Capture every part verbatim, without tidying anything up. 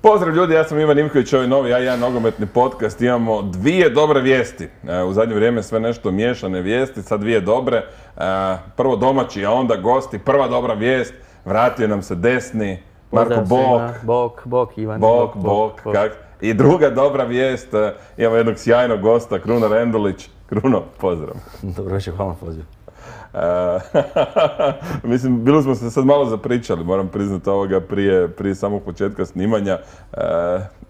Pozdrav ljudi, ja sam Ivan Ivković, ovaj novi A jedan nogometni podcast. Imamo dvije dobre vijesti. U zadnje vrijeme sve nešto miješane vijesti, sad dvije dobre. Prvo domaći, a onda gosti. Prva dobra vijest, vratio nam se desni, Marko Bok. Bok, Bok, Ivan. Bok, Bok, kak. I druga dobra vijest, imamo jednog sjajnog gosta, Kruno Rendulić. Kruno, pozdrav. Dobro večer, hvala na pozivu. Uh, mislim, bili smo se sad malo zapričali, moram priznati ovoga prije, prije samog početka snimanja, uh,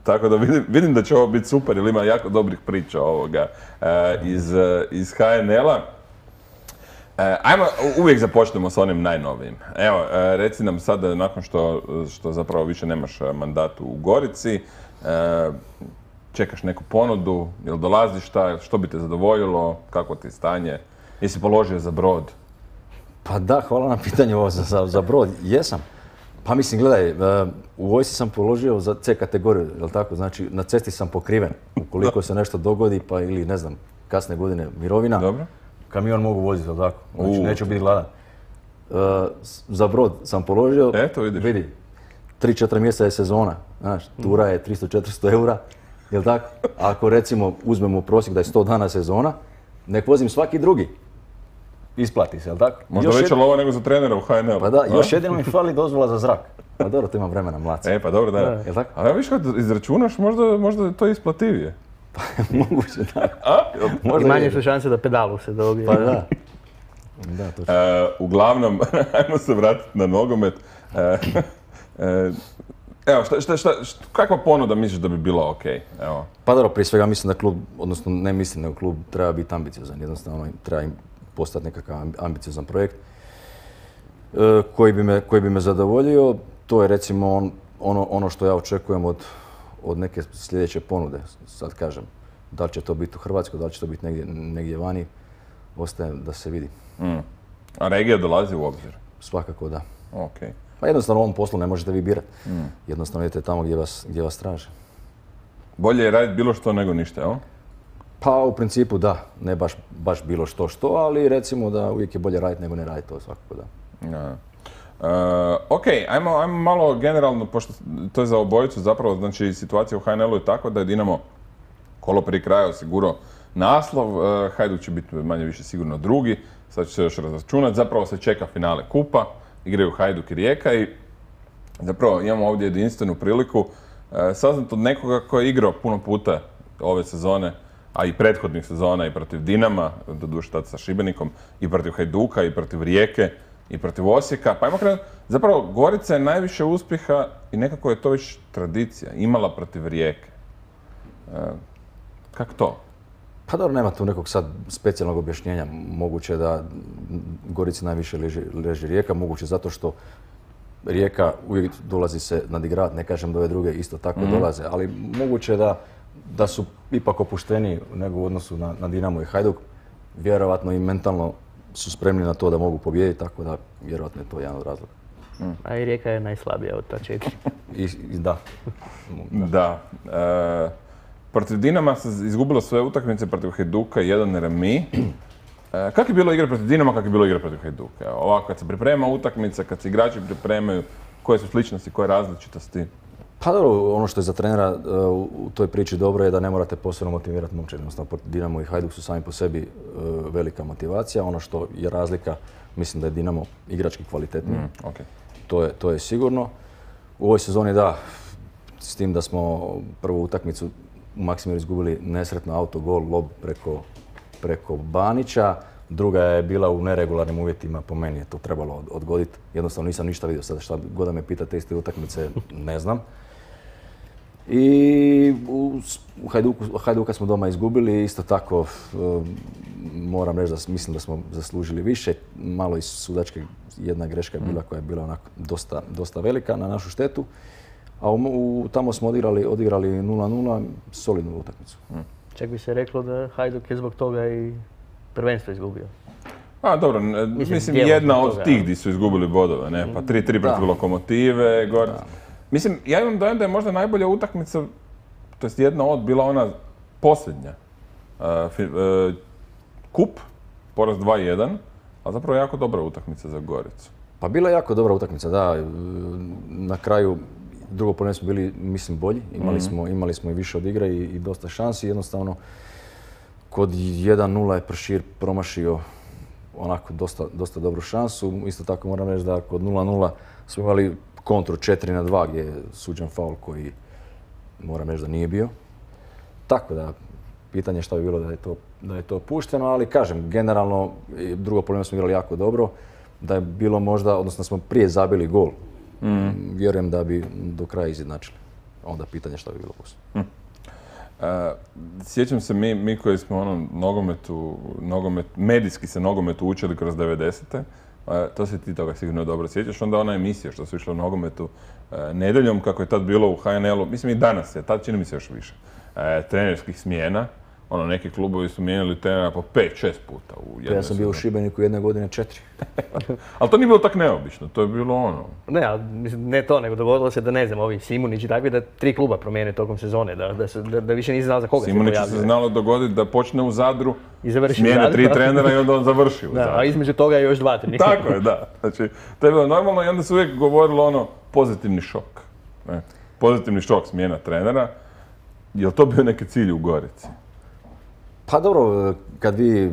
tako da vidim, vidim da će ovo biti super jer ima jako dobrih priča ovoga uh, iz, uh, iz H N L-a. Uh, ajmo, uvijek započnemo s onim najnovijim. Evo, uh, reci nam sad, nakon što, što zapravo više nemaš mandat u Gorici, uh, čekaš neku ponudu, jel dolazi šta, što bi te zadovoljilo, kako ti je stanje? Jesi položio za Brod? Pa da, hvala na pitanju ovo za, za, za Brod. Jesam. Pa mislim, gledaj, u vojsci sam položio za C kategoriju, jel tako? Znači, na cesti sam pokriven. Ukoliko se nešto dogodi, pa ili, ne znam, kasne godine mirovina, dobro, kamion mogu voziti, jel tako? Znači, neću biti gladan. Uh, za Brod sam položio, eto, vidiš. Vidi, tri četiri mjeseca je sezona, znaš, tura je tristo četiristo eura, jel tako? Ako recimo uzmemo prosjek da je sto dana sezona, nek vozim svaki drugi. Isplati se, jel tako? Možda veća jed... lova nego za trenera u H N L. Pa da, a? Još jedino mi fali dozvola za zrak. Pa dobro, to imam vremena, mlaca. E, pa dobro, da. Jel tako? A ja viš kad izračunaš, možda, možda to je isplativije. Pa moguće, da. A? I manje su šanse da pedalu se dobije. Pa da. Da, točno. E, uglavnom, ajmo se vratiti na nogomet. E, e, Evo, šta, šta, šta, šta, kakva ponuda misliš da bi bila ok? Evo. Pa dobro, prije svega mislim da klub, odnosno ne mislim nego klub treba biti ambiciozan. Jednostavno treba im postati nekakav ambiciozan projekt e, koji, bi me, koji bi me zadovoljio. To je recimo on, ono, ono što ja očekujem od, od neke sljedeće ponude. Sad kažem, da li će to biti u Hrvatskoj, da li će to biti negdje, negdje vani, ostaje da se vidi. Mm. A regija dolazi u obzir? Svakako da. Okay. Pa jednostavno u ovom poslu ne možete vi birati. Mm. Jednostavno idete tamo gdje vas, gdje vas traže. Bolje je raditi bilo što nego ništa, jel? Pa u principu da, ne baš, baš bilo što što, ali recimo da uvijek je bolje raditi nego ne raditi, to svakako da. Ja. Uh, ok, ajmo, ajmo malo generalno, pošto to je za obojicu zapravo, znači situacija u H N L-u je takva da je Dinamo kolo prije kraja osigurao naslov, uh, Hajduk će biti manje više sigurno drugi, sad će se još razračunati, zapravo se čeka finale kupa, igraju Hajduk i Rijeka i zapravo imamo ovdje jedinstvenu priliku uh, saznat od nekoga koji je igrao puno puta ove sezone, a i prethodnih sezona i protiv Dinama, doduše tad sa Šibenikom, i protiv Hajduka, i protiv Rijeke, i protiv Osijeka. Pa ajmo krenuti, zapravo Gorica je najviše uspjeha i nekako je to već tradicija, imala protiv Rijeke. E, kako to? Pa dobro, nema tu nekog sad specijalnog objašnjenja. Moguće da Gorici najviše leži, leži Rijeka, moguće zato što Rijeka uvijek dolazi se nadigravati, ne kažem da ove druge isto tako mm. dolaze, ali moguće da, da su ipak opušteniji nego u odnosu na, na Dinamo i Hajduk. Vjerovatno i mentalno su spremni na to da mogu pobijediti, tako da vjerovatno je to jedan od razloga. Mm. A i Rijeka je najslabija od ta četiri. I, i da. Da. E, protiv Dinama se izgubilo sve utakmice, protiv Hajduka jedan remi. E, kako je bilo igra protiv Dinama, kako je bilo igra protiv Hajduka? Ovako, kad se priprema utakmica, kad se igrači pripremaju, koje su sličnosti, koje različitosti? Pa dobro, ono što je za trenera uh, u toj priči dobro je da ne morate posebno motivirati momčad. Jednostavno, Dinamo i Hajduk su sami po sebi uh, velika motivacija. Ono što je razlika, mislim da je Dinamo igrački kvalitetniji. Mm, okay. to, je, to je sigurno. U ovoj sezoni da, s tim da smo prvu utakmicu u Maksimiru izgubili nesretno autogol, lob preko, preko Banića. Druga je bila u neregularnim uvjetima, po meni je to trebalo odgoditi. Jednostavno nisam ništa vidio, sada šta god da me pitate iz te utakmice, ne znam. I u, u Hajduku, Hajduka smo doma izgubili, isto tako moram reći da mislim da smo zaslužili više. Malo iz sudačke jedna greška je bila koja je bila onako dosta, dosta velika na našu štetu. A u, u, tamo smo odigrali, odigrali nula nula, solidnu utakmicu. Čak bi se reklo da Hajduk je zbog toga i prvenstvo izgubio. A dobro, mislim, mislim jedna od tih gdje su izgubili bodove, ne? Pa tri tri protiv Lokomotive, gore. Mislim, ja imam dojam da je možda najbolja utakmica, to jest jedna od, bila ona posljednja. Uh, uh, kup, poraz dva jedan, a zapravo jako dobra utakmica za Goricu. Pa bila je jako dobra utakmica, da. Na kraju drugo polovreme smo bili, mislim, bolji. Imali, mm-hmm. smo, imali smo i više od igre i, i dosta šansi. Jednostavno, kod jedan nula je Pršir promašio onako dosta, dosta dobru šansu. Isto tako moram reći da kod nula nula smo imali kontru četiri na dva gdje je suđen faul koji moram reći da nije bio. Tako da, pitanje šta bi bilo da je to, da je to pušteno, ali kažem, generalno drugo polovreme smo igrali jako dobro. Da je bilo možda, odnosno smo prije zabili gol. Mm. Vjerujem da bi do kraja izjednačili. Onda pitanje šta bi bilo poslije. Mm. Uh, sjećam se mi, mi koji smo ono nogometu, nogomet, medijski se nogometu učili kroz devedesete. Uh, to se ti toga sigurno dobro sjećaš. Onda ona emisija što su išle u nogometu uh, nedjeljom, kako je tad bilo u H N L-u, mislim i danas je, tad čini mi se još više, uh, trenerskih smjena. Ono, neki klubovi su mijenjali trenera po pet, šest puta u jednoj. Ja sam bio u Šibeniku jedne godine četiri. Ali to nije bilo tako neobično, to je bilo ono... Ne, ali mislim, ne to, nego dogodilo se da ne znam, ovi Simunić i takvi da tri kluba promijene tokom sezone, da, da, se, da, da više nisi znao za koga Simunić se pojavljuje. se znalo dogoditi da počne u Zadru, i završi smijene u Zadru, tri trenera i onda on završi u da, Zadru. a između toga je još dva trenika. Tako je, da. Znači, to je bilo normalno i onda se uvijek govorilo ono pozitivni šok. Ne? Pozitivni šok smjena trenera. Je li to bio neki cilj u Gorici? Pa dobro, kad vi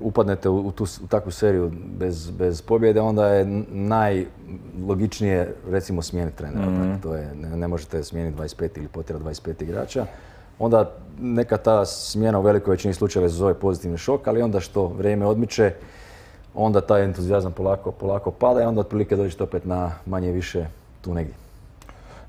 upadnete u, tu, u takvu seriju bez, bez pobjede, onda je najlogičnije, recimo, smijeniti trenera. Mm. To je, ne, ne možete smijeniti dvadeset pet ili potjerati dvadeset pet igrača. Onda neka ta smjena u velikoj većini slučajeva se zove pozitivni šok, ali onda što vrijeme odmiče, onda taj entuzijazam polako, polako pada i onda otprilike dođete opet na manje više tu negdje.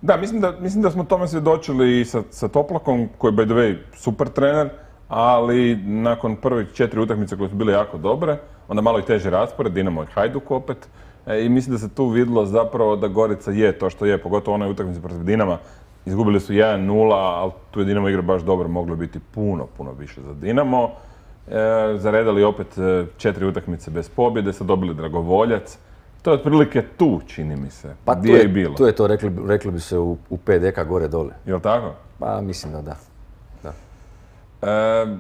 Da, mislim da, mislim da smo tome svjedočili i sa, sa Toplakom, koji je by the way super trener, ali nakon prvih četiri utakmice koje su bile jako dobre, onda malo i teži raspored, Dinamo i Hajduk opet. E, I mislim da se tu vidjelo zapravo da Gorica je to što je, pogotovo onaj utakmice protiv Dinama. Izgubili su jedan nula, ali tu je Dinamo igra baš dobro, moglo biti puno, puno više za Dinamo. E, zaredali opet četiri utakmice bez pobjede, sad dobili Dragovoljac. To je otprilike tu, čini mi se, pa gdje je, je bilo. Tu je to, rekli, rekli bi se u, u pet deka gore dole. Jel' tako? Pa mislim da da. da. E,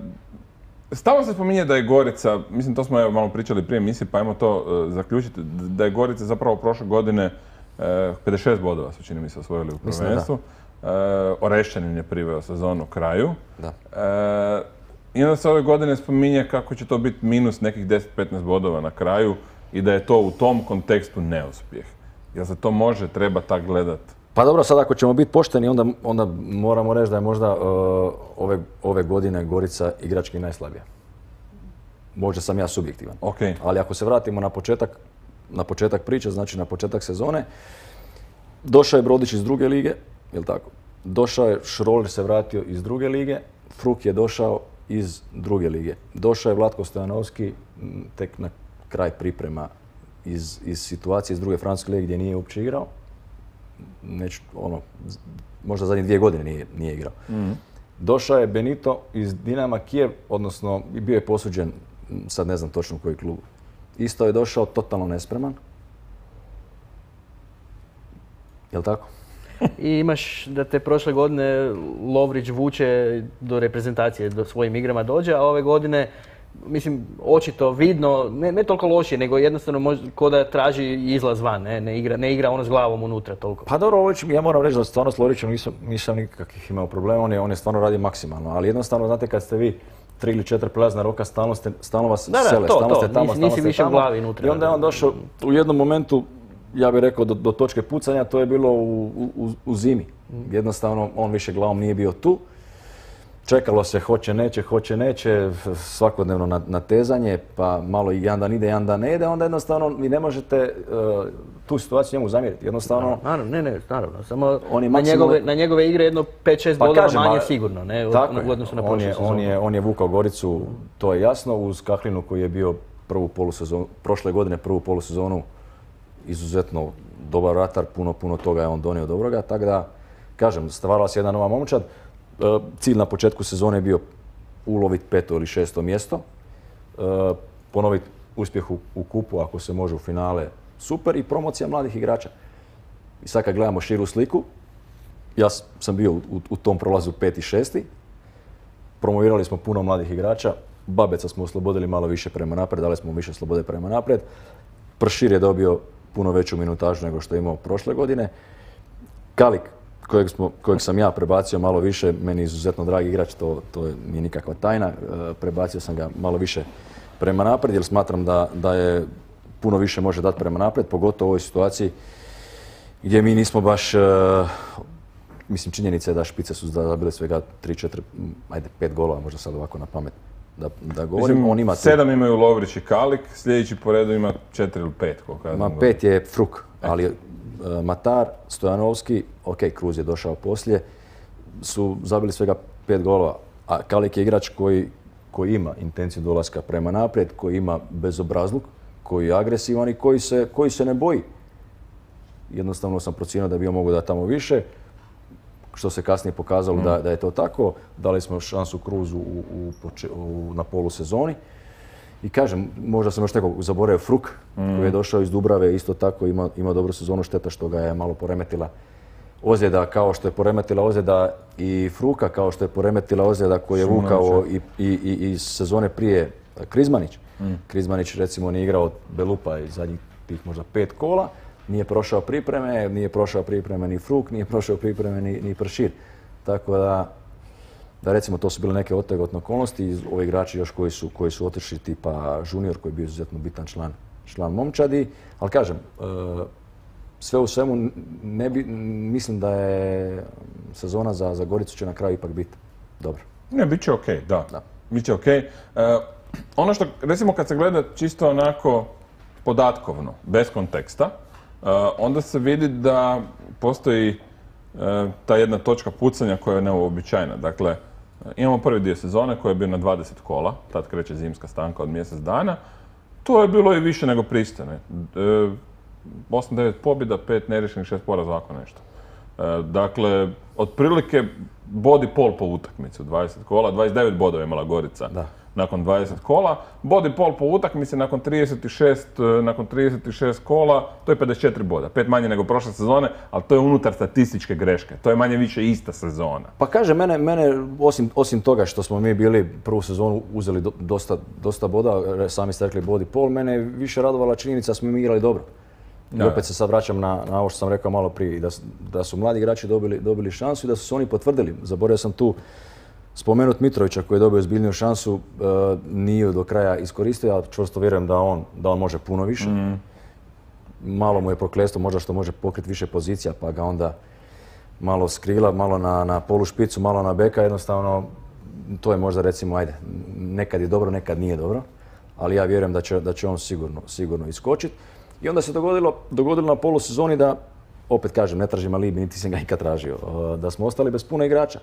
stalno se spominje da je Gorica, mislim to smo evo malo pričali prije emisije, pa ajmo to uh, zaključiti, da je Gorica zapravo prošle godine uh, pedeset šest bodova su čini mi se osvojili u prvenstvu. Uh, Orešćanin je priveo sezonu kraju. Da. Uh, I onda se ove godine spominje kako će to biti minus nekih deset do petnaest bodova na kraju i da je to u tom kontekstu neuspjeh. Jel se to može, treba tak gledati? Pa dobro, sad ako ćemo biti pošteni, onda, onda moramo reći da je možda uh, ove, ove godine Gorica igrački najslabija. Možda sam ja subjektivan. Okay. Ali ako se vratimo na početak, na početak priče, znači na početak sezone, došao je Brodić iz druge lige, jel tako? Došao je Šroler se vratio iz druge lige, Fruk je došao iz druge lige. Došao je Vlatko Stojanovski tek na kraj priprema iz, iz situacije iz druge francuske lige gdje nije uopće igrao. Neću, ono, možda zadnje dvije godine nije, nije igrao. Mm. Došao je Benito iz Dinama Kijev, odnosno bio je posuđen, sad ne znam točno u koji klub. Isto je došao totalno nespreman. Jel' tako? I imaš da te prošle godine Lovrić vuče do reprezentacije, do svojim igrama dođe, a ove godine, mislim, očito, vidno, ne, ne toliko lošije, nego jednostavno možda ko da traži izlaz van, ne, ne, igra, ne igra ono s glavom unutra toliko. Pa dobro, Lovrić, ja moram reći da stvarno s Lovrićem nisam, nisam nikakvih imao problema, on je, on je stvarno radi maksimalno, ali jednostavno, znate, kad ste vi tri ili četiri prelazna roka, stalno, ste, stalno vas da, da, sele, to, stalno to. ste tamo, nisi, stalno nisi ste više tamo. u glavi unutra. I onda je on došao u jednom momentu, ja bih rekao do, do točke pucanja, to je bilo u, u, u zimi. Jednostavno on više glavom nije bio tu. Čekalo se hoće, neće, hoće, neće, svakodnevno natezanje, pa malo i jedan dan ide, jedan dan ne ide, onda jednostavno vi ne možete uh, tu situaciju njemu zamjeriti. Jednostavno... Naravno, ne, ne, naravno. Samo on je na, maksimalno... njegove, na njegove igre jedno pet šest pa bodova kažem, manje a, sigurno, ne, u, u odnosu na on prošlu je, sezonu. on, je, on je vukao Goricu, to je jasno, uz Kahlinu koji je bio prvu polusezonu, prošle godine prvu polusezonu izuzetno dobar ratar, puno, puno toga je on donio dobroga, tako da, kažem, stvarala se jedna nova momčad. Cilj na početku sezone je bio uloviti peto ili šesto mjesto, ponoviti uspjeh u, u kupu, ako se može u finale, super, i promocija mladih igrača. I sad kad gledamo širu sliku, ja sam bio u, u tom prolazu peti, šesti, promovirali smo puno mladih igrača, Babeca smo oslobodili malo više prema naprijed, dali smo više slobode prema naprijed, Pršir je dobio puno veću minutažu nego što je imao prošle godine, Kalik, Kojeg, smo, kojeg sam ja prebacio malo više, meni izuzetno dragi igrač, to, to nije nikakva tajna. E, prebacio sam ga malo više prema naprijed jer smatram da, da je puno više može dati prema naprijed, pogotovo u ovoj situaciji gdje mi nismo baš, e, mislim činjenica je da špice su zabile svega tri, četiri, ajde pet golova, možda sad ovako na pamet da, da govorim. Mislim, on ima sedam imaju Lovrić i Kalik, sljedeći po redu ima četiri ili pet. Ma pet je Fruk, ali Matar, Stojanovski, ok, Kruz je došao poslije, su zabili svega pet golova, a Kalik je igrač koji, koji ima intenciju dolaska prema naprijed, koji ima bezobrazluk, koji je agresivan i koji se, koji se ne boji. Jednostavno sam procijenio da bi on mogao dati tamo više, što se kasnije pokazalo mm. da, da je to tako. Dali smo šansu Kruzu u, u, u, na polusezoni. I kažem, možda sam još nekog zaboravio, Fruk, mm. koji je došao iz Dubrave, isto tako ima, ima dobru sezonu, šteta što ga je malo poremetila ozljeda, kao što je poremetila ozljeda i Fruka, kao što je poremetila ozljeda koju je vukao i, i, i, i sezone prije Krizmanić. Mm. Krizmanić recimo nije igrao Belupa iz zadnjih tih možda pet kola, nije prošao pripreme, nije prošao pripreme ni Fruk, nije prošao pripreme ni, ni Pršir. Tako da, da recimo to su bile neke otegotne okolnosti, ovi igrači još koji su, koji su otišli tipa Junior koji je bio izuzetno bitan član, član momčadi, ali kažem, e, sve u svemu ne bi, mislim da je sezona za, za Goricu će na kraju ipak biti dobro. Ne, bit će okej, okay, da. da. Bit će okej. Okay. E, ono što, recimo kad se gleda čisto onako podatkovno, bez konteksta, e, onda se vidi da postoji e, ta jedna točka pucanja koja je neuobičajena. Dakle, imamo prvi dio sezone koji je bio na dvadeset kola, tad kreće zimska stanka od mjesec dana. To je bilo i više nego pristojno. E, osam devet pobjeda, pet neriješenih, šest poraza, ovako nešto. E, dakle, otprilike bod i pol po utakmici u dvadeset kola, dvadeset devet bodova imala Gorica da. nakon dvadeset kola. Bod i pol po utakmici nakon trideset šest, nakon trideset šest kola, to je pedeset četiri boda. Pet manje nego prošle sezone, ali to je unutar statističke greške. To je manje više ista sezona. Pa kaže, mene, mene osim, osim toga što smo mi bili prvu sezonu uzeli do, dosta, dosta boda, sami ste rekli bod i pol, mene je više radovala činjenica da smo mi igrali dobro. I opet se sad vraćam na, na ovo što sam rekao malo prije, da, da su mladi igrači dobili, dobili šansu i da su se oni potvrdili. Zaboravio sam tu spomenut Mitrovića koji je dobio zbiljniju šansu, e, nije do kraja iskoristio, ali čvrsto vjerujem da on, da on može puno više. Mm. Malo mu je prokletstvo možda što može pokriti više pozicija, pa ga onda malo skrila, malo na, na polu špicu, malo na beka, jednostavno to je možda recimo, ajde, nekad je dobro, nekad nije dobro, ali ja vjerujem da će, da će on sigurno, sigurno iskočiti. I onda se dogodilo, dogodilo na polusezoni da, opet kažem, ne tražim alibi, niti sam ga ikad tražio, da smo ostali bez puno igrača.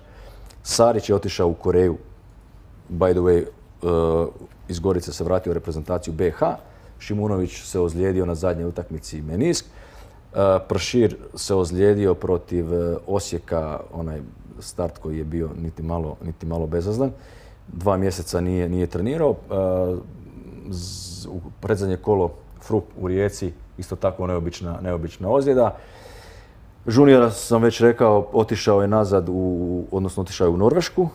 Sarić je otišao u Koreju, by the way, uh, iz Gorice se vratio u reprezentaciju B H, Šimunović se ozlijedio na zadnjoj utakmici menisk, uh, Pršir se ozlijedio protiv uh, Osijeka, onaj start koji je bio niti malo, niti malo bezazlen, dva mjeseca nije, nije trenirao, uh, z, u predzadnje kolo Fruk u Rijeci, isto tako neobična, neobična ozljeda. Juniora sam već rekao, otišao je nazad, u, odnosno otišao je u Norvešku. Uh,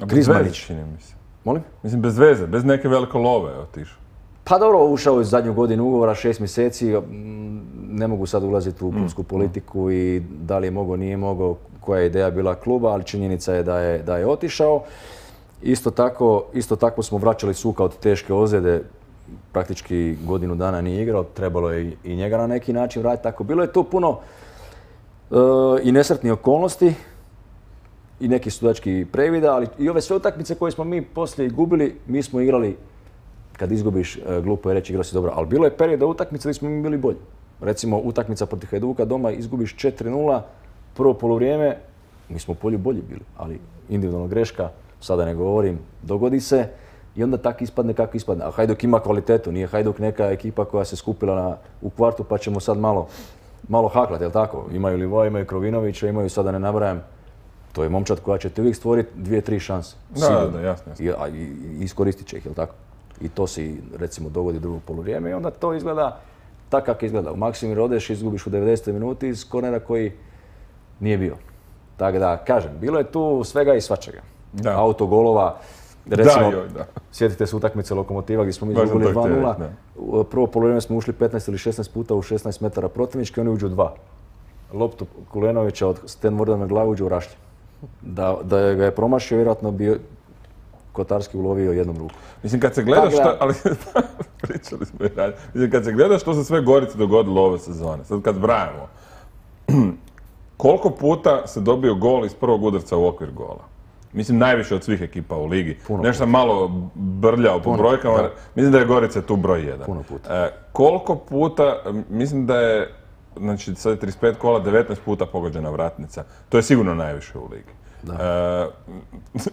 Krizmanić. čini mi se. Molim? Mislim, bez veze, bez neke velike love je otišao. Pa dobro, ušao je u zadnju godinu ugovora, šest mjeseci. Ne mogu sad ulaziti u klubsku politiku i da li je mogao, nije mogao, koja je ideja bila kluba, ali činjenica je da je, da je otišao. Isto tako, isto tako smo vraćali Suka od teške ozljede. praktički godinu dana nije igrao, trebalo je i njega na neki način vratiti. Tako, bilo je tu puno uh, i nesretnih okolnosti i neki sudački previda, ali i ove sve utakmice koje smo mi poslije gubili, mi smo igrali, kad izgubiš, uh, glupo je reći igrao si dobro, ali bilo je perioda utakmice gdje smo mi bili bolji. Recimo utakmica protiv Hajduka doma izgubiš četiri nula, prvo poluvrijeme, mi smo u polju bolji bili, ali individualna greška, sada ne govorim, dogodi se i onda tako ispadne kako ispadne. A Hajduk ima kvalitetu, nije Hajduk neka ekipa koja se skupila na, u kvartu pa ćemo sad malo, malo haklati, jel tako? Imaju Livoja, imaju Krovinovića, imaju, sada ne nabrajam, to je momčad koja će ti uvijek stvoriti dvije, tri šanse. Da, da, jasno. I, a, i, i iskoristit će ih, jel tako? I to se recimo dogodi drugo poluvrijeme i onda to izgleda tako kako izgleda. U Maksimir odeš, izgubiš u devedesetoj minuti iz kornera koji nije bio. Tako da, kažem, bilo je tu svega i svačega. Da. Autogolova, recimo, da, joj, da. sjetite se utakmice Lokomotiva gdje smo mi izgubili dva nula. Prvo polovreme smo ušli petnaest ili šesnaest puta u šesnaest metara protivnički, oni uđu dva. Loptu Kulenovića od Sten Morda na glavu uđu u rašlje. Da, da ga je promašio, vjerojatno bi Kotarski ulovio jednom ruku. Mislim, kad se gleda što, ali pričali smo i radili, mislim, kad se gleda što se sve Gorici dogodilo ove sezone, sad kad brajamo, koliko puta se dobio gol iz prvog udarca u okvir gola? Mislim, najviše od svih ekipa u ligi. Puno Nešto sam malo brljao po brojkama, da. Mislim da je Gorica tu broj jedan. Puno puta. E, koliko puta, mislim da je, znači sad je trideset pet kola, devetnaest puta pogođena vratnica. To je sigurno najviše u ligi. E,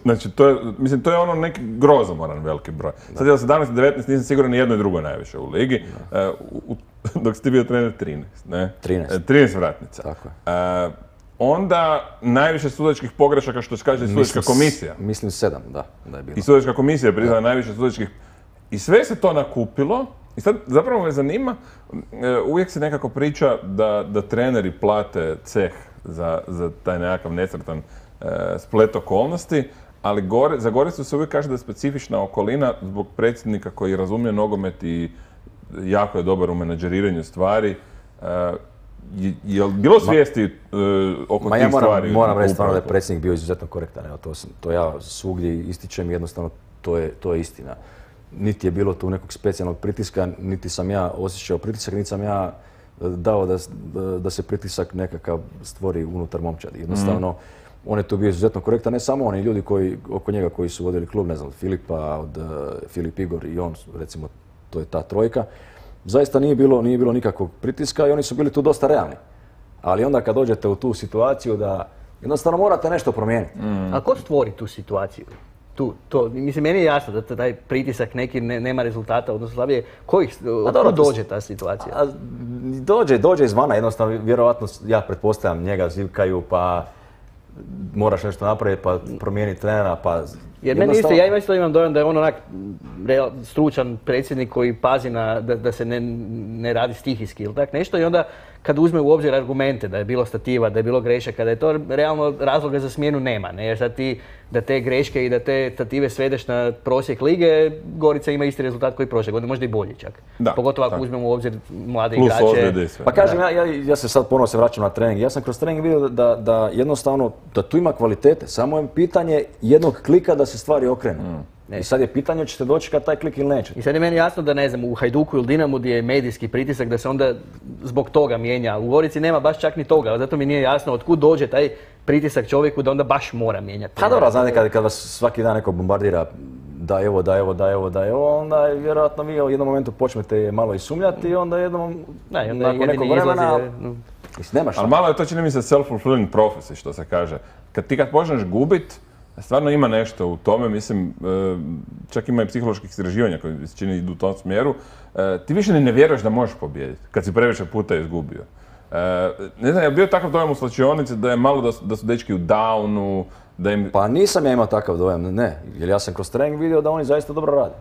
znači, to je, mislim, to je ono neki grozomoran veliki broj. Da. Sad je sedamnaest devetnaest, nisam siguran ni jedno i drugo najviše u ligi. E, u, dok si ti bio trener trinaest, ne? trinaest. E, trinaest vratnica. Tako je. E, onda najviše sudačkih pogrešaka, što se kaže sudačka komisija. Mislim sedam, da, da je bilo. I sudačka komisija je priznala najviše sudačkih. I sve se to nakupilo. I sad zapravo me zanima, uvijek se nekako priča da, da treneri plate ceh za, za taj nekakav nesretan e, splet okolnosti, ali gore, za Goricu se uvijek kaže da je specifična okolina zbog predsjednika koji razumije nogomet i jako je dobar u menadžeriranju stvari. E, Je, je li bilo svijesti uh, oko Ma tih ja moram, stvari? moram reći stvarno da je predsjednik bio izuzetno korektan. Evo, to, to ja svugdje ističem, jednostavno to je, to je istina. Niti je bilo tu nekog specijalnog pritiska, niti sam ja osjećao pritisak, niti sam ja dao da, da se pritisak nekakav stvori unutar momčadi. Jednostavno, mm. on je tu bio izuzetno korektan, ne samo oni ljudi koji, oko njega koji su vodili klub, ne znam, Filipa, od uh, Filip Igor i on, recimo, to je ta trojka. Zaista nije bilo, nije bilo nikakvog pritiska i oni su bili tu dosta realni. Ali onda kad dođete u tu situaciju da jednostavno morate nešto promijeniti. Mm. A ko stvori tu situaciju? Tu, to, mislim, meni je jasno da taj pritisak neki ne, nema rezultata, odnosno slabije. Kojih, od dođe ta situacija? A, dođe, dođe izvana, jednostavno, vjerovatno, ja pretpostavljam, njega zivkaju, pa moraš nešto napraviti, pa promijeniti trenera, pa... Jer meni isto, ja isto imam dojam da je on onak real, stručan predsjednik koji pazi na, da, da se ne, ne radi stihijski ili tak nešto i onda kad uzme u obzir argumente da je bilo stativa, da je bilo grešaka, da je to realno razloga za smjenu nema, ne? Jer sad ti da te greške i da te stative svedeš na prosjek lige, Gorica ima isti rezultat koji prošle godine, možda i bolji čak. Da, pogotovo ako tako uzmemo u obzir mlade plus igrače. Pa kažem, ja, ja, ja se sad ponovno se vraćam na trening. Ja sam kroz trening vidio da, da jednostavno, da tu ima kvalitete, samo je pitanje jednog klika da se stvari okrenu. Mm. I sad je pitanje ćete doći kad taj klik ili neće. I sad je meni jasno da ne znam, u Hajduku ili Dinamu gdje je medijski pritisak da se onda zbog toga mijenja. U Gorici nema baš čak ni toga, zato mi nije jasno otkud dođe taj pritisak čovjeku da onda baš mora mijenjati. Pa dobro, znate kad, kad vas svaki dan neko bombardira da evo, da evo, da evo, da evo, onda vjerojatno vi u jednom momentu počnete malo i sumnjati i onda jednom, da, i onda nakon nekog vremena, izlazi, nemaš. Ali malo je to, čini mi se, self-fulfilling prophecy, što se kaže. Kad ti kad počneš gubit, stvarno ima nešto u tome, mislim, čak ima i psiholoških istraživanja koji se čini idu u tom smjeru. Ti više ne vjeruješ da možeš pobijediti, kad si previše puta izgubio. Ne znam, je li bio takav dojam u slačionici da je malo da su, da su dečki u downu, da im... Pa nisam ja imao takav dojam, ne. Jer ja sam kroz trening vidio da oni zaista dobro rade.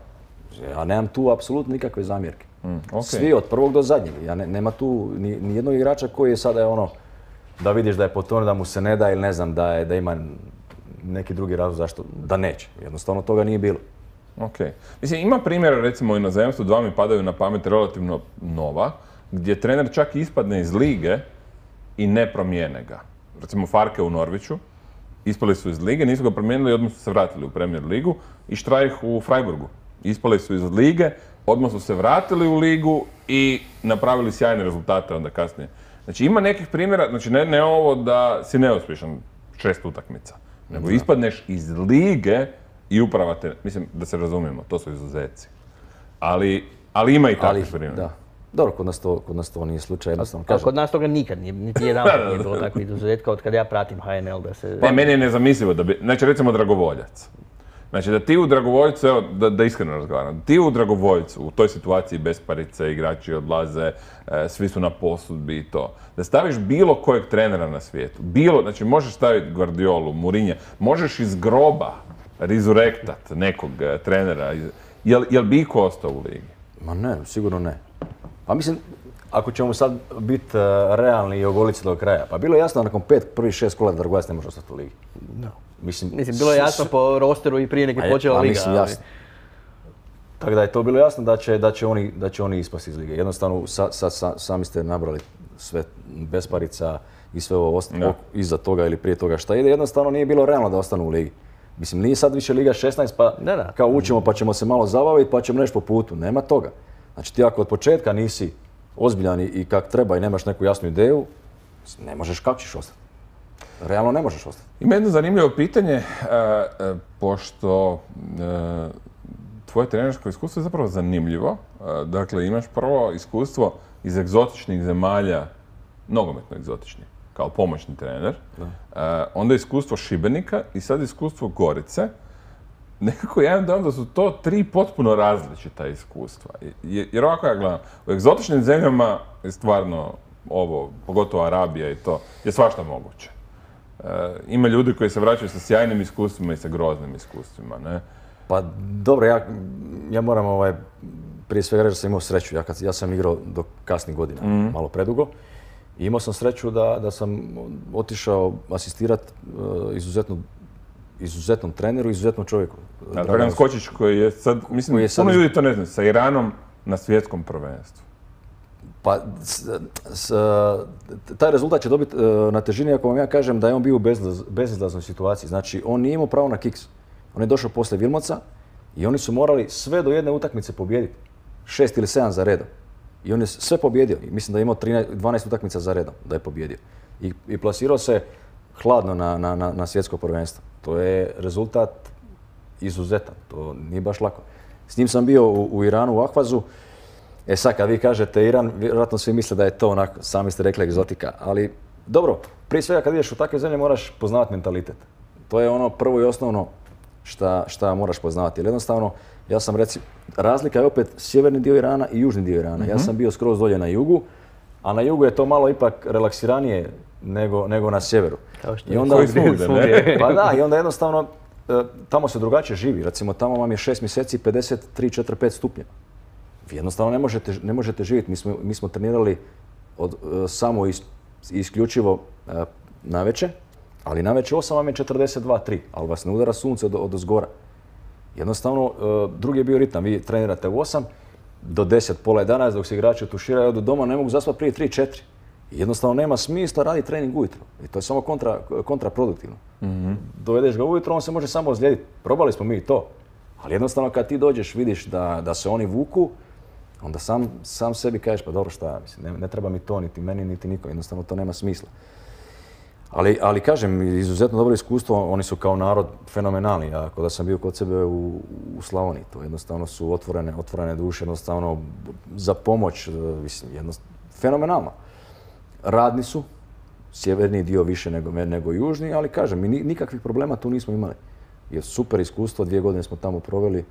Ja nemam tu apsolutno nikakve zamjerke. Mm, okay. Svi od prvog do zadnjeg. Ja ne, nema tu ni, ni jednog igrača koji je sada je ono da vidiš da je potonio, da mu se ne da ili ne znam da, je, da ima neki drugi razlog zašto da neće. Jednostavno toga nije bilo. Ok. Mislim, ima primjera recimo u inozemstvu, dva mi padaju na pamet relativno nova, gdje trener čak ispadne iz lige i ne promijene ga. Recimo Farke u Norviću, ispali su iz lige, nisu ga promijenili i odmah su se vratili u Premier ligu i Štrajh u Freiburgu. Ispali su iz lige odmah su se vratili u ligu i napravili sjajne rezultate onda kasnije. Znači ima nekih primjera, znači ne, ne ovo da si neuspješan šest utakmica, nego ispadneš iz lige i uprava te, mislim da se razumijemo, to su izuzeci. Ali, ali ima i takvih primjera. Da. Dobro, kod nas to, kod nas to nije slučaj, jednostavno A kažem. kod nas toga nikad nije, niti jedan put nije bilo takvih izuzetka od kad ja pratim H N L da se... Pa meni je nezamislivo da bi, znači recimo Dragovoljac. Znači da ti u Dragovoljcu, evo da, da iskreno razgovaram, ti u Dragovoljcu u toj situaciji besparice, igrači odlaze, e, svi su na posudbi i to. Da staviš bilo kojeg trenera na svijetu, bilo, znači možeš staviti Guardiolu, Mourinha, možeš iz groba rezurektat nekog e, trenera, jel, jel bi iko ostao u ligi? Ma ne, sigurno ne. Pa mislim, ako ćemo sad biti uh, realni i ogoliti se do kraja, pa bilo je jasno da nakon pet, prvih šest kola da Dragovoljac ne može ostati u ligi. No. Mislim, Mislim, bilo je jasno po rosteru i prije nek je počela liga. Mislim, jasno. Tako da je to bilo jasno da će, da će, oni, da će oni ispasti iz lige. Jednostavno, sa, sa, sa, sami ste nabrali sve besparica i sve ovo ostalo iza toga ili prije toga šta ide. Jednostavno nije bilo realno da ostanu u ligi. Mislim, nije sad više Liga šesnaest pa da, da. kao učimo pa ćemo se malo zabaviti pa ćemo nešto po putu. Nema toga. Znači ti ako od početka nisi ozbiljan i kak treba i nemaš neku jasnu ideju, ne možeš, kako ćeš ostati? Realno ne možeš ostati. Ima jedno zanimljivo pitanje, e, e, pošto e, tvoje trenersko iskustvo je zapravo zanimljivo. E, dakle, imaš prvo iskustvo iz egzotičnih zemalja, nogometno egzotičnih, kao pomoćni trener. E, onda iskustvo Šibenika i sad iskustvo Gorice. Nekako ja imam dojam da su to tri potpuno različita iskustva. Jer ovako ja gledam, u egzotičnim zemljama je stvarno ovo, pogotovo Arabija i to, je svašta moguće. E, ima ljudi koji se vraćaju sa sjajnim iskustvima i sa groznim iskustvima, ne? Pa dobro, ja, ja moram ovaj, prije svega reći da sam imao sreću. Ja, kad, ja sam igrao do kasnih godina, mm. malo predugo. I imao sam sreću da, da sam otišao asistirati uh, izuzetno izuzetnom treneru, izuzetnom čovjeku. A Dragan Skočić koji je sad, mislim, je sad puno ljudi to ne zna, sa Iranom na svjetskom prvenstvu. Pa, s, s, taj rezultat će dobiti uh, na težini ako vam ja kažem da je on bio u bezlaz, bezizlaznoj situaciji. Znači, on nije imao pravo na kiks. On je došao poslije Vilmoca i oni su morali sve do jedne utakmice pobijediti. Šest ili sedam za redom. I on je sve pobjedio. I mislim da je imao trinaest, dvanaest utakmica za redom da je pobjedio. I, i plasirao se hladno na, na, na, na svjetsko prvenstvo. To je rezultat izuzetan. To nije baš lako. S njim sam bio u, u Iranu, u Ahvazu. E sad, kad vi kažete Iran, vjerojatno svi misle da je to onako, sami ste rekli, egzotika. Ali dobro, prije svega kad ideš u takve zemlje moraš poznavati mentalitet. To je ono prvo i osnovno šta, šta moraš poznavati. Jer jednostavno, ja sam reci, razlika je opet sjeverni dio Irana i južni dio Irana. Mm-hmm. Ja sam bio skroz dolje na jugu, a na jugu je to malo ipak relaksiranije nego, nego na sjeveru. Kao što I onda, je svugdje, ne? Pa da, i onda jednostavno tamo se drugačije živi. Recimo tamo vam je šest mjeseci pedeset tri, četiri, pet stupnjeva. Vi jednostavno ne možete, ne možete živjeti. Mi smo, mi smo trenirali od, samo is, isključivo uh, navečer, ali navečer osam vam je četrdeset dva tri, ali vas ne udara sunce od, od ozgora. Jednostavno, uh, drugi je bio ritam. Vi trenirate u osam do deset, pola jedanaest, dok se igrači otuširaju, odu doma, ne mogu zaspati prije tri četiri. Jednostavno nema smisla raditi trening ujutro. I to je samo kontra, kontraproduktivno. Mm-hmm. Dovedeš ga ujutro, on se može samo ozlijediti. Probali smo mi to. Ali jednostavno kad ti dođeš, vidiš da, da se oni vuku, onda sam, sam sebi kažeš, pa dobro šta, mislim, ne, ne treba mi to, niti meni, niti niko. Jednostavno to nema smisla. Ali, ali kažem, izuzetno dobro iskustvo, oni su kao narod fenomenalni. Ja, kada sam bio kod sebe u, u Slavoniji, to jednostavno su otvorene, otvorene duše, jednostavno za pomoć, mislim, jednostavno, fenomenalno. Radni su, sjeverni dio više nego, nego južni, ali kažem, mi nikakvih problema tu nismo imali. Jer super iskustvo, dvije godine smo tamo proveli,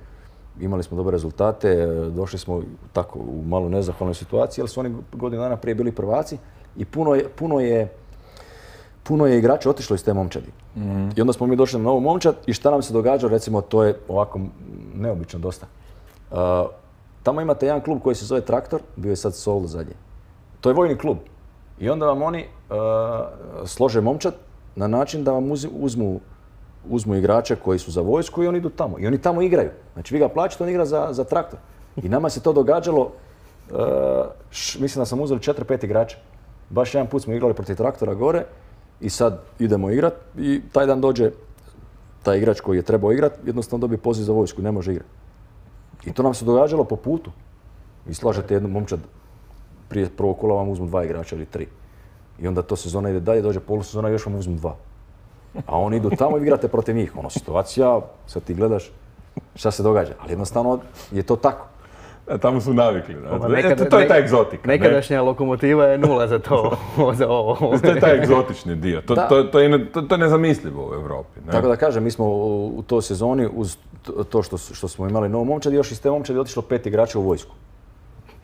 imali smo dobre rezultate, došli smo tako u malo nezahvalnoj situaciji, jer su oni godinu dana prije bili prvaci i puno je, puno je, puno je igrača otišlo iz te momčadi. Mm-hmm. I onda smo mi došli na novu momčad i šta nam se događa, recimo, to je ovako neobično dosta. Uh, tamo imate jedan klub koji se zove Traktor, bio je sad Sol zadnje. To je vojni klub. I onda vam oni uh, slože momčad na način da vam uz, uzmu, uzmu igrače koji su za vojsku i oni idu tamo. I oni tamo igraju. Znači vi ga plaćate, on igra za, za Traktor. I nama se to događalo, uh, š, mislim da sam uzeli četiri pet igrača. Baš jedan put smo igrali protiv Traktora gore i sad idemo igrat i taj dan dođe taj igrač koji je trebao igrat, jednostavno dobije poziv za vojsku, ne može igrati. I to nam se događalo po putu. Vi slažete jednu momčad, prije prvog kola vam uzmu dva igrača ili tri. I onda to sezona ide dalje, dođe polusezona i još vam uzmu dva. A oni idu tamo i vi igrate protiv njih. Ono, situacija, sad ti gledaš šta se događa. Ali jednostavno je to tako. A tamo su navikli. Da. Nekad, E, to je ta egzotika. Nekadašnja ne? Lokomotiva je nula za to, za ovo. To je taj egzotični dio. To, to, to, je, to, to je nezamislivo u Europi. Ne? Tako da kažem, mi smo u, u toj sezoni, uz to što, što smo imali novu momčad, još iz te momčadi otišlo pet igrača u vojsku.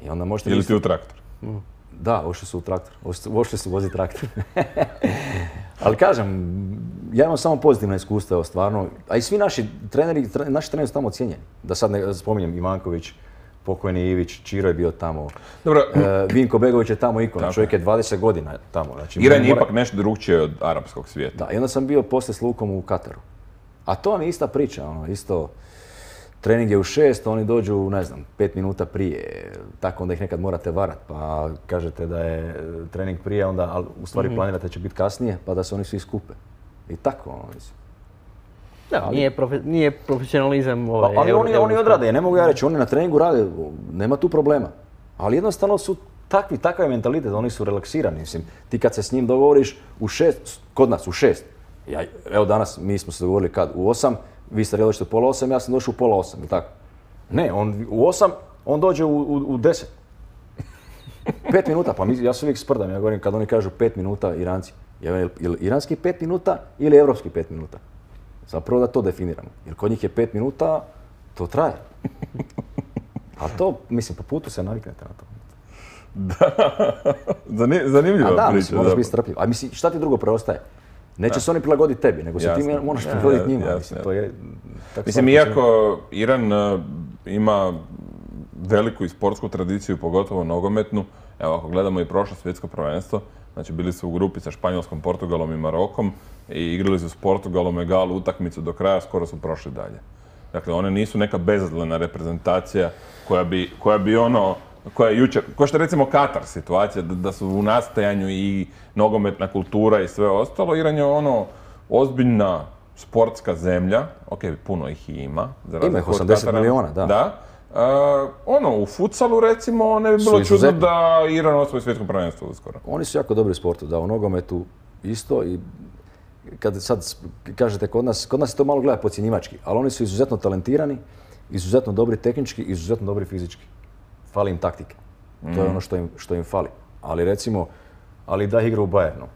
I onda možete... Ili ti u traktor? Mm. Da, ušli su u traktor. Ušli su vozi traktor. Ali kažem, ja imam samo pozitivna iskustva, evo, stvarno. A i svi naši treneri, naši treneri su tamo ocijenjeni. Da sad ne spominjem Ivanković, pokojni Ivić, Čiro je bio tamo. Dobro. E, Vinko Begović je tamo ikona, čovjek je dvadeset godina tamo. Znači, Iran je mora... ipak nešto drugčije od arapskog svijeta. Da, i onda sam bio poslije s Lukom u Kataru. A to vam je ista priča, ono, isto. Trening je u šest, oni dođu, ne znam, pet minuta prije, tako onda ih nekad morate varat, pa kažete da je trening prije, onda, ali u stvari mm-hmm. planirate da će biti kasnije, pa da se oni svi skupe. I tako, ono, mislim. Da, ali, nije, profe, nije profesionalizam ovaj... Pa, ali oni, oni odrade, ne mogu ja reći, oni na treningu rade, nema tu problema. Ali jednostavno su takvi, takav je mentalitet, oni su relaksirani, mislim. Ti kad se s njim dogovoriš u šest, kod nas u šest, ja, evo danas mi smo se dogovorili kad, u osam, vi ste došli u pola osam, ja sam došao u pola osam i tako. Ne, on u osam, on dođe u, u, u deset. Pet minuta, pa mi, ja se uvijek sprdam, ja govorim kad oni kažu pet minuta Iranci. Je li iranski pet minuta ili evropski pet minuta? Zapravo da to definiramo. Jer kod njih je pet minuta, to traje. A to, mislim, po putu se naviknete na to. Da, zanimljiva priča. A da, mislim, moraš biti strpljiv. A mislim, šta ti drugo preostaje? Neće se oni prilagoditi tebi, nego se ti moraš prilagoditi njima. Jasne, mislim, to je, mislim, iako Iran uh, ima veliku i sportsku tradiciju, pogotovo nogometnu, evo ako gledamo i prošlo svjetsko prvenstvo, znači bili su u grupi sa Španjolskom, Portugalom i Marokom i igrali su s Portugalom egalu utakmicu do kraja, skoro su prošli dalje. Dakle, one nisu neka bezazlena reprezentacija koja bi, koja bi ono, koja je jučer, kao što je recimo Katar situacija, da, da su u nastajanju i nogometna kultura i sve ostalo. Iran je ono ozbiljna sportska zemlja, ok, puno ih i ima. Ima ih osamdeset miliona, da. Da. Uh, ono, u futsalu recimo ne bi bilo čudno izuzetno. Da Iran osvoji svjetsko prvenstvo uskoro. Oni su jako dobri u sportu, da, u nogometu isto i kad sad kažete kod nas, kod nas se to malo gleda podcjenjivački, ali oni su izuzetno talentirani, izuzetno dobri tehnički, izuzetno dobri fizički. Fali im taktike. Mm. To je ono što im, što im fali. Ali recimo, ali da igra u Bayernu.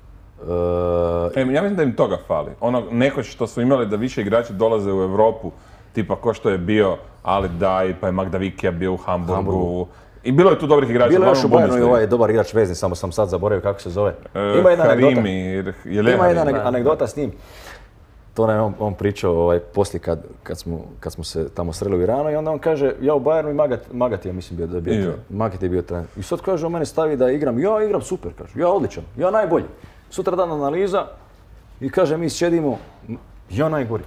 Uh, e, ja mislim da im toga fali. Ono nekoć što su imali da više igrači dolaze u Europu, tipa ko što je bio Ali Daj, pa je Magda Vikija bio u Hamburgu. Hamburgu. I bilo je tu dobrih igrača. Bilo je još u Bayernu i ovaj dobar igrač vezni, samo sam sad zaboravio kako se zove. Uh, Ima jedna Harimi, anegdota. Je Ima jedna Harimi. anegdota s njim. To nam je on, on pričao ovaj, poslije kad, kad, smo, kad smo se tamo sreli u Iranu i onda on kaže, ja u Bayernu i Magat, Magat je mislim bio da je bio trener. Magat je bio trener. I sad kaže, on mene stavi da igram, ja igram super, kaže, ja odličan, ja najbolji. Sutra dan analiza i kaže, mi sjedimo, ja najgori.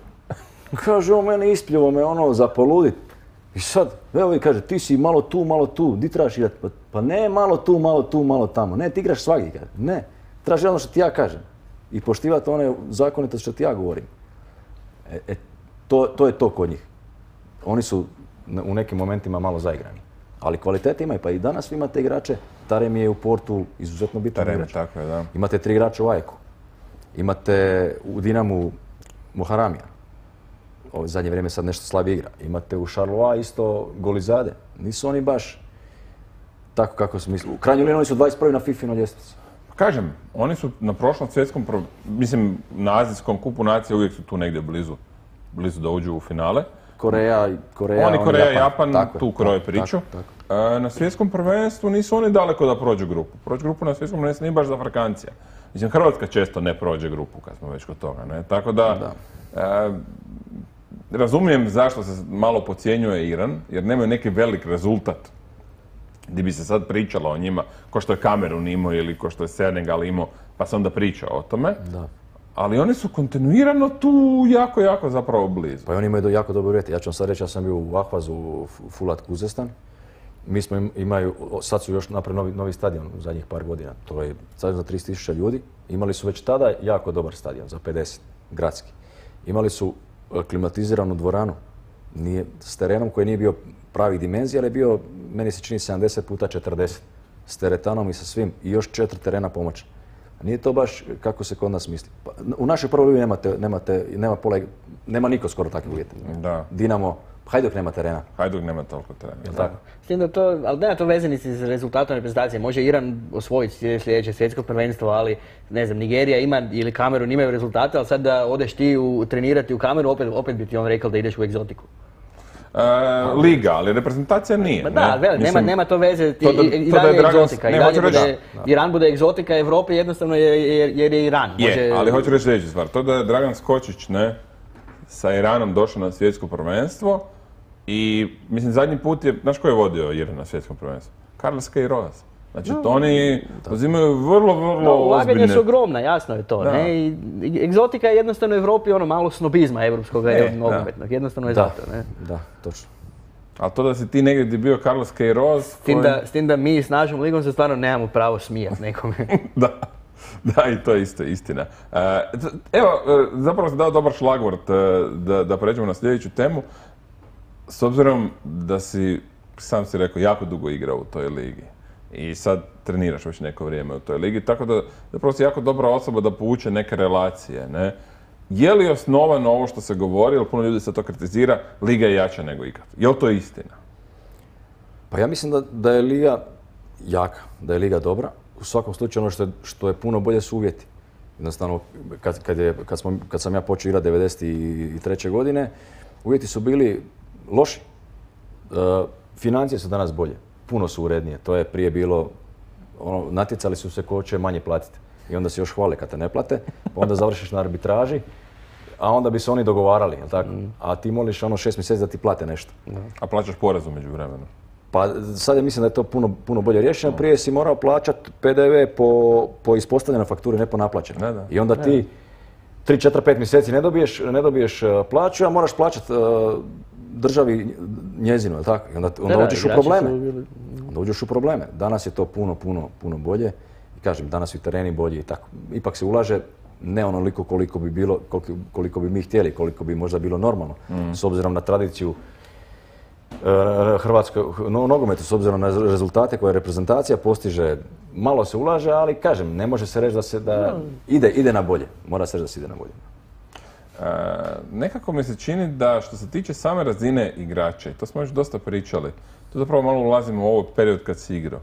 Kaže, on mene ispljivo me ono za poludit. I sad, evo i kaže, ti si malo tu, malo tu, di trebaš igrati? Pa, pa ne malo tu, malo tu, malo tamo. Ne, ti igraš svagdje, kaže. Ne, trebaš ono što ti ja kažem. I poštivati one zakonitosti što ti ja govorim. E, e, to, to je to kod njih. Oni su u nekim momentima malo zaigrani. Ali kvalitete imaju, pa i danas vi imate igrače. Tarem je u Portu izuzetno bitan igrač. Tako je, da. Imate tri igrača u Ajeku. Imate u Dinamu Moharamija. Ovo zadnje vrijeme sad nešto slabije igra. Imate u Charleroi isto Golizade. Nisu oni baš tako kako su mislili. U krajnjoj liniji oni su dvadeset prvi na FIFInoj ljestvici. Kažem, oni su na prošlom svjetskom, mislim, na Azijskom kupu nacije uvijek su tu negdje blizu, blizu da uđu u finale. Koreja, Koreja, oni, Koreja, Japan, tako, tu kroje priču. Tako, tako. Na svjetskom prvenstvu nisu oni daleko da prođu grupu. Prođu grupu na svjetskom prvenstvu nije baš za Afrikancija. Mislim, Hrvatska često ne prođe grupu kad smo već kod toga, ne? Tako da, da. E, razumijem zašto se malo podcjenjuje Iran, jer nemaju neki velik rezultat gdje bi se sad pričalo o njima, ko što je Kamerun imao ili ko što je Senegal imao, pa se onda priča o tome. Da. Ali oni su kontinuirano tu jako, jako zapravo blizu. Pa oni imaju jako dobro uvjeti. Ja ću vam sad reći, ja sam bio u Ahvazu, u Fulat Kuzestan. Mi smo imaju, sad su još napravili novi, novi stadion u zadnjih par godina. To je stadion za trideset tisuća ljudi. Imali su već tada jako dobar stadion, za pedeset, gradski. Imali su klimatiziranu dvoranu Nije, s terenom koji nije bio pravih dimenzija, ali je bio, meni se čini, sedamdeset puta četrdeset. S teretanom i sa svim i još četiri terena pomoći. Nije to baš kako se kod nas misli. Pa, u našoj prvoj ligi nemate, nemate, nema, pola, nema niko skoro takvih uvjeta. Da. Dinamo, Hajduk nema terena. Hajduk nema toliko terena. Jel tako? S tim da to, ali nema to veze ni s rezultatom reprezentacije. Može Iran osvojiti sljedeće svjetsko prvenstvo, ali ne znam, Nigerija ima ili Kamerun imaju rezultate, ali sad da odeš ti u, trenirati u Kameru, opet, opet bi ti on rekao da ideš u egzotiku. E, liga, ali reprezentacija nije. Ma da, ne? Veli, Mislim, nema, nema to veze, ti, to da- i, i to da dalje je je Dragan- egzotika, ne, i dalje hoću reći- bude, Iran bude egzotika Evrope jednostavno jer, jer, jer je Iran. Je, Može- ali hoću reći sljedeću stvar. To da je Dragan Skočić, ne, sa Iranom došao na svjetsko prvenstvo i, mislim, zadnji put je, znaš ko je vodio Iran na svjetskom prvenstvu? Carlos Queiroz. Znači, to oni uzimaju vrlo, vrlo No, ulaganja ozbiljne... su ogromna, jasno je to. Da. Ne? I, i- egzotika je jednostavno u Evropi ono malo snobizma evropskog E, nogometnog. Jednostavno je Da, zato. Ne? da, točno. Ali to da si ti negdje gdje je bio Carlos Queiroz... S tim, da, s tim da mi s našom ligom se stvarno nemamo pravo smijati nekome. Da, da, i to je isto istina. E, evo, e, zapravo sam dao dobar šlagvort e, da, da pređemo na sljedeću temu. S obzirom da si, sam si rekao, jako dugo igrao u toj ligi. I sad treniraš već neko vrijeme u toj ligi, tako da zapravo si jako dobra osoba da povuče neke relacije, ne? Je li osnovano ovo što se govori, jer puno ljudi se to kritizira, liga je jača nego ikad? Je li to istina? Pa ja mislim da, da je liga jaka, da je liga dobra. U svakom slučaju ono što je, što je puno bolje su uvjeti. Jednostavno, kad, kad, je, kad, smo, kad sam ja počeo igrati devedeset treće godine, uvjeti su bili loši. E, financije su danas bolje, puno su urednije. To je prije bilo, ono, natjecali su se ko će manje platiti. I onda se još hvale kad te ne plate, pa onda završiš na arbitraži, a onda bi se oni dogovarali, jel tako? A ti moliš ono šest mjeseci da ti plate nešto. A plaćaš porez umeđu vremenu? Pa sad ja mislim da je to puno, puno bolje rješeno. Prije si morao plaćati P D V po, po ispostavljenoj fakturi, ne po naplaćenoj. Da, da. I onda ti tri, četiri, pet mjeseci ne dobiješ, ne dobiješ uh, plaću, a moraš plaćati uh, državi njezinu, jel tako? I onda, onda Da, da, uđeš u igrači su probleme. bili- Onda uđeš u probleme. Danas je to puno, puno, puno bolje. I kažem, danas su i tereni bolji i tako. Ipak se ulaže ne onoliko koliko bi bilo, koliko, koliko bi mi htjeli, koliko bi možda bilo normalno. S obzirom na tradiciju e, hrvatskog no, nogometa, s obzirom na rezultate koje reprezentacija postiže, malo se ulaže, ali kažem, ne može se reći da se da ide, ide na bolje. Mora se reći da se ide na bolje. E, nekako mi se čini da što se tiče same razine igrača, i to smo još dosta pričali, tu zapravo malo ulazimo u ovo period kad si igrao.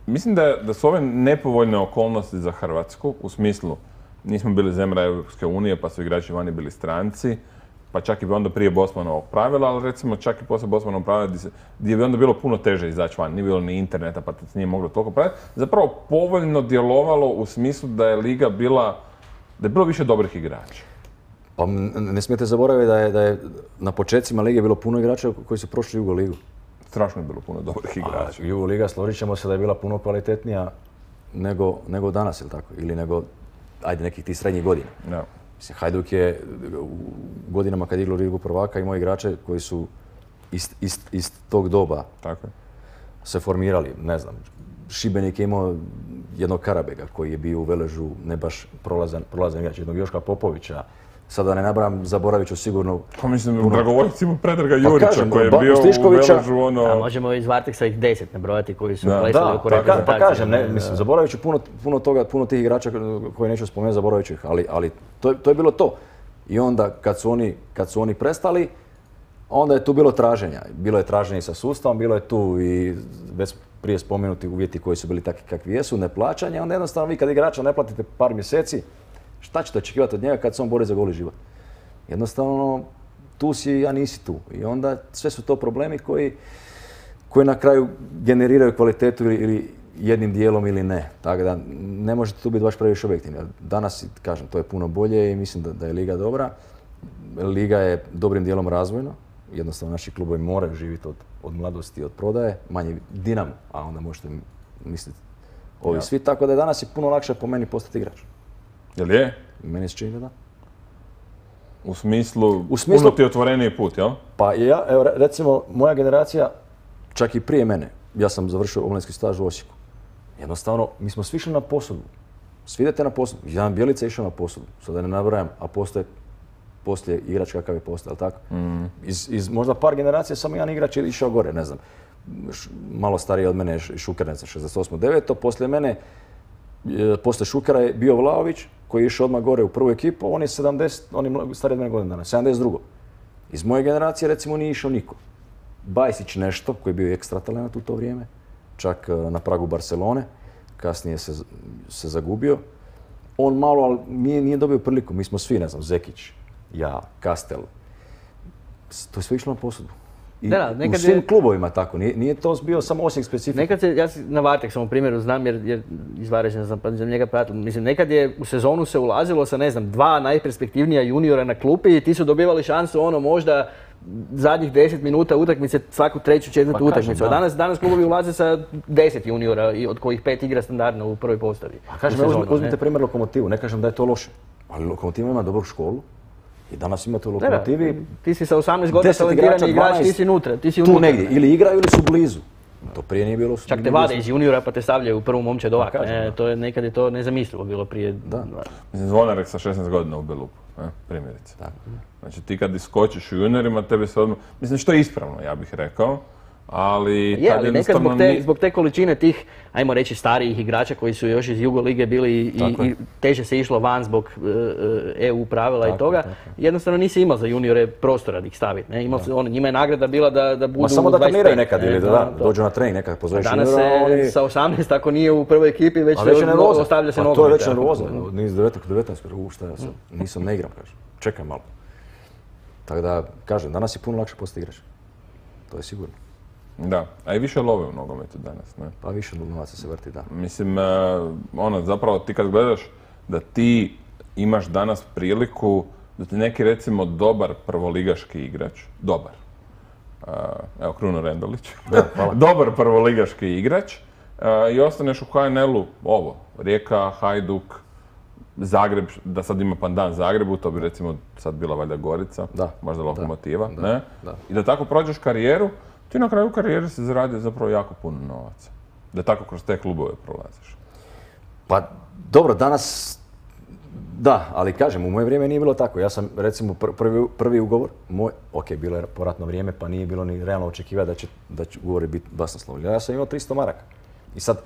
Mislim da, da su ove nepovoljne okolnosti za Hrvatsku, u smislu nismo bili zemlja Europske unije pa su igrači vani bili stranci, pa čak i onda prije Bosmanovog pravila, ali recimo čak i poslije Bosmanovog pravila gdje, se, gdje bi onda bilo puno teže izaći van, nije bilo ni interneta pa se nije moglo toliko praviti, zapravo povoljno djelovalo u smislu da je liga bila, da je bilo više dobrih igrača. Pa m- ne smijete zaboraviti da je, da je na početcima lige bilo puno igrača koji su prošli Jugo ligu. Strašno je bilo puno dobrih igrača. A Jugo liga, složit ćemo se da je bila puno kvalitetnija nego, nego danas, ili tako? Ili nego, ajde, nekih tih srednjih godina. Da. Mislim, Hajduk je u godinama kad je igrao ligu prvaka imao igrače koji su iz, iz, iz tog doba Tako je. se formirali, ne znam. Šibenik je imao jednog Karabega koji je bio u Veležu ne baš prolazan, prolazan igrač, jednog Joška Popovića. Sada ne nabrajam, zaboravit ću sigurno. Pa mislim, Dragovoljac ima Predraga Jurića kažem, koji je Ba- bio u Stiškovića- Veležu ono... A možemo iz Varteksa ih deset nabrojati koji su Da. plesali Da, oko pa, ka- pa reprezentacije. kažem, ne, mislim, zaboravit ću puno, puno toga, puno tih igrača koje neću spomenuti, zaboravit ću ih, ali, ali to, je- to je bilo to. I onda kad su oni, kad su oni prestali, onda je tu bilo traženja. Bilo je traženje sa sustavom, bilo je tu i već prije spomenuti uvjeti koji su bili takvi kakvi jesu, neplaćanje, onda jednostavno vi kad igrača ne platite par mjeseci, šta ćete očekivati od njega kad se on bori za goli život? Jednostavno, tu si, a nisi tu. I onda sve su to problemi koji, koji na kraju generiraju kvalitetu ili, ili jednim dijelom ili ne. Tako da ne možete tu biti baš previše objektivni. Danas, kažem, to je puno bolje i mislim da, da je liga dobra. Liga je dobrim dijelom razvojna. Jednostavno naši klubovi moraju živjeti od, od mladosti, od prodaje. Manje Dinamo, a onda možete misliti ovi Ja. svi. Tako da je danas je puno lakše po meni postati igrač. Jel je? Meni se čini da da. U smislu, U smislu- puno ti je otvoreniji put, jel? Pa ja, evo re- recimo, moja generacija, čak i prije mene, ja sam završio omladinski staž u Osijeku. Jednostavno, mi smo svi išli na posudbu. Svi idete na posudbu. Jedan Bjelica je išao na posudbu. Sada ne nabrajam, a postoje poslije igrač kakav je postao, tako? Mm. Iz, iz možda par generacija samo jedan igrač je išao gore, ne znam. Š, malo stariji od mene je Šuker, ne znam, šezdeset osam devet Poslije mene, e, poslije Šukera je bio Vlaović, koji je išao odmah gore u prvu ekipu, on je sedamdeset, on je stariji od mene godina dana, sedamdeset drugo Iz moje generacije, recimo, nije išao niko. Bajsić nešto, koji je bio ekstra talent u to vrijeme, čak e, na pragu Barcelone, kasnije se, se zagubio. On malo, ali nije, nije dobio priliku. Mi smo svi, ne znam, Zekić, ja, Kastel. To je sve išlo na posudu. I da, da, u svim je... klubovima tako. Nije, nije to bio samo Osijek specifičan. Nekad se, ja na Vartek sam u primjeru znam jer, jer iz Varaždina sam za njega pratio. Mislim, nekad je u sezonu se ulazilo sa, ne znam, dva najperspektivnija juniora na klupi i ti su dobivali šansu ono možda zadnjih deset minuta utakmice, svaku treću, četvrtu pa utakmicu. A danas, danas klubovi ulaze sa deset juniora, od kojih pet igra standardno u prvoj postavi. A kažem, sezonu, uzmite primjer Lokomotivu, ne kažem da je to loše, ali Lokomotiva ima dobru školu i danas imate u Lokomotivi... Da, da. Ti si sa osamnaest godina talentirani igrač, ti si unutra. Ti si unutra. Tu negdje, ili igraju ili su blizu. To prije nije bilo... Čak te vade iz juniora pa te stavljaju u prvu momčad ovak. E, to je, nekad je to nezamislivo bilo prije... Da. Mislim, Zvonarek sa šesnaest godina u Belupu, ne? Primjerice. Tako. Znači ti kad iskočiš u juniorima, tebi se odmah... Mislim, što je ispravno, ja bih rekao. Ali, je, ali nekad zbog te, zbog te količine tih, ajmo reći, starijih igrača koji su još iz Jugo lige bili i, i teže se išlo van zbog uh, E U pravila tako, i toga, tako. Jednostavno nisi imao za juniore prostora da ih staviti. Ne? Imao se, on, njima je nagrada bila da, da budu Ma samo da dvadeset pet, treniraju nekad ili da, da, da dođu na trening nekad, pozoveš juniora. Danas se oni... sa osamnaest, ako nije u prvoj ekipi, već, već se nervoza. Ostavlja se pa nogomet. to je već nervoza. Nis devetnaest, devetnaest, u šta ja sad, nisam, ne igram, kažem. Čekaj malo. Tako da, kažem, danas je puno lakše postati igrač. To je sigurno. Da, a i više love u nogometu danas, ne? Pa više novaca se vrti, da. Mislim, uh, ono, zapravo ti kad gledaš da ti imaš danas priliku da ti neki, recimo, dobar prvoligaški igrač, dobar, uh, evo, Kruno Rendolić, da, hvala. dobar prvoligaški igrač uh, i ostaneš u H N L-u, ovo, Rijeka, Hajduk, Zagreb, da sad ima pandan Zagrebu, to bi recimo sad bila valjda Gorica, da, možda Lokomotiva, da, ne? Da. I da tako prođeš karijeru, ti na kraju karijere si zaradio zapravo jako puno novaca. Da tako kroz te klubove prolaziš. Pa dobro, danas da, ali kažem, u moje vrijeme nije bilo tako. Ja sam recimo prvi, prvi ugovor, moj, ok, bilo je poratno vrijeme pa nije bilo ni realno očekivati da će, da će ugovori biti basnoslovni. Ja sam imao tristo maraka. I sad,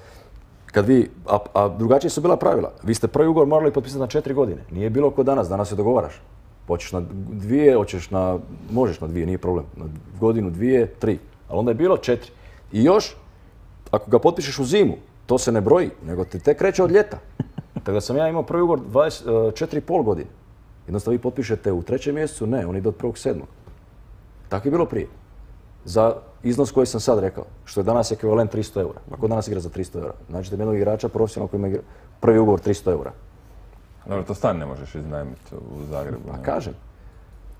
kad vi, a, a drugačije su bila pravila. Vi ste prvi ugovor morali potpisati na četiri godine. Nije bilo ko danas, danas se dogovaraš. Hoćeš na dvije, hoćeš na, možeš na dvije, nije problem. Na godinu, dvije, tri. Ali onda je bilo četiri. I još, ako ga potpišeš u zimu, to se ne broji, nego ti tek kreće od ljeta. Tako da sam ja imao prvi ugovor dvadeset četiri i pol godine. Jednostavno vi potpišete u trećem mjesecu, ne, on ide od prvog sedmog Tako je bilo prije. Za iznos koji sam sad rekao, što je danas ekvivalent tristo eura. Ako danas igra za tristo eura, znači da jednog igrača profesionalnog koji ima prvi ugovor tristo eura. Dobro, to stan ne možeš iznajmiti u Zagrebu. A kažem.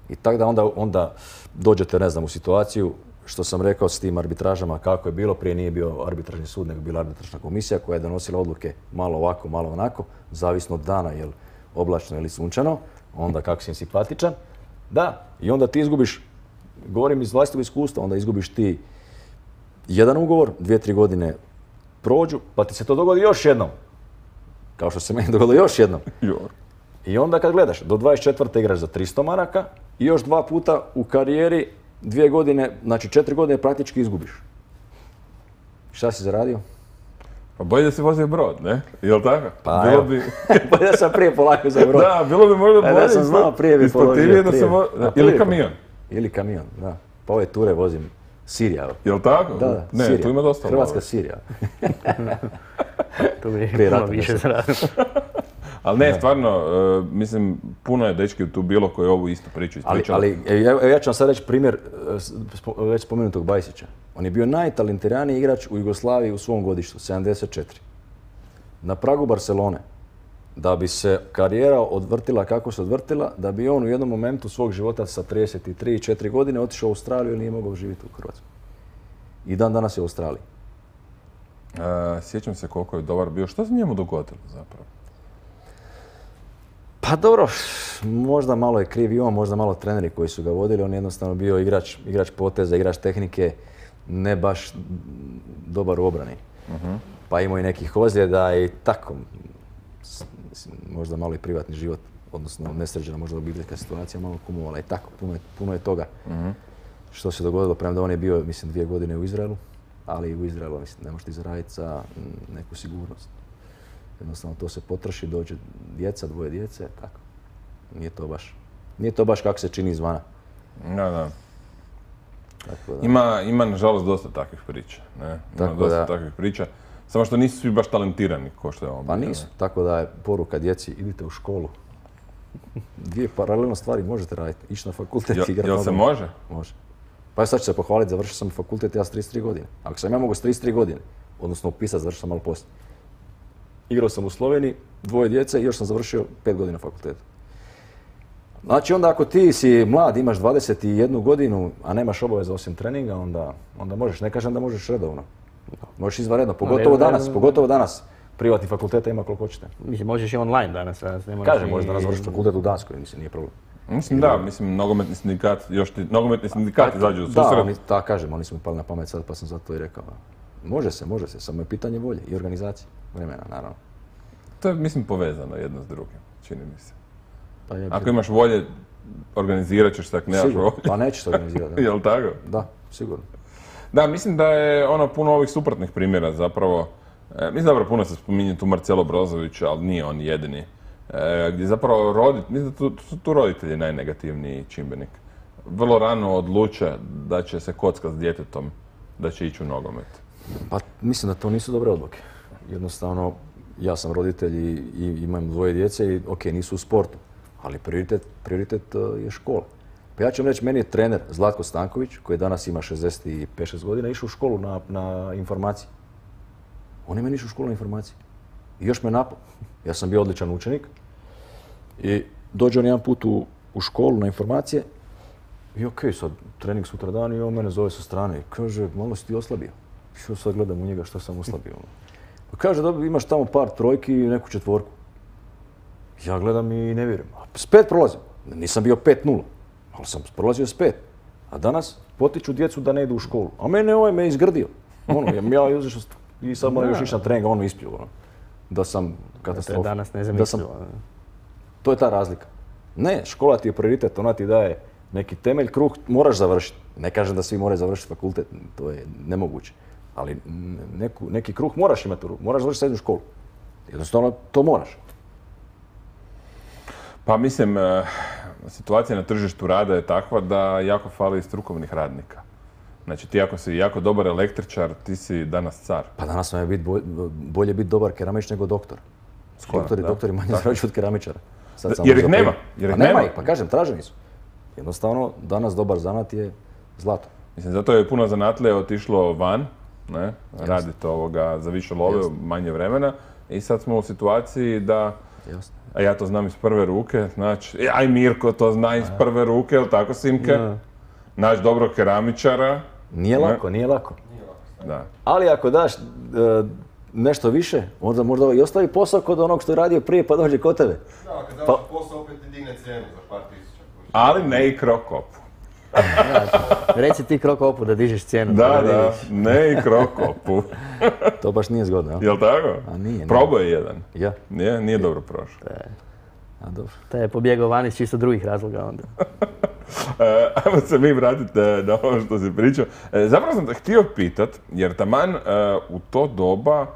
I tako da onda, onda dođete, ne znam, u situaciju, što sam rekao s tim arbitražama, kako je bilo, prije nije bio arbitražni sud, nego bila arbitražna komisija koja je donosila odluke malo ovako, malo onako, zavisno od dana, jel oblačno ili sunčano, onda kako si im simpatičan. Da, i onda ti izgubiš, govorim iz vlastitog iskustva, onda izgubiš ti jedan ugovor, dvije, tri godine prođu, pa ti se to dogodi još jednom. Kao što se meni dogodilo još jednom. I onda kad gledaš, do dvadeset četvrte igraš za tristo maraka i još dva puta u karijeri, dvije godine, znači četiri godine praktički izgubiš. Šta si zaradio? Pa bolje da si vozio brod, ne? Jel' tako? Pa bilo evo, bi... bolje da sam prije polako za brod. Da, bilo bi možda bolje. Da sam znao prije bi položio. Da sam vo... da, ili kamion. Ili kamion, da. Pa ove ture vozim Sirija. Jel' tako? Da, da, ne, Sirija. Tu ima dosta. Hrvatska Sirija. To bi puno više zaradio. Ali ne, stvarno, uh, mislim, puno je dečki tu bilo koji ovu istu priču ispričali. Ali, ali evo, ja ću vam sad reći primjer uh, već spomenutog Bajsića. On je bio najtalentiraniji igrač u Jugoslaviji u svom godištu, sedamdeset četiri Na pragu Barcelone, da bi se karijera odvrtila kako se odvrtila, da bi on u jednom momentu svog života sa trideset tri četiri godine otišao u Australiju i nije mogao živjeti u Hrvatskoj. I dan danas je u Australiji. Uh, sjećam se koliko je dobar bio. Što se njemu dogodilo zapravo? Pa dobro, možda malo je kriv i on, možda malo treneri koji su ga vodili. On je jednostavno bio igrač, igrač poteza, igrač tehnike, ne baš dobar u obrani. Uh-huh. Pa imao i nekih ozljeda i tako. Mislim, možda malo i privatni život odnosno nesređena možda obiteljska situacija malo kumulovala i tako, puno je, puno je toga. Mm-hmm. Što se dogodilo, premda on je bio, mislim, dvije godine u Izraelu, ali u Izraelu, mislim, ne možete zaraditi za neku sigurnost. Jednostavno to se potroši, dođe djeca, dvoje djece, tako. Nije to baš, nije to baš kako se čini izvana. Da, da. Tako da. Ima, ima nažalost dosta takvih priča, ne? Ima tako dosta da. takvih priča. Samo što nisu svi baš talentirani, ko što je on. Pa nisu, tako da je poruka djeci, idite u školu. Dvije paralelno stvari možete raditi, ići na fakultet i igrati. Jel se može? Može. Pa ja sad ću se pohvaliti, završio sam fakultet ja s trideset tri godine. Ako sam ja mogu s trideset tri godine, odnosno upisati, završio sam malo poslije. Igrao sam u Sloveniji, dvoje djece i još sam završio pet godina fakulteta. Znači onda ako ti si mlad, imaš dvadeset jednu godinu, a nemaš obaveza osim treninga, onda, onda možeš, ne kažem da možeš redovno. Možeš izvanredno, pogotovo danas, pogotovo danas. Privatnih fakulteta ima koliko hoćete. Mislim, možeš i online danas. danas ne Kažem, možeš danas završiti fakultet u Danskoj, mislim, nije problem. Mislim da, mislim, nogometni sindikat, još ti, nogometni sindikat izađu u Da, susret. oni, da, kažem, oni su mi pali na pamet sad pa sam zato i rekao. Može se, može se, samo je pitanje volje i organizacije, vremena, naravno. To je, mislim, povezano jedno s drugim, čini mi se. Pa je, Ako imaš volje, organizirat ćeš se, ako nemaš sigurno, volje. pa nećeš se organizirati. Da. Jel' tako? Da, sigurno. Da, mislim da je ono puno ovih suprotnih primjera zapravo. E, mislim dobro, puno se spominje tu Marcelo Brozović, ali nije on jedini. E, gdje zapravo rodit, mislim da tu, su tu roditelji najnegativniji čimbenik. Vrlo rano odluče da će se kockat s djetetom, da će ići u nogomet. Pa mislim da to nisu dobre odluke. Jednostavno, ja sam roditelj i, i imam dvoje djece i ok, nisu u sportu, ali prioritet, prioritet uh, je škola. Pa ja ću vam reći, meni je trener Zlatko Stanković, koji danas ima šezdeset pet šest godina, išao u školu na, na informaciji. On je meni išao u školu na informaciji. I još me napao. Ja sam bio odličan učenik i dođe on jedan put u, u školu na informacije i ok, sad trening sutra dan i on mene zove sa strane i kaže, malo si ti oslabio. Što sad gledam u njega što sam oslabio. Pa kaže, dobro, imaš tamo par trojki i neku četvorku. Ja gledam i ne vjerujem. A s pet prolazim. Nisam bio pet nula, ali sam prolazio s pet. A danas potiču djecu da ne idu u školu. A mene ovaj me izgrdio. Ono, ja izašao i sad moram još ići na trening, a on me ispio. Ono. Da sam katastrofa. To je danas nezamislivo. To je ta razlika. Ne, škola ti je prioritet, ona ti daje neki temelj, kruh, moraš završiti. Ne kažem da svi moraju završiti fakultet, to je nemoguće. Ali neku, neki kruh moraš imati, moraš završiti srednju školu. Jednostavno to moraš. Pa mislim, situacija na tržištu rada je takva da jako fali strukovnih radnika. Znači ti ako si jako dobar električar, ti si danas car. Pa danas vam je bit bolje, bolje biti dobar keramič nego doktor. Skoro, doktori, da. doktori manje zarađuju od keramičara. Sad jer ih nema. Jer ih pa nema nema ih, pa kažem, traženi su. Jednostavno, danas dobar zanat je zlato. Mislim, zato je puno zanatlija otišlo van, ne, raditi ovoga za više love, Jasne. manje vremena. I sad smo u situaciji da, Jasne. a ja to znam iz prve ruke, znači, aj Mirko to zna iz prve ruke, jel tako Simke? Ja. Naš dobrog keramičara. Nije lako, nije lako. Da. Ali ako daš e, nešto više, onda možda i ostavi posao kod onog što je radio prije pa dođe kod tebe. Da, kad daš pa... posao opet ti digne cijenu za par tisuća. Ali ne i Krokopu. Reci ti Krokopu da dižeš cijenu. Da, da, da, ne i Krokopu. To baš nije zgodno, jel? Jel tako? A nije. Probao je jedan. Ja? Nije, nije dobro prošao. A dobro. Te je pobjegao van iz čisto drugih razloga onda. E, ajmo se mi vratiti na ovo što si pričao. E, zapravo sam te htio pitat, jer taman e, u to doba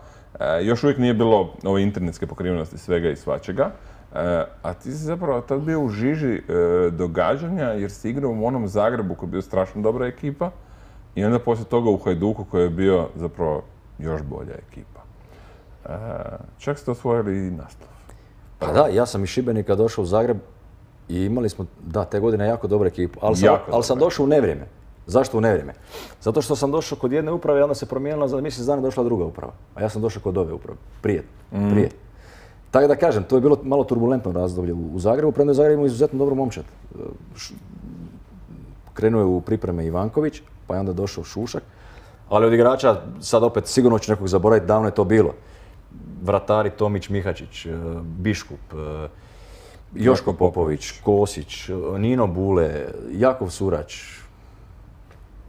e, još uvijek nije bilo ove internetske pokrivenosti svega i svačega, e, a ti si zapravo tad bio u žiži e, događanja jer si igrao u onom Zagrebu koji je bio strašno dobra ekipa i onda poslije toga u Hajduku koji je bio zapravo još bolja ekipa. E, čak ste osvojili i naslov. Pa da, ja sam iz Šibenika došao u Zagreb i imali smo, da, te godine jako dobru ekipu, ali sam, ali sam došao u nevrijeme. Zašto u nevrijeme? Zato što sam došao kod jedne uprave i onda se promijenila, za mjesec dana došla druga uprava. A ja sam došao kod ove uprave, prije, mm. prije. Tako da kažem, to je bilo malo turbulentno razdoblje u Zagrebu, premda je Zagreb imao izuzetno dobro momčad. Krenuo je u pripreme Ivanković, pa je onda došao Šušak. Ali od igrača, sad opet sigurno ću nekog zaboraviti, davno je to bilo. Vratari Tomić Mihačić, Biškup, Joško Popović, Kosić, Nino Bule, Jakov Surač,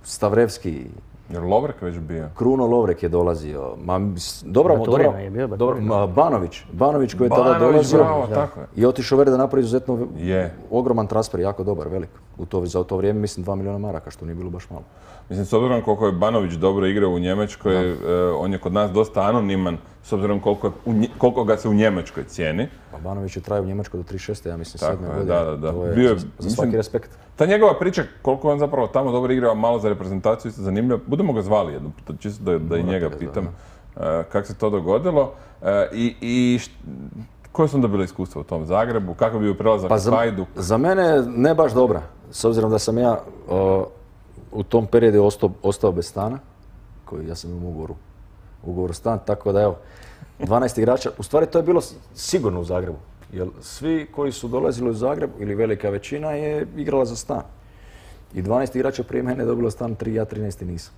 Stavrevski, Jer Lovrek već bio? Kruno Lovrek je dolazio. Ma, s- dobro, Baturina dobro, je bio, dobro, Baturina. ma, Banović, Banović koji je tada Banović, dolazio bravo, tako je. i otišao Verde da napravi izuzetno Je. ogroman transfer, jako dobar, velik. U to, za to vrijeme mislim dva milijuna maraka, što nije bilo baš malo. Mislim, s obzirom koliko je Banović dobro igrao u Njemačkoj, e, on je kod nas dosta anoniman, s obzirom koliko, je u Nje- koliko ga se u Njemačkoj cijeni. Pa Banović je trajao u Njemačkoj do trideset šeste ja mislim, Tako sedme je, godine. da, da, da. To je Bio je, za, za mislim, svaki respekt. Ta njegova priča, koliko je on zapravo tamo dobro igrao, malo za reprezentaciju, isto zanimljivo. Budemo ga zvali jednom, puta, čisto da, da i njega ga pitam e, kako se to dogodilo. E, I, i št- koje su onda bile iskustva u tom Zagrebu? Kako bi bio prelazak Pa u za, Hajduk? za mene ne baš dobra, s obzirom da sam ja o, u tom periodu ostao, ostao bez stana, koji ja sam imao ugovoru, ugovoru stan, tako da evo, dvanaest igrača, u stvari to je bilo s- sigurno u Zagrebu, jer svi koji su dolazili u Zagreb, ili velika većina, je igrala za stan. I dvanaest igrača prije mene je dobilo stan, tri, ja trinaesti nisam.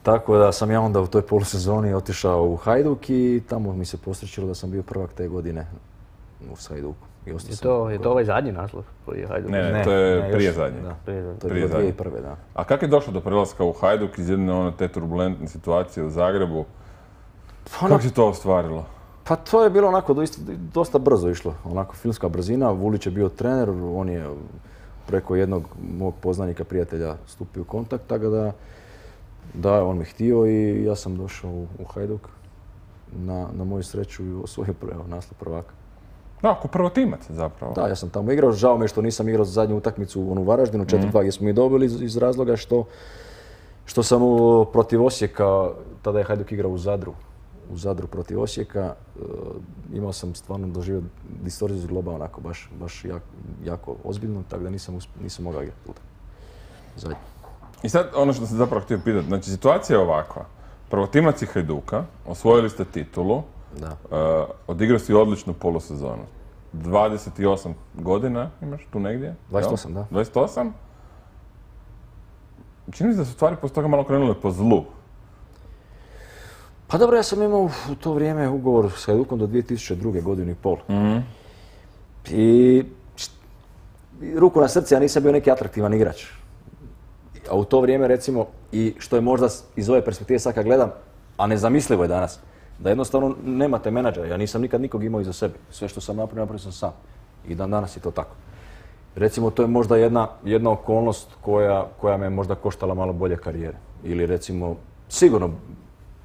Tako da sam ja onda u toj polusezoni otišao u Hajduk i tamo mi se posrećilo da sam bio prvak te godine u Hajduku. I ostao Je sam- to, je to ovaj zadnji naslov koji je Hajduk? Ne, ne, Ne, to je ne, prije još- zadnje. da. Prije zadnji. To je Prije bilo zadnje. dvije tisuće prve, da. A kako je došlo do prelaska u Hajduk iz jedne one te turbulentne situacije u Zagrebu? Pa, Kako se to ostvarilo? pa to je bilo onako doista, dosta brzo išlo, onako filmska brzina. Vulić je bio trener, on je preko jednog mog poznanika, prijatelja stupio u kontakt, tako da, da on me htio i ja sam došao u, u Hajduk na, na moju sreću i osvojio prvi naslov prvaka. Da, ako prvotimac zapravo. Da, ja sam tamo igrao, žao mi je što nisam igrao zadnju utakmicu u onu Varaždinu, četiri dva gdje smo mi dobili iz, iz razloga što, što sam u, protiv Osijeka, tada je Hajduk igrao u Zadru, u Zadru protiv Osijeka, e, imao sam stvarno doživio distorziju zgloba onako baš, baš jak, jako ozbiljno, tako da nisam, usp- nisam mogao igrati utakmicu. Zadnju. I sad ono što sam zapravo htio pitati, znači situacija je ovakva. Prvotimac i Hajduka, osvojili ste titulu, Da. uh, odigrao si odličnu polusezonu. dvadeset osam godina imaš tu negdje? dvadeset jel? osam, da. dvadeset osam? Čini mi se da su stvari poslije toga malo krenule po zlu. Pa dobro, ja sam imao u to vrijeme ugovor s Hajdukom do dvije tisuće druge godinu i pol. I št- ruku na srce, ja nisam bio neki atraktivan igrač. A u to vrijeme recimo, i što je možda s- iz ove perspektive sad kad gledam, a nezamislivo je danas, da jednostavno nemate menadžera. Ja nisam nikad nikog imao iza sebe. Sve što sam napravio, napravio sam sam. I dan danas je to tako. Recimo, to je možda jedna, jedna okolnost koja, koja me možda koštala malo bolje karijere. Ili recimo, sigurno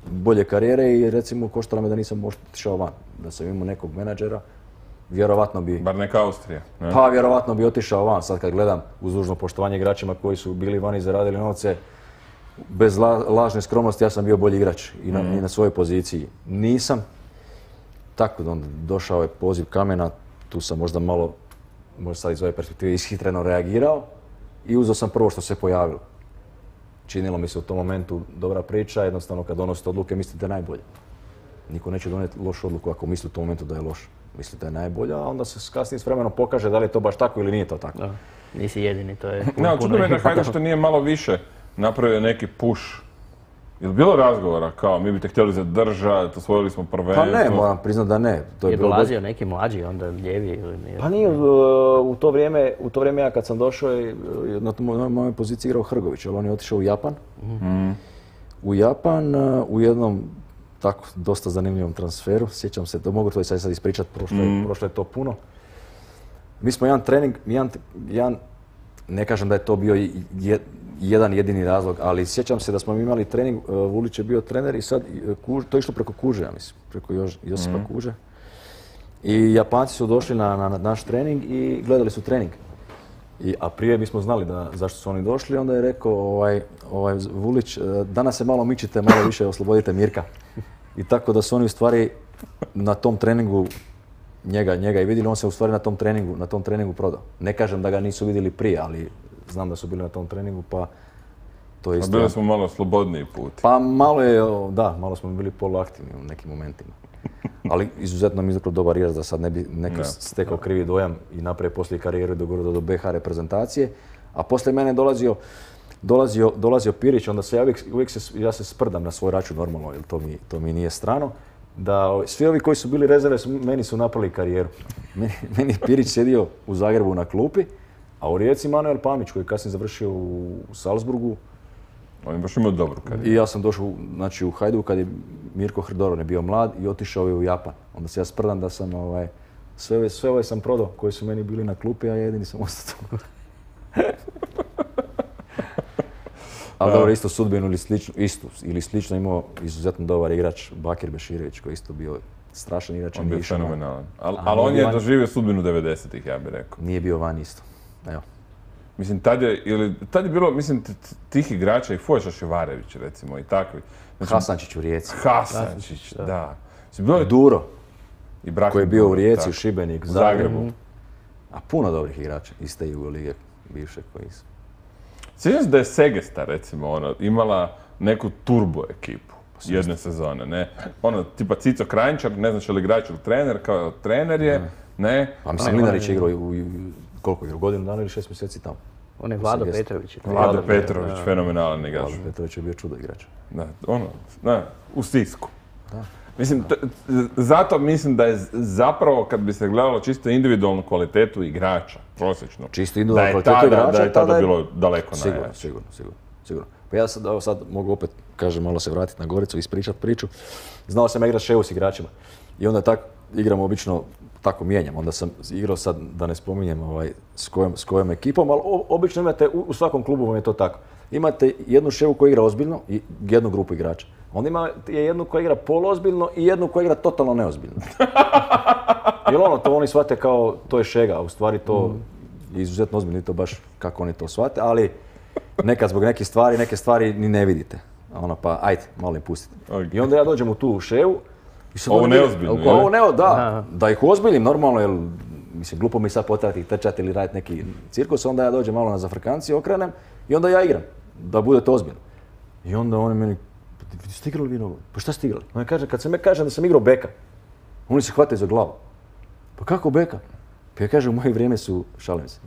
bolje karijere i recimo koštala me da nisam možda otišao van. Da sam imao nekog menadžera, vjerovatno bi, Bar neka Austrija. Ne? pa vjerovatno bi otišao van. Sad kad gledam uz dužno poštovanje igračima koji su bili vani i zaradili novce, bez la- lažne skromnosti ja sam bio bolji igrač i na, i na svojoj poziciji. Nisam. Tako da onda došao je poziv Kamena, tu sam možda malo, možda sad iz ove perspektive ishitreno reagirao i uzeo sam prvo što se pojavilo. Činilo mi se u tom momentu dobra priča, jednostavno kad donosite odluke mislite da je najbolje. Niko neće donijeti lošu odluku ako misli u tom momentu da je loš. Mislite da je najbolja, a onda se kasnije s vremenom pokaže da li je to baš tako ili nije to tako. Da. Nisi jedini, to je Ne, puno, ali puno čudno me da ih. Hajduk što nije malo više napravio neki push. Je li bilo razgovora kao mi bi te htjeli zadržati, osvojili smo prvenstvo? Pa ne, moram priznati da ne. To Je bilo dolazio neki mlađi, onda lijevi ili nije? Pa nije, uh, u to vrijeme, u to vrijeme ja kad sam došao, je, uh, na toj mojoj mojoj poziciji igrao Hrgović, ali on je otišao u Japan. U Japan, uh, u jednom tako dosta zanimljivom transferu, sjećam se, to mogu to i sad sad ispričati, prošlo, je- prošlo je to puno. Mi smo jedan trening, jedan, jedan, ne kažem da je to bio i- je- jedan jedini razlog, ali sjećam se da smo imali trening, uh, Vulić je bio trener i sad uh, Kuž- to je išlo preko Kuže, ja mislim, preko Jož- Josipa Kuže. I Japanci su došli na, na, na naš trening i gledali su trening. I, a prije bismo znali da, zašto su oni došli, onda je rekao ovaj, ovaj Vulić, e, danas se malo mičite, malo više oslobodite Mirka. I tako da su oni u stvari na tom treningu njega, njega i vidjeli, on se u stvari na tom treningu, na tom treningu prodao. Ne kažem da ga nisu vidjeli prije, ali znam da su bili na tom treningu, pa to je A isto. bili smo malo slobodniji put. Pa malo je, o, da, malo smo bili poluaktivni u nekim momentima. Ali izuzetno mi je zapravo dobar igrač da sad ne bi neko Da. stekao krivi dojam i napravio poslije karijeru i dogurao do be ha reprezentacije. A poslije mene je dolazio, dolazio, dolazio Pirić, onda se ja uvijek, uvijek se, ja se sprdam na svoj račun normalno, jer to mi, to mi nije strano. Da o, svi ovi koji su bili rezerve su, meni su napravili karijeru. Meni, meni je Pirić sjedio u Zagrebu na klupi, a u Rijeci Manuel Pamić koji je kasnije završio u, u Salzburgu, On je baš imao dobru karijeru. I ja sam došao znači, u Hajduk kad je Mirko Hrdoron je bio mlad i otišao je u Japan. Onda se ja sprdam da sam ovaj, sve, sve ove sam prodao koji su meni bili na klupi, a jedini sam ostao tu. Ali dobro, isto sudbinu ili slično, istu ili slično imao izuzetno dobar igrač Bakir Beširević koji je isto bio strašan igrač. On je bio fenomenalan. Ali A, al on nije je van- doživio sudbinu devedesetih, ja bih rekao. Nije bio van isto. Evo. Mislim, tad je, ili, tad je bilo, mislim, t- t- tih igrača i Fojša Ševarević, recimo, i takvi. Znači, Hasančić u Rijeci. Hasančić, da. Mislim, bilo je Duro i Brakin koji je bio u Duro, Rijeci, tako. u Šibeniku, U Zagrebu. Zagrebu. A puno dobrih igrača iz te Jugolige bivše koji su. Sjećam se da je Segesta, recimo, ono, imala neku turbo ekipu jedne sezone, ne? Ono, tipa Cico Krajnčar, ne znam će li igrač ili trener, kao trener je, ne? A mislim, Mlinarić je igrao u, u, koliko je, godinu dana ili šest mjeseci tamo. On je Vlado Segesta. Petrović. Vlado Vlado Petrović, fenomenalan igrač. Vlado Petrović je bio čudo igrač. Da, ono, da, u stisku. Mislim, t- t- zato mislim da je z- zapravo, kad bi se gledalo čisto individualnu kvalitetu igrača, prosječno, Čisto da individualnu je kvalitetu tada, igrača, da je tada tada je- bilo daleko Sigurno, najjače. sigurno, sigurno, sigurno. Pa ja sad, evo sad mogu opet, kažem, malo se vratiti na Goricu i ispričat priču. Znao sam igrati ševu s igračima. I onda tak igramo obično, tako mijenjam. Onda sam igrao sad, da ne spominjem ovaj, s, kojom, s kojom ekipom, ali o- obično imate, u, u svakom klubu vam je to tako. Imate jednu ševu koja igra ozbiljno i jednu grupu igrača. Onda imate jednu koja igra poluozbiljno i jednu koja igra totalno neozbiljno. Jer ono, to oni shvate kao, to je šega, a u stvari to je izuzetno ozbiljno i to baš kako oni to shvate, ali nekad zbog nekih stvari, neke stvari ni ne vidite. Ono pa, ajde, malo im pustite. Ok. I onda ja dođem u tu ševu i sad Ovo oni vide- neozbiljno, Ovo je li? Ovo neo, da, Aha. da ih ozbiljnim normalno, jer mislim, glupo mi sad potrati trčati ili raditi neki cirkus, onda ja dođem malo na zafrkanciju, okrenem i onda ja igram, da bude to ozbiljno. I onda oni meni, pa ste igrali vi nogomet? Pa šta ste igrali? On kaže, kad sam ja kažem da sam igrao beka, oni se hvataju za glavu. Pa kako beka? Pa ja kažem, u moje vrijeme su, šalim se,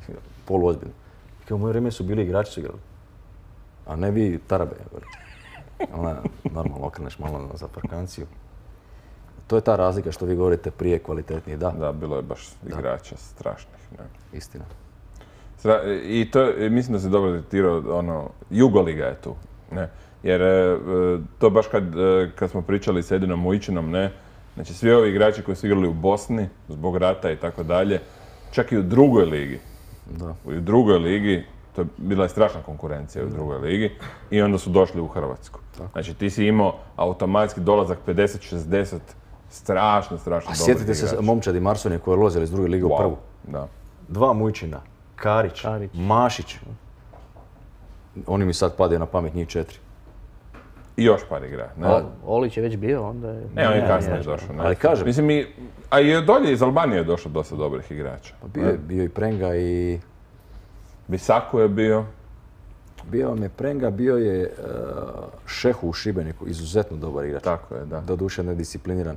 poluozbiljno. I kao, u moje vrijeme su bili igrači su igrali. A ne vi tarabe. Ona, normalno okreneš malo na zafrkanciju. To je ta razlika što vi govorite prije kvalitetniji, da, Da, bilo je baš igrača strašnih. Ne? istina. Stra- I to, je- mislim da se dobro detektirao, ono, Jugoliga je tu, ne? Jer e, e, to baš kad, e, kad smo pričali s Edinom Mujičinom, ne? Znači svi ovi igrači koji su igrali u Bosni, zbog rata i tako dalje, čak i u drugoj ligi, Da. u drugoj ligi, to je bila je strašna konkurencija u drugoj ligi, i onda su došli u Hrvatsku. Znači ti si imao automatski dolazak pedeset šezdeset, strašno, strašno A dobrih sjetite se igrača. momčadi Marsonije koji je lozili iz druge lige u Wow, prvu. da. Dva Mujčina, Karić, Karić. Mašić. Oni mi sad padaju na pamet, njih četiri. I još par igra, ne? O- Olić je već bio, onda je... Ne, on je Ne, kasnije nije. došao. Ne? Ali kažem- Mislim, i, a i od dolje iz Albanije je došlo dosta dobrih igrača. Pa bio, je- bio i Prenga i... Bisaku je bio. Bio vam je Prenga, bio je uh, Šehu u Šibeniku, izuzetno dobar igrač. Tako je, da. Doduše nediscipliniran,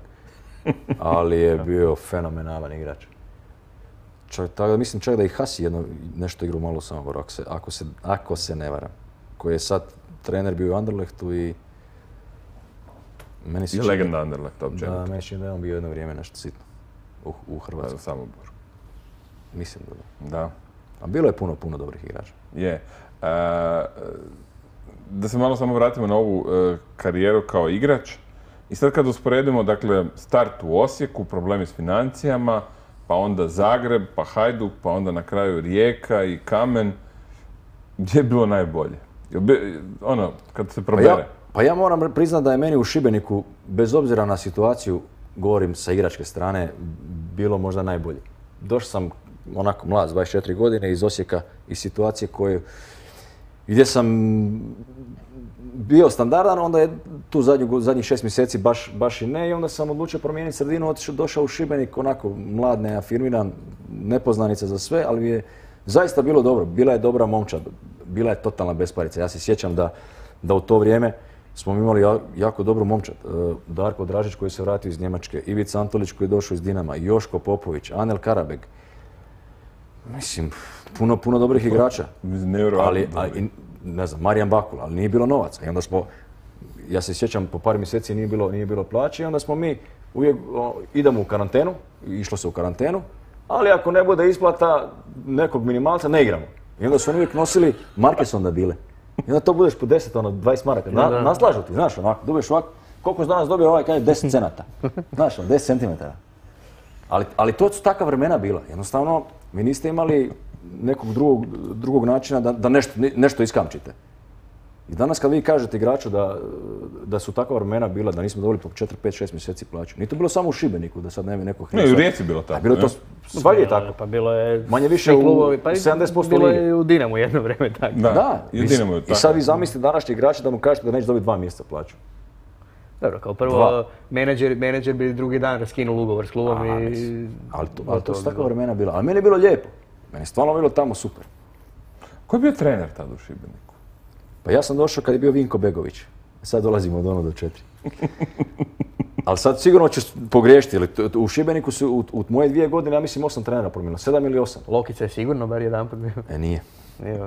ali je bio fenomenalan igrač. Čak, tako da mislim čak da i Hasi jedno, nešto igrao malo u Samoboru, ako se, ako, se, ako se ne varam. Koji je sad trener bio u Anderlechtu i... Meni se I čini- legenda Anderlecht, Da, općenito. meni se čini da je on bio jedno vrijeme nešto sitno u, u Da, u Hrvatskoj. Samoboru. Mislim da da. Da, A bilo je puno, puno dobrih igrača. je. E, da se malo samo vratimo na ovu e, karijeru kao igrač. I sad kad usporedimo, dakle, start u Osijeku, problemi s financijama, pa onda Zagreb, pa Hajduk, pa onda na kraju Rijeka i Kamen, gdje je bilo najbolje? Jel bi- Ono, kad se Pa probere. ja, pa ja moram priznati da je meni u Šibeniku, bez obzira na situaciju, govorim sa igračke strane, bilo možda najbolje. Došao sam onako mlad, s dvadeset četiri godine, iz Osijeka, iz situacije koje, gdje sam bio standardan, onda je tu zadnju, zadnjih šest mjeseci baš, baš i ne, i onda sam odlučio promijeniti sredinu, otišao, došao u Šibenik, onako mlad, neafirmiran, nepoznanica za sve, ali mi je zaista bilo dobro. Bila je dobra momčad, bila je totalna besparica. Ja se sjećam da, da u to vrijeme smo imali ja- jako dobru momčad. E, Darko Dražić koji se vratio iz Njemačke, Ivica Antolić koji je došao iz Dinama, Joško Popović, Anel Karabeg. Mislim, puno, puno dobrih igrača. Nevjerojatno Ali, dobro. ali, i, ne znam, Marijan Bakula, ali nije bilo novaca. I onda smo, ja se sjećam, po par mjeseci nije bilo, nije bilo plaće i onda smo mi uvijek o, idemo u karantenu, išlo se u karantenu, ali ako ne bude isplata nekog minimalca, ne igramo. I onda su oni uvijek nosili marke su onda bile. I onda to budeš po deset, ono, dvadeset maraka. Na, Da. naslažu ti, znaš, onako, dobiješ ovako. Koliko si danas dobio ovaj, kaže, deset cenata. Znaš, ono, deset centimetara. Ali, ali to su takva vremena bila. Jednostavno, vi niste imali nekog drugog, drugog načina da, da nešto, nešto iskamčite. I danas kad vi kažete igraču da, da su takva vremena bila, da nismo dobili po četiri, pet, šest mjeseci plaću. Nije to bilo samo u Šibeniku, da sad nema neko Ne, i u Rijeci je bilo tako. Bilo je to, svagdje je tako. Pa bilo je... Manje više svi u klubovi, pa i sedamdeset posto bilo lige. je i u Dinamu jedno vrijeme tako. Da, Da, i u i, Dinamu je i tako. sad vi zamislite današnji igrači da mu kažete da neće dobiti dva mjeseca plaću. Dobro, kao prvo, Dva. menadžer, menadžer bi drugi dan raskinuo ugovor s klubom A, i... mislim, Ali to, gotovo ali to su bi takva bilo. vremena bila. Ali meni je bilo lijepo. Meni je stvarno bilo tamo super. Ko je bio trener tada u Šibeniku? Pa ja sam došao kad je bio Vinko Begović. Sad dolazimo od ono do četiri. Ali sad sigurno ću pogriješiti. Jer t- t- u Šibeniku su u, u moje dvije godine, ja mislim, osam trenera promijenilo. Sedam ili osam. Lokica je sigurno bar jedanput bio. E, nije. Nije,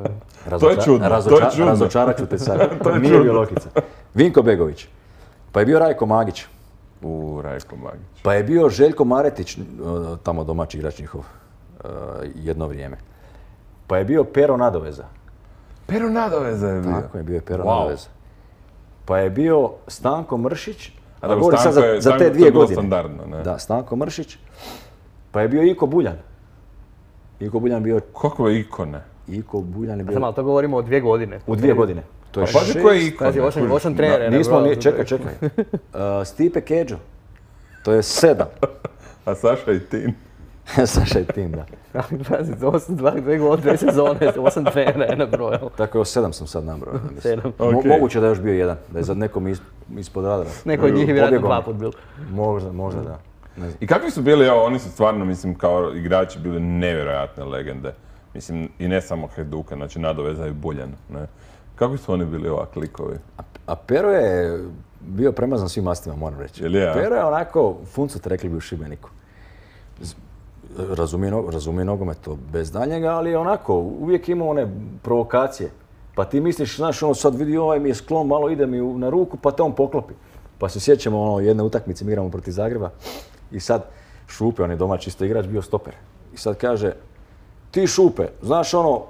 To je čudno, to je čudno. Razočarat ću te sad. To je Nije čudno. bio Lokica. Vinko Begović. Pa je bio Rajko Magić. U Rajko Magić. Pa je bio Željko Maretić, uh, tamo domaći igrač njihov, uh, jedno vrijeme. Pa je bio Pero Nadoveza. Pero Nadoveza je bio. Tako je, bio je Pero Wow. Nadoveza. Pa je bio Stanko Mršić. A dobro, govorim sad Stanko za, je- za Stanko- te to je dvije bilo godine. standardno, ne? Da, Stanko Mršić. Pa je bio Iko Buljan. Iko Buljan bio... Kakve ikone. Iko Buljan je Samo, bio... ali to govorimo o dvije godine. U dvije godine. To je Pa pazi šest- koje ikone. Pazi, osam, kužiš. osam trenera je Nismo nabrojao. ni... Čekaj, čekaj. Uh, Stipe Kedžo. To je sedam. A Saša i Tin. Saša i Tim, da. Ali pazi, osam, dva, dvije godine, dvije sezone, osam trenera je nabrojao. Tako je, sedam sam sad nabrao. ja mislim. Sedam. Mo- Ok. Moguće da je još bio jedan, da je za nekom is, ispod radara. Neko od njih je vjerojatno Pobjegao dva mi. put bil. Možda, možda da. Ne znam. I kakvi su bili, evo, oni su stvarno, mislim, kao igrači bili nevjerojatne legende. Mislim, i ne samo Hajduka, znači Nadoveza i Buljan, ne. Kakvi su oni bili ovak likovi? A Pero je bio premazan svim mastima, moram reći. Jel je, a? Pero je onako, funcut rekli bi u Šibeniku. Z- Razumije, no- razumije nogomet to bez daljnjega, ali je onako, uvijek ima one provokacije. Pa ti misliš, znaš, ono sad vidi ovaj mi je sklon, malo ide mi u- na ruku, pa te on poklopi. Pa se sjećamo ono, jedne utakmice, mi igramo protiv Zagreba i sad Šupe, on je domaći isto igrač, bio stoper. I sad kaže, ti Šupe, znaš ono,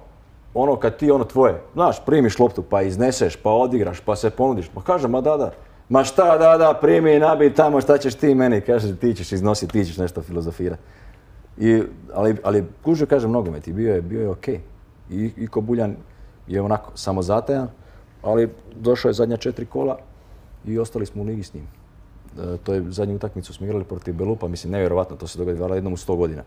ono kad ti ono tvoje, znaš, primiš loptu pa izneseš, pa odigraš, pa se ponudiš. Pa kaže, ma da, da. Ma šta, da, da, primi i nabij tamo, šta ćeš ti meni? Kaže, ti ćeš iznositi, ti ćeš nešto filozofirati. I, ali, ali kužio, kažem, nogomet i bio je, bio je okej. I Iko Buljan je onako samozatajan, ali došao je zadnja četiri kola i ostali smo u ligi s njim. E, to je zadnju utakmicu smo igrali protiv Belupa, mislim, nevjerovatno, to se događa jednom u sto godina.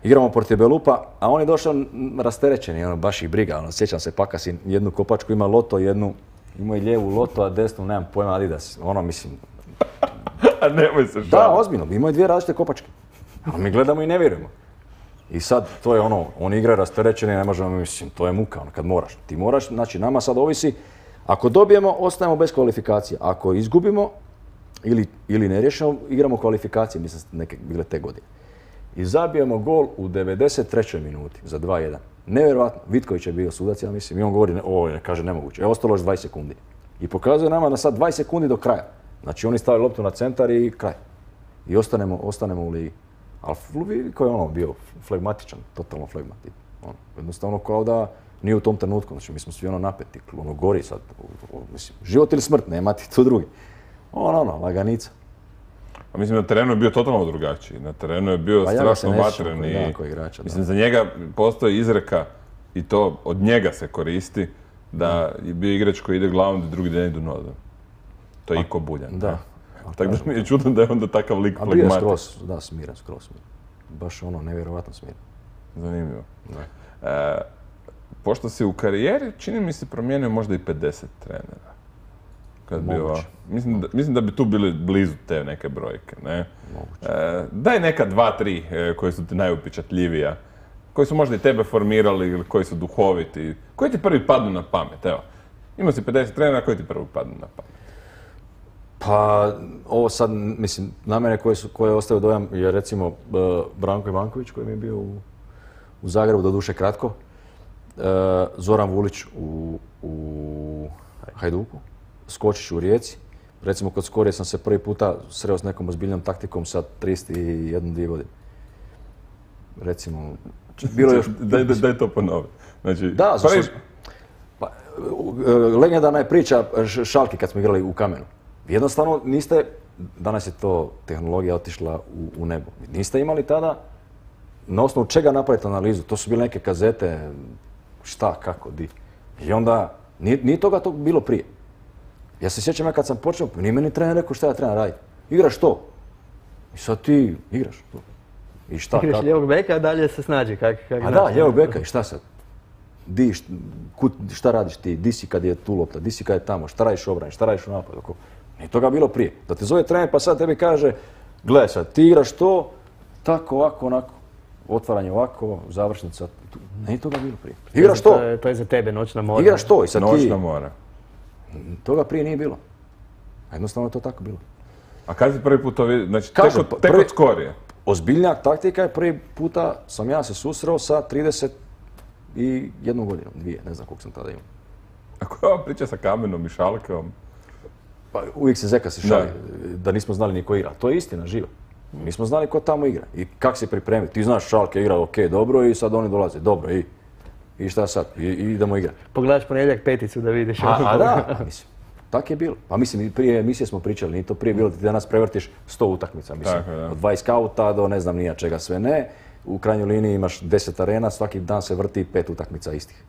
Igramo protiv Belupa, a on je došao m, rasterećen, ono, baš ih briga, ono, sjećam se, Pakasin, jednu kopačku ima Loto, jednu, ima i lijevu Loto, a desnu, nemam pojma, Adidas, ono, mislim, A nemoj se da, šaliti. ozbiljno, imao je dvije različite kopačke, a mi gledamo i ne vjerujemo. I sad, to je ono, on igra rasterećeni, ne možemo, mislim, to je muka, ono, kad moraš. Ti moraš, znači, nama sad ovisi, ako dobijemo, ostajemo bez kvalifikacije, ako izgubimo ili, ili ne riješimo, igramo kvalifikacije, mislim, neke bile te godine. I zabijemo gol u devedeset trećoj minuti za dva jedan. Nevjerojatno, Vitković je bio sudac, ja mislim, i on govori, o, je, kaže, nemoguće, je ostalo još dvadeset sekundi. I pokazuje nama da sad dvadeset sekundi do kraja. Znači, oni stavaju loptu na centar i kraj. I ostanemo, ostanemo u ligi. Ali vidi koji je ono bio flegmatičan, totalno flegmatičan. Ono, jednostavno kao da nije u tom trenutku, znači mi smo svi ono napeti, ono gori sad, o, o, mislim, život ili smrt, nema ti tu drugi. Ono, ono, laganica. A mislim, na terenu je bio totalno drugačiji. Na terenu je bio Pa ja ga se strašno ne sjećam vatren koji i... dan, koji igrača, da. Mislim, za njega postoji izreka i to od njega se koristi da je bio igrač koji ide glavom da drugi dan idu nodom. To je Iko Buljan. Da. ne? Tako da mi je čudno da je onda takav lik A bio je flegmatik. skroz, da, smiren, skroz smiren. Baš ono, nevjerovatno smiren. Zanimljivo. E, pošto si u karijeri, čini mi se promijenio možda i pedeset trenera. Kad bi Moguće. ova- mislim, da, mislim da bi tu bili blizu te neke brojke, ne? E, daj neka dva, tri e, koji su ti najupečatljivija, koji su možda i tebe formirali ili koji su duhoviti. Koji ti prvi padnu na pamet, evo? Imao si pedeset trenera, koji ti prvi padnu na pamet? Pa, ovo sad, mislim, na mene koje, su, koje ostaju dojam je recimo uh, Branko Ivanković koji mi je bio u, u Zagrebu, doduše kratko. Uh, Zoran Vulić u, u Hajduku, Skočić u Rijeci. Recimo kod Skorije sam se prvi puta sreo s nekom ozbiljnom taktikom sa trideset jedan, dvije godine. Recimo, bilo je još... Daj, daj, daj to ponovi. Znači, Da, zato prvi- što- Pa, legendarna je priča Šalke kad smo igrali u Kamenu. Jednostavno niste, danas je to tehnologija otišla u, u nebo. Niste imali tada na osnovu čega napraviti analizu. To su bile neke kazete, šta, kako, di. I onda, nije, nije toga to bilo prije. Ja se sjećam ja kad sam počeo, nije meni trener rekao šta ja trebam raditi. Igraš to. I sad ti igraš to. I šta, igraš kako? lijevog beka, a dalje se snađi. Kak, kak A da, lijevog beka i šta sad? Di, šta, kud, šta radiš ti? Di si kad je tu lopta? Di si kad je tamo? Šta radiš u obrani? Šta radiš u napadu? Nije toga bilo prije. Da te zove trener pa sad tebi kaže, gle sad, ti igraš to, tako, ovako, onako. Otvaranje ovako, završnica. Nije toga bilo prije. Igraš to. To je, to je za tebe noćna mora. Igraš to i sad ti... Noćna mora. Toga prije nije bilo. A jednostavno je to tako bilo. A kad si prvi put to vidio? Znači, Kažem, tek, od, tek prvi- od skorije. Ozbiljnjak taktika je prvi puta sam ja se susreo sa trideset i jednu godinu, dvije, ne znam koliko sam tada imao. A koja je ova priča sa Kamenom i Šalkom? Pa uvijek se Zeka se šali da nismo znali ni ko igra. To je istina, živa. Nismo znali ko tamo igra i kak se pripremiti. Ti znaš Šalke igra ok, dobro i sad oni dolaze, dobro i, i šta sad, I, i idemo igrati. Pogledaš ponedjeljak peticu da vidiš. A, a da, a mislim, tak je bilo. Pa mislim, i prije emisije smo pričali, nije to prije bilo da ti danas prevrtiš sto utakmica, mislim. Tako je, da. Od dvadeset skauta do ne znam nija čega sve ne. U krajnjoj liniji imaš deset arena, svaki dan se vrti pet utakmica istih.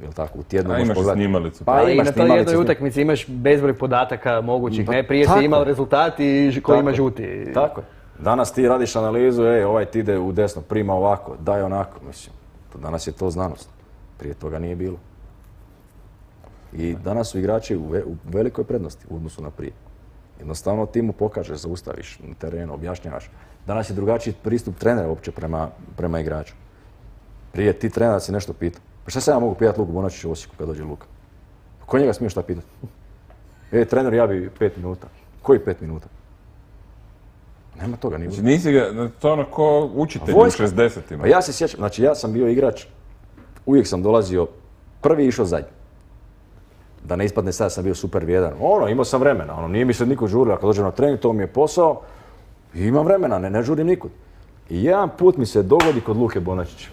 Jel tako, u tjednu A možeš imaš i pogledati. snimalicu. Pa Ali i imaš na toj snimalice, jednoj snim- utakmici imaš bezbroj podataka mogućih, Pa ne? Prije tako si imao je. rezultat i ko Tako ima je. žuti. Tako je. Danas ti radiš analizu, ej, ovaj ti ide u desno, prima ovako, daj onako, mislim. To danas je to znanost. Prije toga nije bilo. I danas su igrači u, ve- u velikoj prednosti u odnosu na prije. Jednostavno ti mu pokažeš, zaustaviš na terenu, objašnjavaš. Danas je drugačiji pristup trenera uopće prema, prema igraču. Prije ti trener si nešto pita. Pa šta se ja mogu pitati Luku Bonačiću u Osijeku kad dođe Luka? Ko njega smije šta pitati? E, trener, ja bi pet minuta. Koji pet minuta? Nema toga, nije Znači, bilo. nisi ga, to je ono ko učitelj u Vojska. šezdesetima. Pa ja se sjećam, znači ja sam bio igrač, uvijek sam dolazio, prvi i išao zadnji. Da ne ispadne sad sam bio super vrijedan. Ono, imao sam vremena, ono, nije mi se niko žurio, ako dođem na trening, to mi je posao i imam vremena, ne, ne žurim nikud. I jedan put mi se dogodi kod Luke Bonačića.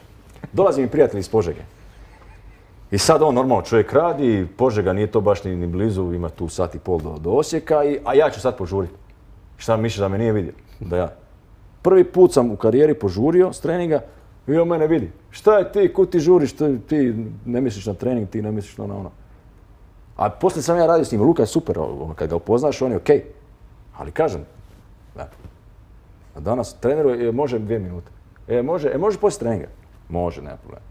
Dolazi mi prijatelj iz Požege. I sad on normalno čovjek radi, Požega nije to baš ni, ni blizu, ima tu sat i pol do, do Osijeka, i, a ja ću sad požuriti. Šta misliš da me nije vidio? Da ja. Prvi put sam u karijeri požurio s treninga i on mene vidi. Šta je ti, kud ti žuriš, ti, ti ne misliš na trening, ti ne misliš na ono ono. A poslije sam ja radio s njim, Luka je super, ono, kad ga upoznaš on je okej. Ali kažem, da. A danas treneru je, može dvije minute. E, može, e, može poslije treninga? Može, nema problema.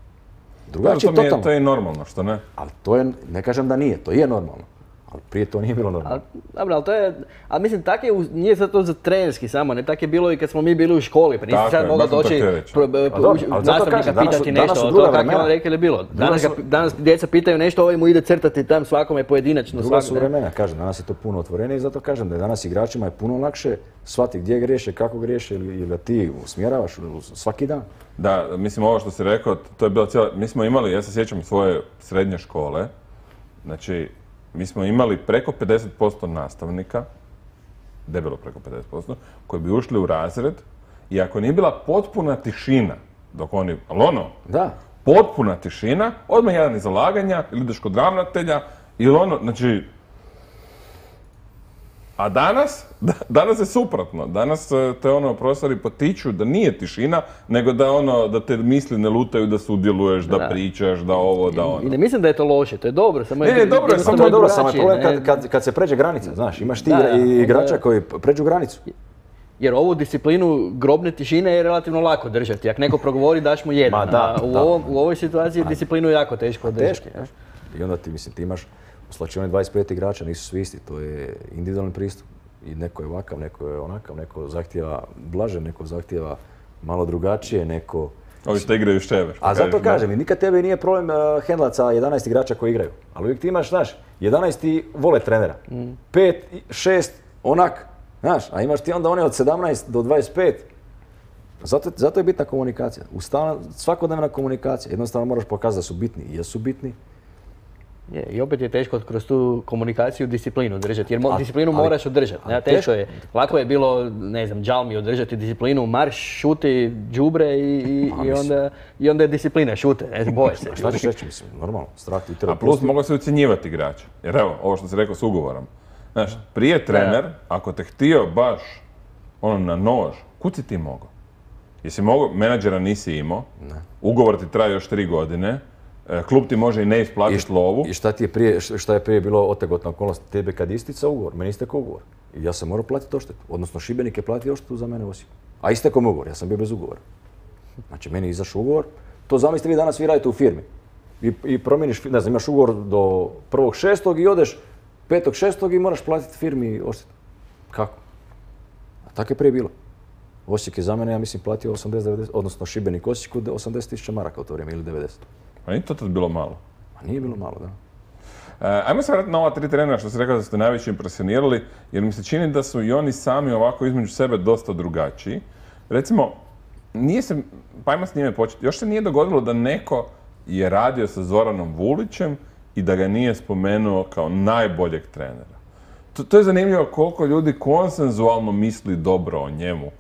Drugačije to, mi je, totalno. to je normalno, što ne? Ali to je, ne kažem da nije, to je normalno. Ali prije to nije bilo normalno. A, dobro, ali to je, ali mislim, tak je, u- nije sad to za trenerski samo, ne, tak je bilo i kad smo mi bili u školi, pa nisi Tako sad je, mogao baš sam to doći htio reći. pro- pro- A dobro, uči- ali zato nastavnika kažem, danas su- pitati danas nešto, su a druga to kako je on vremena. rekao je bilo. Danas, Druga ga, su- danas djeca pitaju nešto, ovaj mu ide crtati tam svakome pojedinačno. Druga svak- su ne. vremena, kažem, danas je to puno otvorenije i zato kažem da je danas igračima je puno lakše shvatiti gdje griješe, kako griješe ili, ili da ti usmjeravaš svaki dan. Da, mislim ovo što si rekao, to je bilo cijelo, mi smo imali, ja se sjećam svoje srednje škole, znači mi smo imali preko pedeset posto nastavnika, debelo preko pedeset posto, koji bi ušli u razred i ako nije bila potpuna tišina, dok oni, ali ono, Da. potpuna tišina, odmah jedan iz zalaganja, ili ideš kod ravnatelja, ili ono, znači... A danas, da- danas je suprotno. Danas e, te ono profesori potiču da nije tišina, nego da ono, da te misli ne lutaju, da sudjeluješ, da, Da. pričaš, da ovo, da ono. I ne mislim da je to loše, to je dobro, samo Ne, ne, dobro je, jednostavno samo To je dobro, samo je drugačije, problem ne? kad, kad, kad se pređe granica, znaš, imaš ti Da, igra- i onda- igrača koji pređu granicu. Jer ovu disciplinu grobne tišine je relativno lako držati. Ako neko progovori, daš mu jedan. Ma da, a u, da. ovom, u ovoj situaciji je disciplinu jako teško držati. Teško, teško. I onda ti, mislim, ti imaš u slačioni dvadeset pet igrača, nisu svi isti, to je individualni pristup. I neko je ovakav, neko je onakav, neko zahtijeva blaže, neko zahtijeva malo drugačije, neko... Ovi što igraju šever. što A zato kažeš, da. kažem, i nikad tebi nije problem uh, hendlat sa jedanaest igrača koji igraju. Ali uvijek ti imaš, znaš, jedanaest ti vole trenera. pet, šest, onak, znaš, a imaš ti onda one od sedamnaest do dvadeset pet. Zato, zato je bitna komunikacija. Ustavna, svakodnevna komunikacija. Jednostavno moraš pokazati da su bitni i jesu bitni. Je, i opet je teško kroz tu komunikaciju disciplinu držati, jer mo- A- disciplinu ali- moraš održati. ali Ne, teško teško- je. Lako je bilo, ne znam, džalmi održati disciplinu, marš, šuti, đubre i, i, Pa, i, mislim. onda, i onda je disciplina, šute, ne znam, boje se. Šta ćeš reći, mislim, normalno, strah ti treba A plus pustiti. moglo se ucjenjivati igrača. Jer evo, ovo što si rekao s ugovorom. Znaš, prije trener, ako te htio baš ono na nož, kud si ti mogao? Jesi mogao, menadžera nisi imao, ugovor ti traje još tri godine, e, klub ti može i ne isplatiti lovu. I šta ti je prije, šta je prije bilo otegotna okolnost? Tebe kad istica ugovor, meni istekao ugovor. I ja sam morao platiti odštetu. Odnosno Šibenik je platio odštetu za mene u Osijeku. A istekao mi ugovor, ja sam bio bez ugovora. Znači meni je izašao ugovor. To zamislite vi danas vi radite u firmi. I, i promijeniš, ne znam, imaš ugovor do prvog šestog i odeš petog šestog i moraš platiti firmi odštetu. Kako? A tako je prije bilo. Osijek je za mene, ja mislim, platio osamdeset devedeset, odnosno Šibenik Osijeku osamdeset tisuća maraka u to vrijeme ili devedeset. Pa nije to tad bilo malo. A nije bilo malo, da. E, ajmo se vratiti na ova tri trenera što si rekao da ste najviše impresionirali, jer mi se čini da su i oni sami ovako između sebe dosta drugačiji. Recimo, nije se, pa ajmo s njime početi, još se nije dogodilo da neko je radio sa Zoranom Vulićem i da ga nije spomenuo kao najboljeg trenera. To, to je zanimljivo koliko ljudi konsenzualno misli dobro o njemu.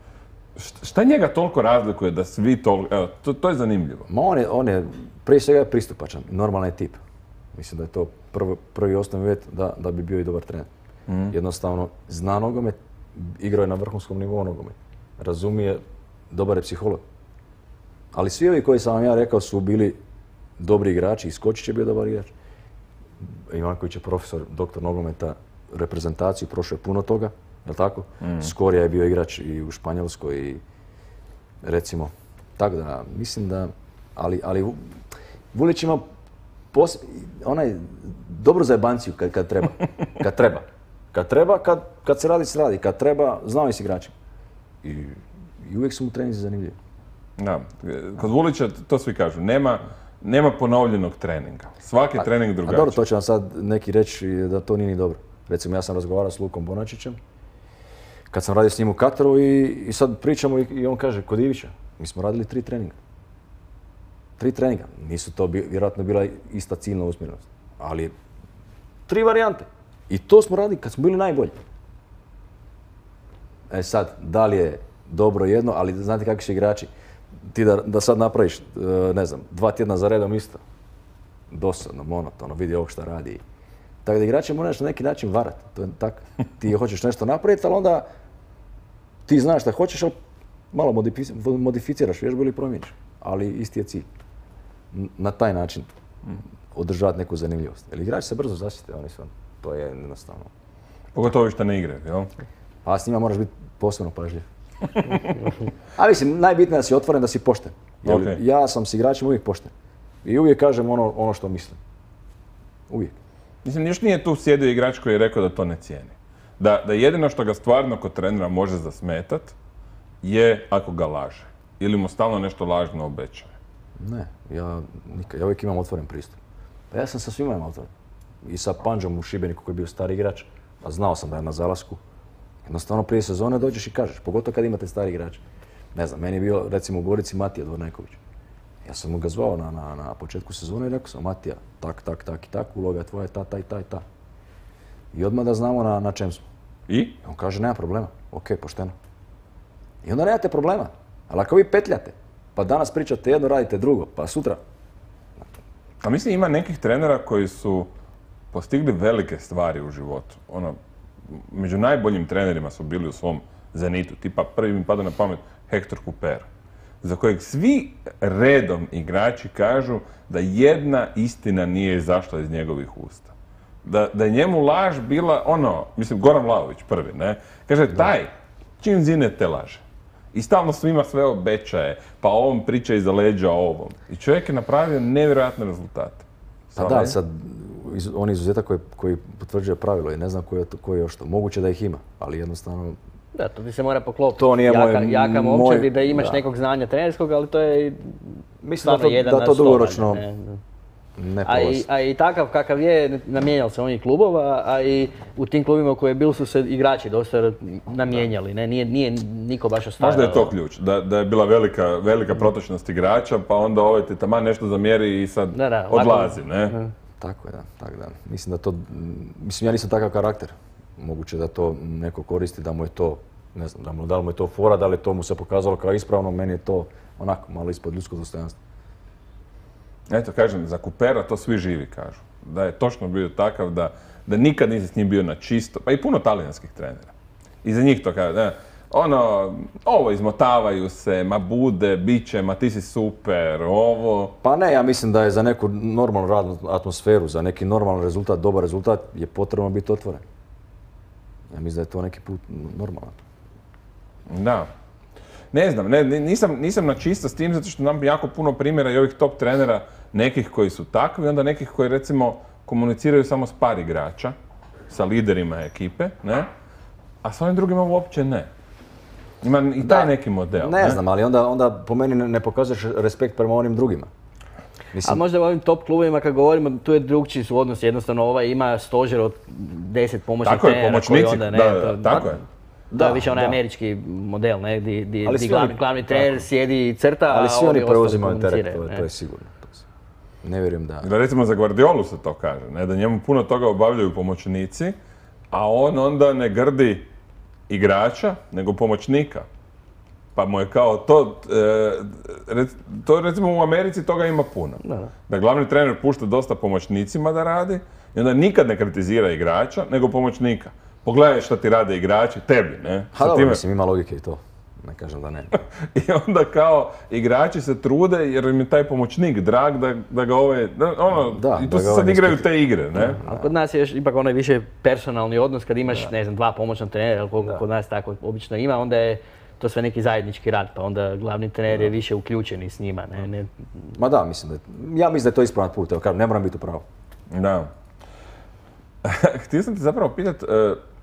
Št- Šta njega toliko razlikuje da svi toliko, evo, to, to je zanimljivo. Ma on je, on je prije svega pristupačan, normalan je tip. Mislim da je to prvo, prvi osnovni uvjet da, da bi bio i dobar trener. Jednostavno, zna nogomet, igrao je na vrhunskom nivou nogomet. Razumije, dobar je psiholog. Ali svi ovi koji sam vam ja rekao su bili dobri igrači, i Skočić je bio dobar igrač. Ivanković je profesor, doktor nogometa, reprezentaciju, prošao je puno toga, jel tako? Skorija je bio igrač i u Španjolskoj i recimo, tako da, mislim da, ali, ali Vu- Vulić ima pos, onaj, dobro za jebanciju kad, kad treba, kad treba. Kad treba, kad, kad se radi, se radi, kad treba, znao je s igračima. I, i uvijek su mu treninzi zanimljivi. Da, kod Vulića to svi kažu, nema, nema ponovljenog treninga. Svaki trening A drugačiji. dobro, to će vam sad neki reći da to nije ni dobro. Recimo, ja sam razgovarao s Lukom Bonačićem, kad sam radio s njim u Kataru i, i sad pričamo i, i on kaže, kod Ivića, mi smo radili tri treninga. Tri treninga. Nisu to bi, vjerojatno bila ista ciljna usmjerenost. Ali tri varijante. I to smo radili kad smo bili najbolji. E sad, da li je dobro jedno, ali znate kakvi su igrači. Ti da, da sad napraviš, e, ne znam, dva tjedna za redom isto. Dosadno, monotono, vidi ovog šta radi. Tako da igrače moraš na neki način varati. To je tak. Ti hoćeš nešto napraviti, ali onda ti znaš šta hoćeš, ali malo modifi- modificiraš vježbu ili promijeniš. Ali isti je cilj. N- Na taj način održavati neku zanimljivost. Jer igrači se brzo zasjete, oni su, to je jednostavno. Pogotovo ovi što ne igraju, jel? A s njima moraš biti posebno pažljiv. A mislim, najbitnije je da si otvoren, da si pošten. Jer Ok. ja sam s igračima uvijek pošten. I uvijek kažem ono, ono što mislim. Uvijek. Mislim, još nije tu sjedio igrač koji je rekao da to ne cijeni. Da, da jedino što ga stvarno kod trenera može zasmetat je ako ga laže. Ili mu stalno nešto lažno obećaje. Ne, ja, nikad, ja uvijek imam otvoren pristup. Pa ja sam sa svima imam otvoren. I sa Pandžom u Šibeniku koji je bio stari igrač, a znao sam da je na zalasku. Jednostavno prije sezone dođeš i kažeš, pogotovo kad imate stari igrač. Ne znam, meni je bio recimo u Gorici Matija Dvorneković. Ja sam mu ga zvao na, na, na početku sezone i rekao sam, Matija, tak, tak, tak i tak, uloga tvoja je ta, ta i ta i ta. I odmah da znamo na, na čem smo. I? I on kaže, nema problema, ok, pošteno. I onda nemate problema. Ali ako vi petljate, pa danas pričate jedno, radite drugo, pa sutra. A mislim ima nekih trenera koji su postigli velike stvari u životu. Ono, među najboljim trenerima su bili u svom zenitu. Tipa prvi mi pada na pamet Hector Cooper, za kojeg svi redom igrači kažu da jedna istina nije izašla iz njegovih usta. Da, da je njemu laž bila ono, mislim Goran Vlahović prvi, ne? Kaže, taj, čim zine te laže. I stalno svima sve obećaje, pa ovom priča iza leđa o ovom. I čovjek je napravio nevjerojatne rezultate. Pa da, sad, iz, on je izuzetak koji, koji potvrđuje pravilo i ne znam koji je, to, koji je još to. Moguće da ih ima, ali jednostavno... Da, to ti se mora poklopiti. To nije jaka, moj- jaka moj- momčad i da imaš da. nekog znanja trenerskog, ali to je i Mislim stvarno da to, jedan da na to sto, dugoročno ne, ne. ne A i, prolazi. a i takav kakav je, namijenjali se onih klubova, a i u tim klubima u koje je bil su se igrači dosta namijenjali, ne? Nije, nije niko baš ostavio. Možda je to ključ, da, da je bila velika, velika protočnost igrača, pa onda ovaj ti taman nešto zamjeri i sad Da, da, lako- odlazi, ne? Tako je, da. Tako da. Mislim da to, mislim ja nisam takav karakter. Moguće da to neko koristi, da mu je to, ne znam, da, mu, da li mu je to fora, da li to mu se pokazalo kao ispravno, meni je to onako malo ispod ljudskog dostojanstva. Eto, kažem, za Coopera to svi živi kažu. Da je točno bio takav da, da nikad nisi s njim bio na čisto, pa i puno talijanskih trenera. I za njih to kaže, da, ono, ovo izmotavaju se, ma bude, bit će, ma ti si super, ovo... Pa ne, ja mislim da je za neku normalnu radnu atmosferu, za neki normalan rezultat, dobar rezultat, je potrebno biti otvoren. Ja mislim da je to neki put normalan. Da. Ne znam, ne, nisam, nisam na čisto s tim, zato što nam jako puno primjera i ovih top trenera, nekih koji su takvi, onda nekih koji recimo komuniciraju samo s par igrača, sa liderima ekipe, ne? A s ovim drugima uopće ne. Ima i taj Da, neki model. Ne, znam, ali onda, onda po meni ne, ne pokazuješ respekt prema onim drugima. A Mislim, možda u ovim top klubovima kad govorimo, tu je drugčiji su odnosi, jednostavno ovaj ima stožer od deset pomoćnih Tako je, trenera koji pomoćnici, onda, ne, da, da, to- tako je. Da, Da, više onaj da. američki model, ne, di, di, Ali di svi glavni, oni- glavni trener sjedi i crta, ali a svi ovi oni ostali preuzimaju teret, komuniciraju, to, je- ne. to je sigurno. To je- Ne vjerujem da... Da recimo za Guardiolu se to kaže, ne? Da njemu puno toga obavljaju pomoćnici, a on onda ne grdi igrača, nego pomoćnika. Pa mu je kao to, e, rec- to recimo u Americi toga ima puno. Da, da. Da glavni trener pušta dosta pomoćnicima da radi i onda nikad ne kritizira igrača, nego pomoćnika. Pogledaj šta ti rade igrači, tebi, ne? Ha Sa dobro, time- mislim, ima logike i to. Ne kažem da ne. I onda kao igrači se trude jer im je taj pomoćnik drag da, da ga ove, da, ono, Da, i da tu se ga sad ovaj ne igraju ispita. te igre, ne? Ali kod nas je još ipak onaj više personalni odnos kad imaš, ne znam, dva pomoćna trenera, ili koliko kod nas tako obično ima, onda je to sve neki zajednički rad, pa onda glavni trener je više uključen i s njima, ne, ne. Ma da, mislim da je, ja mislim da je to ispravan put, evo kažem, ne moram biti u pravu. Da. Htio sam te zapravo pitat, e,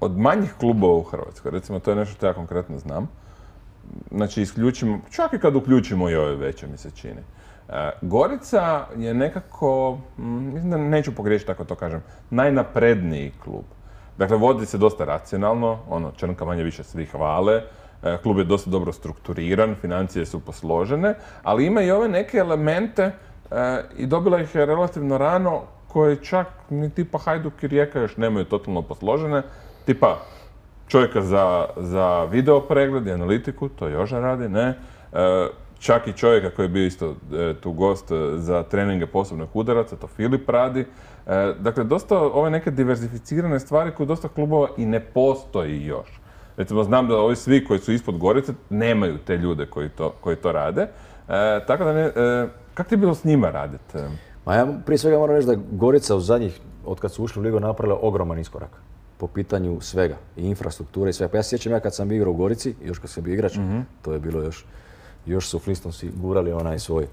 od manjih klubova u Hrvatskoj, recimo to je nešto što ja konkretno znam, znači isključimo, čak i kad uključimo i ove veće mi se čini. E, Gorica je nekako, mm, mislim da neću pogriješiti ako to kažem, najnapredniji klub. Dakle, vodi se dosta racionalno, ono, Črnka manje više svi hvale, e, klub je dosta dobro strukturiran, financije su posložene, ali ima i ove neke elemente e, i dobila ih je relativno rano koje čak ni tipa Hajduk i Rijeka još nemaju totalno posložene, tipa čovjeka za, za video pregled i analitiku, to Joža radi, ne. E, čak i čovjeka koji je bio isto e, tu gost e, za treninge posebnih udaraca, to Filip radi. E, dakle, dosta ove neke diverzificirane stvari koje dosta klubova i ne postoji još. Recimo, znam da ovi svi koji su ispod Gorice nemaju te ljude koji to, koji to rade. E, tako da ne, e, kako ti je bilo s njima raditi? Ma ja prije svega moram reći da je Gorica u zadnjih, od kad su ušli u ligu, napravila ogroman iskorak po pitanju svega, i infrastrukture i svega. Pa ja se sjećam ja kad sam igrao u Gorici, još kad sam bio igrač, to je bilo još, još su Flistonsi gurali onaj svoj,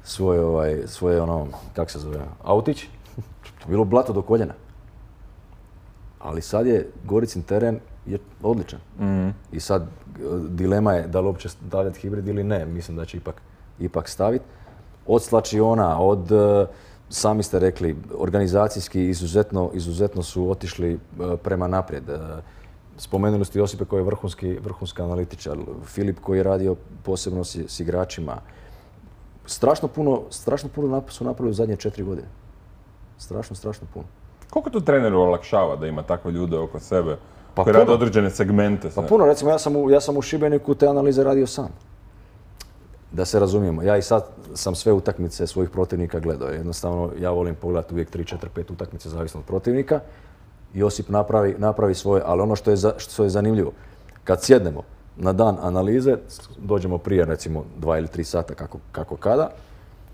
svoj ovaj, svoje ono, kak se zove, autić, to je bilo blato do koljena. Ali sad je Goricin teren je odličan. I sad e, dilema je da li uopće stavljati hibrid ili ne, mislim da će ipak, ipak staviti. Od slačiona, od, e, sami ste rekli, organizacijski izuzetno, izuzetno su otišli e, prema naprijed. E, spomenuli ste Josipe koji je vrhunski, vrhunski analitičar, Filip koji je radio posebno s, s igračima. Strašno puno, strašno puno nap- su napravili u zadnje četiri godine. Strašno, strašno puno. Koliko to treneru olakšava da ima takve ljude oko sebe Pa koji puno. rade određene segmente? Pa sve? puno, recimo ja sam, u, ja sam u Šibeniku te analize radio sam. Da se razumijemo, ja i sad sam sve utakmice svojih protivnika gledao. Jednostavno, ja volim pogledati uvijek tri, četiri, pet utakmice zavisno od protivnika. Josip napravi, napravi svoje, ali ono što je, za, što je zanimljivo, kad sjednemo na dan analize, dođemo prije recimo dva ili tri sata kako, kako kada,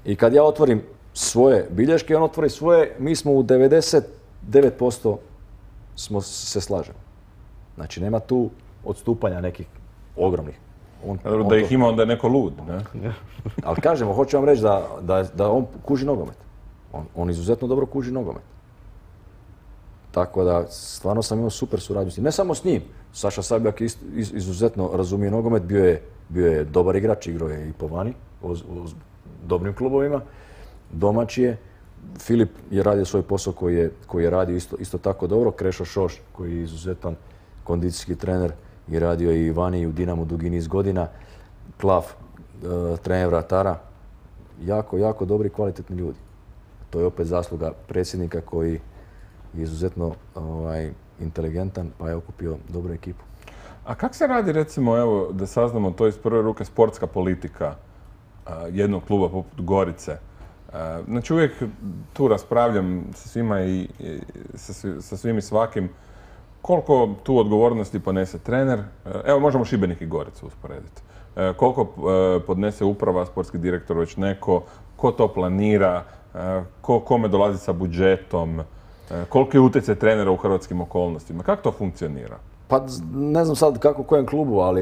i kad ja otvorim svoje bilješke, on otvori svoje, mi smo u devedeset devet posto smo se slažemo. Znači nema tu odstupanja nekih ogromnih. On, Dobro, on da to- ih ima onda je neko lud, ne? Ali kažemo, hoću vam reći da, da, da on kuži nogomet. On, on izuzetno dobro kuži nogomet. Tako da, stvarno sam imao super suradnju s njim. Ne samo s njim. Saša Sabljak ist, iz, izuzetno razumije nogomet, bio je, bio je dobar igrač, igrao je i po vani, u, u dobrim klubovima. Domaći je. Filip je radio svoj posao koji je, koji je radio isto, isto tako dobro. Krešo Šoš, koji je izuzetan kondicijski trener, je radio i vani i u Dinamu dugi niz godina. Klav, e, trener vratara. Jako, jako dobri i kvalitetni ljudi. to je opet zasluga predsjednika koji je izuzetno ovaj, inteligentan pa je okupio dobru ekipu. A kako se radi, recimo, evo, da saznamo to iz prve ruke, sportska politika a, jednog kluba poput Gorice? A, znači, uvijek tu raspravljam sa svima i, i sa, svi- sa svim i svakim koliko tu odgovornosti ponese trener. Evo, možemo Šibenik i Goricu usporediti. E, koliko e, podnese uprava, sportski direktor, već neko, ko to planira, e, ko, kome dolazi sa budžetom, e, koliki je utjecaj trenera u hrvatskim okolnostima, kako to funkcionira? Pa z- ne znam sad kako u kojem klubu, ali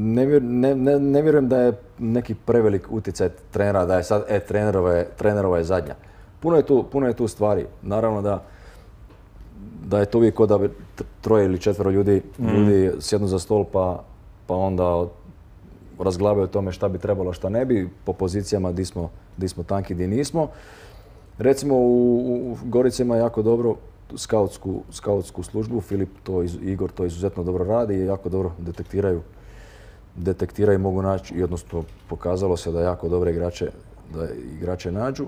ne, vjer- ne, ne, ne vjerujem da je neki prevelik utjecaj trenera, da je sad, e, trenerova je, trenerova je zadnja. Puno je tu, puno je tu stvari. Naravno da, da je to uvijek kod da bi t- troje ili četvero ljudi, ljudi sjednu za stol pa, pa onda razglabaju o tome šta bi trebalo, šta ne bi, po pozicijama di smo, di smo tanki, di nismo. Recimo u, u Gorici ima jako dobro skautsku, skautsku službu, Filip to, iz- Igor to izuzetno dobro radi i jako dobro detektiraju, detektiraju i mogu naći, i odnosno pokazalo se da jako dobre igrače, da igrače nađu.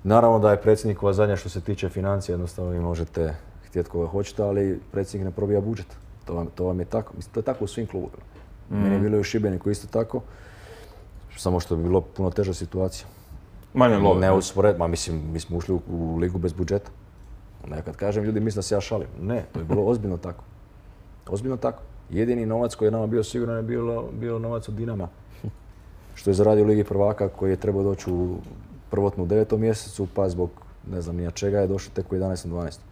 Naravno da je predsjednikova zadnja što se tiče financija, jednostavno vi možete htjeti koga hoćete, ali predsjednik ne probija budžet. To vam, to vam je tako. Mislim, to je tako u svim klubovima. Meni je bilo i u Šibeniku isto tako, samo što bi bilo puno teža situacija. Manje love. Ne uspored, ma mislim, mi smo ušli u, u ligu bez budžeta. Ne, kad kažem, ljudi misle da se ja šalim. Ne, to je bilo ozbiljno tako. Ozbiljno tako. Jedini novac koji je nama bio siguran je bilo, bilo novac od Dinama. Što je zaradio u Ligi prvaka koji je trebao doći u prvotnu devetom mjesecu, pa zbog ne znam nija čega je došao tek u jedanaestom dvanaestom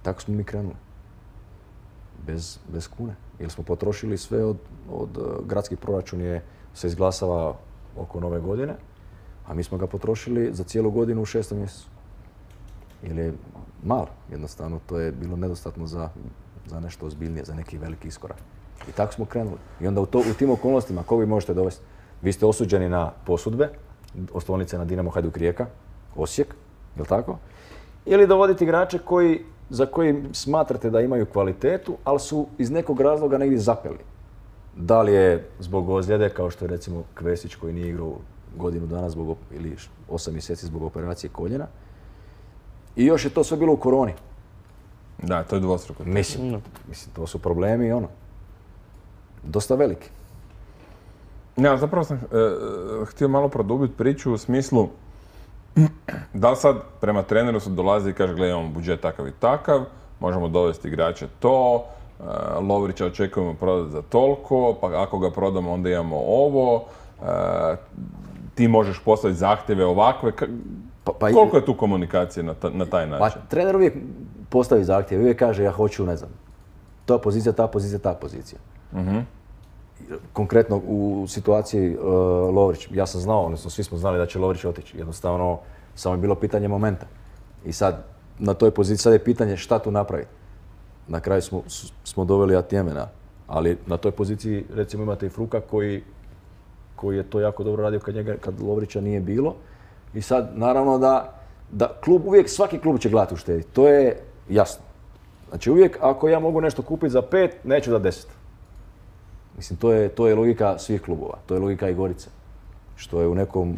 Tako smo mi krenuli. Bez, bez kune. Jer smo potrošili sve od, od uh, gradski proračun je se izglasava oko nove godine, a mi smo ga potrošili za cijelu godinu u šestom mjesecu. Jer je malo, jednostavno, to je bilo nedostatno za, za nešto ozbiljnije, za neki veliki iskorak. I tako smo krenuli. I onda u, to, u tim okolnostima, koga vi možete dovesti? Vi ste osuđeni na posudbe, oslovnice na Dinamo, Hajduk, Rijeka, Osijek, jel tako? Ili dovoditi igrače koji, za koji smatrate da imaju kvalitetu, ali su iz nekog razloga negdje zapeli. Da li je zbog ozljede, kao što je recimo Kvesić koji nije igrao godinu dana zbog, op- ili osam mjeseci zbog operacije koljena. I još je to sve bilo u koroni. Da, to je dvostruko. Mislim, mislim, to su problemi i ono. Dosta veliki. Ja, zapravo sam e, htio malo produbiti priču u smislu da li sad prema treneru se dolazi i kaže, gledaj, imamo budžet takav i takav, možemo dovesti igrače to, e, Lovrića očekujemo prodati za toliko, pa ako ga prodamo onda imamo ovo, e, ti možeš postaviti zahtjeve ovakve. Ka- Pa, pa i- Koliko je tu komunikacije na, ta- na taj Pa način? trener uvijek postavi zahtjev, uvijek kaže ja hoću, ne znam, ta pozicija, ta pozicija, ta pozicija. Konkretno u situaciji uh, Lovrić, ja sam znao, odnosno svi smo znali da će Lovrić otići. Jednostavno, samo je bilo pitanje momenta. I sad, na toj poziciji, sad je pitanje šta tu napraviti. Na kraju smo, s- smo doveli Atjemena, ali na toj poziciji, recimo, imate i Fruka koji, koji je to jako dobro radio kad, njega, kad Lovrića nije bilo. I sad, naravno da, da klub, uvijek svaki klub će gledati uštediti. To je jasno. Znači uvijek, ako ja mogu nešto kupiti za pet, neću za deset. Mislim, to je, to je logika svih klubova. To je logika i Gorice. Što je u nekom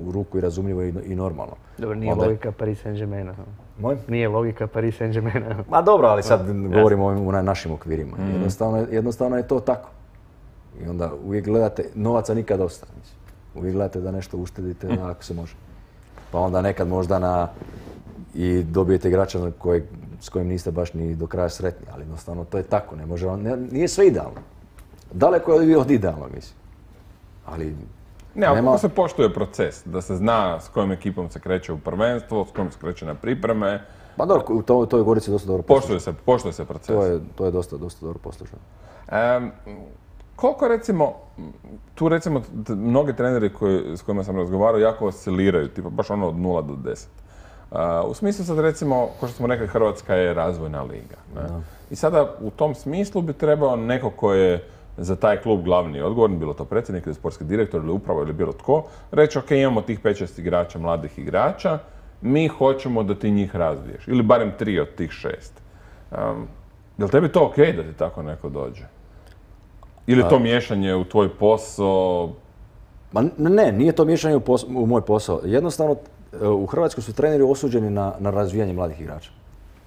u ruku i razumljivo i, i normalno. Dobro, nije Onda- logika Paris Saint-Germaina. Moj? Nije logika Paris Saint-Germaina. Ma dobro, ali sad govorimo o ovim- u na- našim okvirima. Jednostavno, je- jednostavno je to tako. I onda uvijek gledate, novaca nikad dosta. Mislim. Uvijek gledate da nešto uštedite ako se može. Pa onda nekad možda na i dobijete igrača na kojeg, s kojim niste baš ni do kraja sretni, ali jednostavno to je tako, ne može, on- ne, nije sve idealno. Daleko je od idealnog, mislim. Ali Ne, ali nema- kako se poštuje proces? Da se zna s kojom ekipom se kreće u prvenstvo, s kojom se kreće na pripreme. Pa dobro, u to, to je Gorici dosta dobro Poštuje se, poštuje se proces. To je, to je dosta, dosta dobro poslušano. Em, koliko recimo, tu recimo t- mnogi treneri koji, s kojima sam razgovarao jako osciliraju, tipa baš ono od nula do deset. A, u smislu sad recimo, kao što smo rekli, Hrvatska je razvojna liga. Ne? I sada u tom smislu bi trebao neko ko je za taj klub glavni odgovorni, bilo to predsjednik ili sportski direktor ili upravo ili bilo tko, reći ok, imamo tih pet šest igrača, mladih igrača, mi hoćemo da ti njih razviješ. Ili barem tri od tih šest. Um, je li tebi to ok da ti tako neko dođe? Ili je to miješanje u tvoj posao? Ma ne, nije to miješanje u, pos- u moj posao. Jednostavno, u Hrvatskoj su treneri osuđeni na, na razvijanje mladih igrača.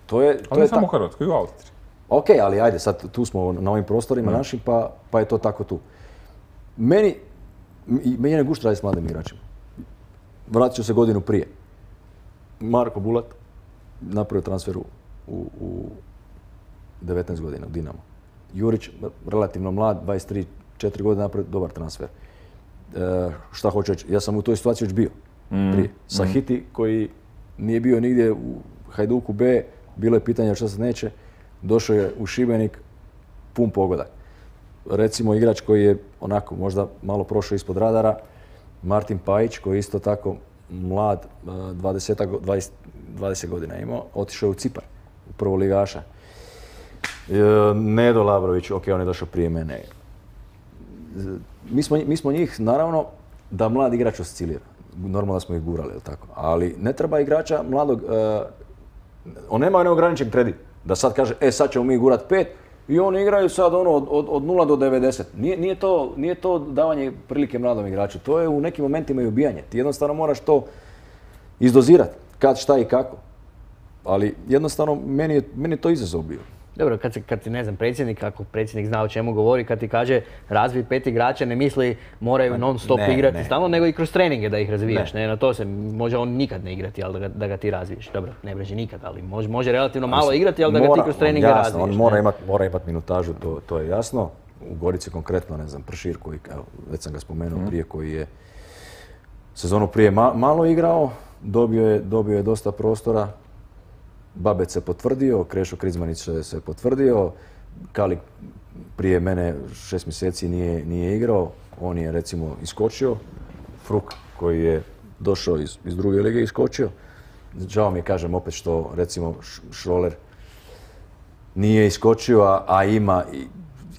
To je, to Ali ne je samo u tako. Hrvatskoj, i u Austriji. Ok, ali ajde, sad tu smo na ovim prostorima našim, pa, pa je to tako tu. Meni, i- meni je gušt raditi s mladim igračima. Vratit ću se godinu prije. Marko Bulat napravio transfer u, u, u devetnaest godina u Dinamo. Jurić, relativno mlad, dvadeset tri četiri godine, napravio dobar transfer. E, šta hoću reći, ja sam u toj situaciji već bio prije. Sahiti koji nije bio nigdje u Hajduku B, bilo je pitanje šta se neće, došao je u Šibenik, pun pogodak. Recimo igrač koji je onako možda malo prošao ispod radara, Martin Pajić koji je isto tako mlad, dvadeset, dvadeset, dvadeset godina imao, otišao je u Cipar, u prvoligaša. E, Nedo Labrović, ok, on je došao prije mene. Mi smo, mi smo njih, naravno, da mlad igrač oscilira. Normalno da smo ih gurali, jel tako? Ali ne treba igrača mladog, e, on nema neograničen kredit. Da sad kaže, e sad ćemo mi gurat pet i oni igraju sad ono od, od, od nula do devedeset. Nije, nije, to, nije to davanje prilike mladom igraču, to je u nekim momentima i ubijanje. Ti jednostavno moraš to izdozirati, kad, šta i kako. Ali jednostavno meni je, meni je to izazov bio. Dobro, kad, se, kad ti, ne znam, predsjednik, ako predsjednik zna o čemu govori, kad ti kaže razvij pet igrača, ne misli moraju non stop Ne, igrati ne. stalno, nego i kroz treninge da ih razvijaš. Ne. Ne. Na to se može on nikad ne igrati, ali da ga, da ga ti razviješ. Dobro, ne breži nikad, ali može, može relativno malo igrati, ali da ga ti Mora, kroz treninge jasno, razviješ. on ne. mora imati mora imat minutažu, to, to je jasno. U Gorici konkretno, ne znam, Pršir koji, evo, već sam ga spomenuo prije, koji je sezonu prije ma- malo igrao, dobio je, dobio je dosta prostora. Babec se potvrdio, Krešo Krizmanić se, se potvrdio, Kalik prije mene šest mjeseci nije, nije igrao, on je recimo iskočio, Fruk koji je došao iz, iz druge lige iskočio. Žao mi je, kažem opet, što recimo Š- Šroler nije iskočio, a, a ima, i-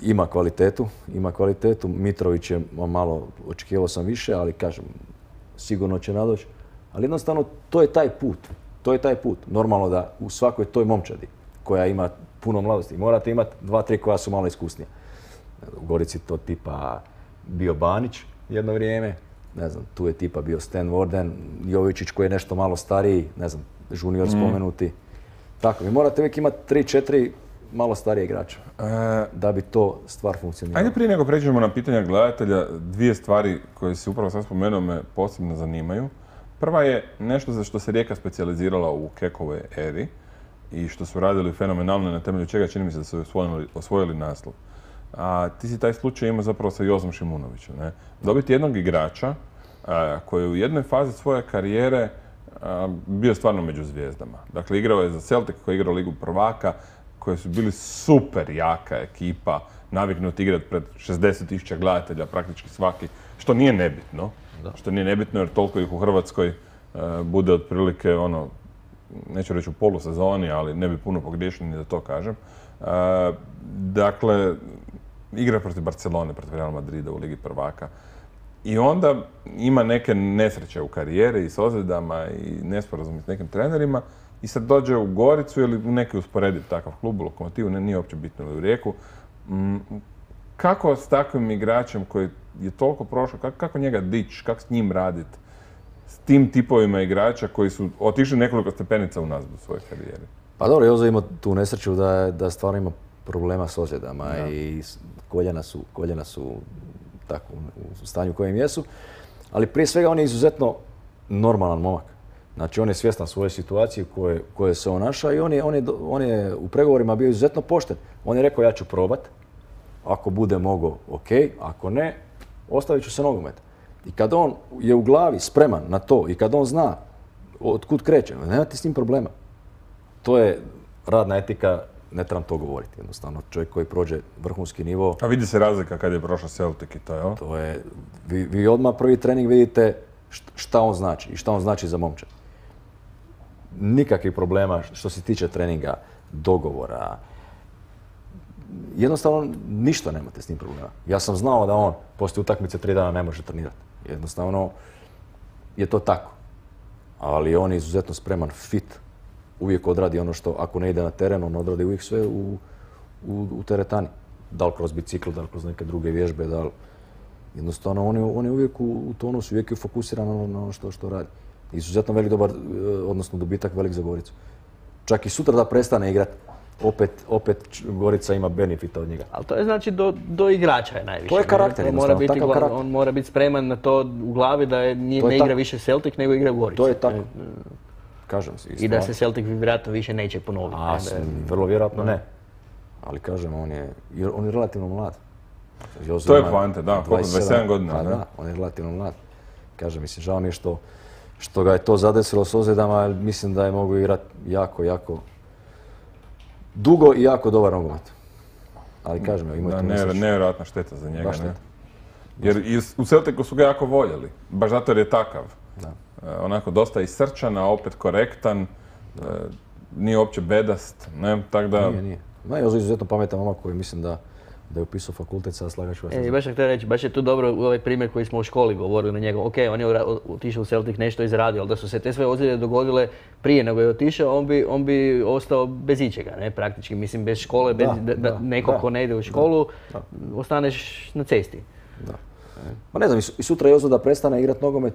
ima kvalitetu, ima kvalitetu. Mitrović je malo, očekivao sam više, ali kažem, sigurno će nadoći. Ali jednostavno, to je taj put. To je taj put. Normalno da u svakoj toj momčadi koja ima puno mladosti, morate imati dva, tri koja su malo iskusnija. U Gorici to tipa bio Banić jedno vrijeme, ne znam, tu je tipa bio Stan Warden, Jovičić koji je nešto malo stariji, ne znam, junior spomenuti. Tako, vi morate uvijek imati tri, četiri malo starije igrača E, da bi to stvar funkcionirala. Ajde prije nego pređemo na pitanja gledatelja, dvije stvari koje si upravo sad spomenuo me posebno zanimaju. Prva je nešto za što se Rijeka specijalizirala u Kekovoj eri i što su radili fenomenalno, na temelju čega čini mi se da su osvojili, osvojili naslov. A ti si taj slučaj imao zapravo sa Jozom Šimunovićem. Ne? Dobiti jednog igrača a, koji je u jednoj fazi svoje karijere a, bio stvarno među zvijezdama. Dakle, igrao je za Celtic koji je igrao Ligu prvaka, koji su bili super jaka ekipa, naviknuti igrati pred šezdeset tisuća gledatelja, praktički svaki, što nije nebitno. Što nije nebitno jer toliko ih u Hrvatskoj e, bude otprilike ono, neću reći u polusezoni, ali ne bi puno pogriješio ni da to kažem. E, dakle, igra protiv Barcelone, protiv Real Madrida u Ligi prvaka. I onda ima neke nesreće u karijeri i s ozljedama i nesporazumi s nekim trenerima i sad dođe u Goricu ili u neki usporediv takav klub, u Lokomotivu, ne, nije uopće bitno, ili u Rijeku. Mm, kako s takvim igračem koji je toliko prošao, kako, kako njega dići, kako s njim raditi, s tim tipovima igrača koji su otišli nekoliko stepenica unazad u svojoj karijeri? Pa dobro, Jozo ima tu nesreću da, je- da stvarno ima problema s ozljedama i s- koljena su, koljena su tako u stanju u kojem jesu. Ali prije svega on je izuzetno normalan momak. Znači on je svjestan svoje situacije koje, koje se on našao i on je, on, je, do- on je u pregovorima bio izuzetno pošten. On je rekao ja ću probat, ako bude mogao ok, ako ne, ostavit ću se nogomet. I kad on je u glavi spreman na to i kad on zna od kud kreće, nemate s njim problema. To je radna etika, ne trebam to govoriti jednostavno. Čovjek koji prođe vrhunski nivo, A vidi se razlika kad je prošao Celtic i to, jel? to je, vi, vi odmah prvi trening vidite št- šta on znači i šta on znači za momčad. Nikakvih problema što se tiče treninga, dogovora. Jednostavno ništa nemate s njim problema. Ja sam znao da on poslije utakmice tri dana ne može trenirati. Jednostavno je to tako. Ali on je izuzetno spreman, fit, uvijek odradi ono što, ako ne ide na teren, on odradi uvijek sve u, u, u teretani. Da li kroz bicikl, da li kroz neke druge vježbe, da li... Jednostavno, on je, on je uvijek u, u tonusu, uvijek je fokusiran na ono što, što radi. Izuzetno velik dobar, odnosno dobitak velik za Goricu. Čak i sutra da prestane igrati, opet, opet Gorica ima benefita od njega. Ali to je znači do, do igrača je najviše. To je karakter, on mora, biti, takav karakter. on mora biti spreman na to u glavi da je, nije, ne igra više Celtic nego igra u Gorici. To je tako. Kažem si. I da se Celtic vjerojatno više neće ponoviti. A, ne, vrlo vjerojatno ne. Ali kažem, on je, on je relativno mlad. Jozo to je poanta, da, dvadeset sedam godina. Pa da, on je relativno mlad. Kažem, mislim, žao mi je što, što ga je to zadesilo s ozljedama, ali mislim da je mogu igrati jako, jako dugo i jako dobar nogomet. Ali kažem, evo, imajte da, misliš. Nevjerojatna šteta za njega, šteta. ne? Jer i u Celticu su ga jako voljeli, baš zato jer je takav. Da. E, onako dosta i srčan, a opet korektan, e, nije uopće bedast, ne, tak da... Nije, nije. Ma je izuzetno pametan momak koji mislim da, da je upisao fakultet, sad slagaću vas. E, i baš sam htio reći, baš je tu dobro ovaj primjer koji smo u školi govorili na njega. Ok, on je otišao u Celtic, nešto izradio, ali da su se te sve ozljede dogodile prije nego je otišao, on bi, on bi ostao bez ičega, ne, praktički. Mislim, bez škole, bez Da, da, da, nekog da, ko ne ide u školu, da. ostaneš na cesti. Da. Ma ne znam, i sutra je ozljeda da prestane igrati nogomet,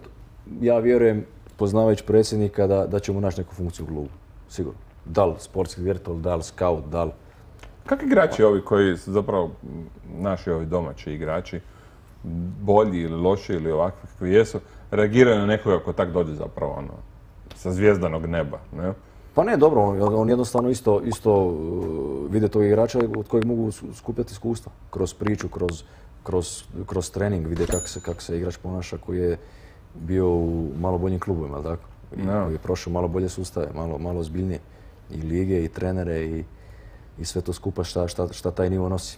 ja vjerujem, poznavajući predsjednika, da, da će mu naći neku funkciju u klubu, sigurno. Da li sportski direktor, da li scout, da li... Kako igrači ovi koji su zapravo naši ovi domaći igrači, bolji ili loši ili ovakvi koji jesu, reagiraju na nekoga ko tak dođe zapravo ono, sa zvijezdanog neba, ne? Pa ne, dobro, on, on jednostavno isto, isto uh, vide tog igrača od kojeg mogu skupljati iskustva. Kroz priču, kroz, kroz, kroz trening, vide kako se, kak se igrač ponaša koji je bio u malo boljim klubovima, tako? I No. koji je prošao malo bolje sustave, malo, malo ozbiljnije. I lige, i trenere, i, i sve to skupa šta, šta, šta taj nivo nosi.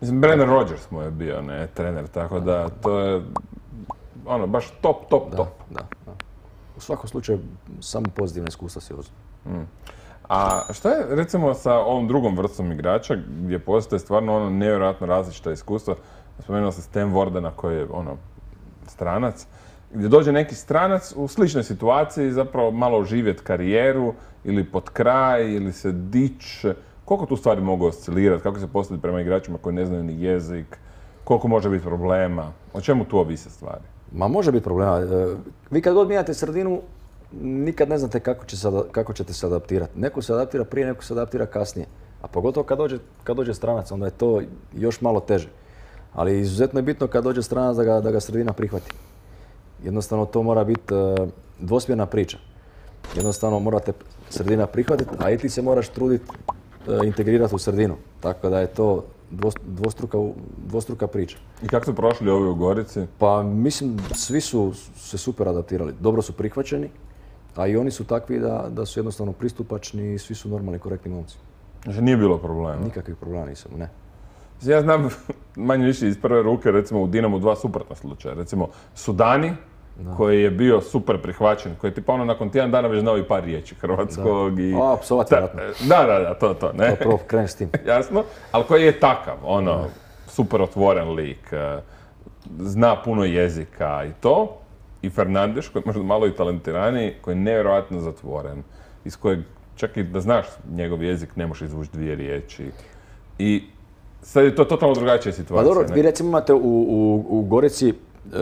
Mislim, Brendan Rodgers mu je bio, ne, trener, tako da to je, ono, baš top, top, Da, top. da, da. U svakom slučaju, samo pozitivna iskustva si uzme. Mm. A šta je, recimo, sa ovom drugom vrstom igrača, gdje postoje stvarno ono nevjerojatno različita iskustva? Spomenuo sam Stan Wardena koji je, ono, stranac, gdje dođe neki stranac u sličnoj situaciji, zapravo malo oživjeti karijeru, ili pod kraj, ili se dići. Koliko tu stvari mogu oscilirati, kako se postaviti prema igračima koji ne znaju ni jezik, koliko može biti problema, o čemu tu ovise stvari? Ma može biti problema. E, Vi kad god mijenjate sredinu, nikad ne znate kako, će se, ada- kako ćete se adaptirati. Neko se adaptira prije, neko se adaptira kasnije. A pogotovo kad dođe, kad dođe stranac, onda je to još malo teže. Ali izuzetno je bitno kad dođe stranac da ga, da ga sredina prihvati. Jednostavno to mora biti e, dvosmjerna priča. Jednostavno morate sredina prihvatiti, a i ti se moraš truditi e, integrirati u sredinu. Tako da je to dvos- dvostruka, dvostruka priča. I kako su prošli ovi u Gorici? Pa mislim, svi su se super adaptirali, dobro su prihvaćeni, a i oni su takvi da, da su jednostavno pristupačni i svi su normalni, korektni momci. Znači nije bilo problema. Nikakvih problema nisam, ne. Ja znam manje više iz prve ruke, recimo u Dinamu dva suprotna slučaja. Recimo Sudani, koji je bio super prihvaćen, koji je tipa ono nakon tjedan dana već znao i par riječi hrvatskog i... A, psovati Ta- vjerojatno. Da, da, da, to, to, ne? To prvo kreneš s tim. Jasno, ali koji je takav, ono, super otvoren lik, eh, zna puno jezika i to. I Fernandes, koji je možda malo i talentiraniji, koji je nevjerojatno zatvoren, iz kojeg čak i da znaš njegov jezik ne možeš izvući dvije riječi. I sad je to totalno drugačija Pa situacija. dobro, ne? vi recimo imate u, u, u Gorici uh,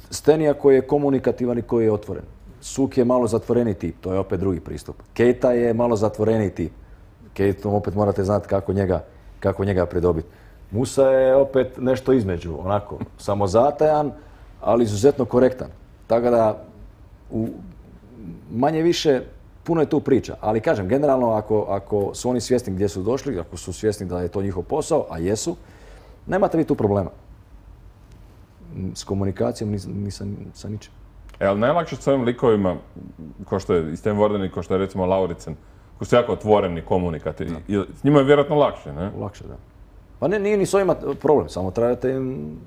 Stenija koji je komunikativan i koji je otvoren. Suk je malo zatvoreniji tip, to je opet drugi pristup. Keita je malo zatvoreniji tip. Keitom opet morate znati kako njega, kako njega pridobiti. Musa je opet nešto između, onako, samozatajan, ali izuzetno korektan. Tako da, u, manje više, puno je tu priča. Ali kažem, generalno, ako, ako su oni svjesni gdje su došli, ako su svjesni da je to njihov posao, a jesu, nemate vi tu problema. S komunikacijom ni, ni sa, sa ničim. E, ali najlakše s ovim likovima, kao što je i Stan Warden i kao što je recimo Lauritsen, koji su jako otvoreni, komunikativni, i s njima je vjerojatno lakše, ne? Lakše, da. Pa ne, nije ni s ovima problem, samo trebate im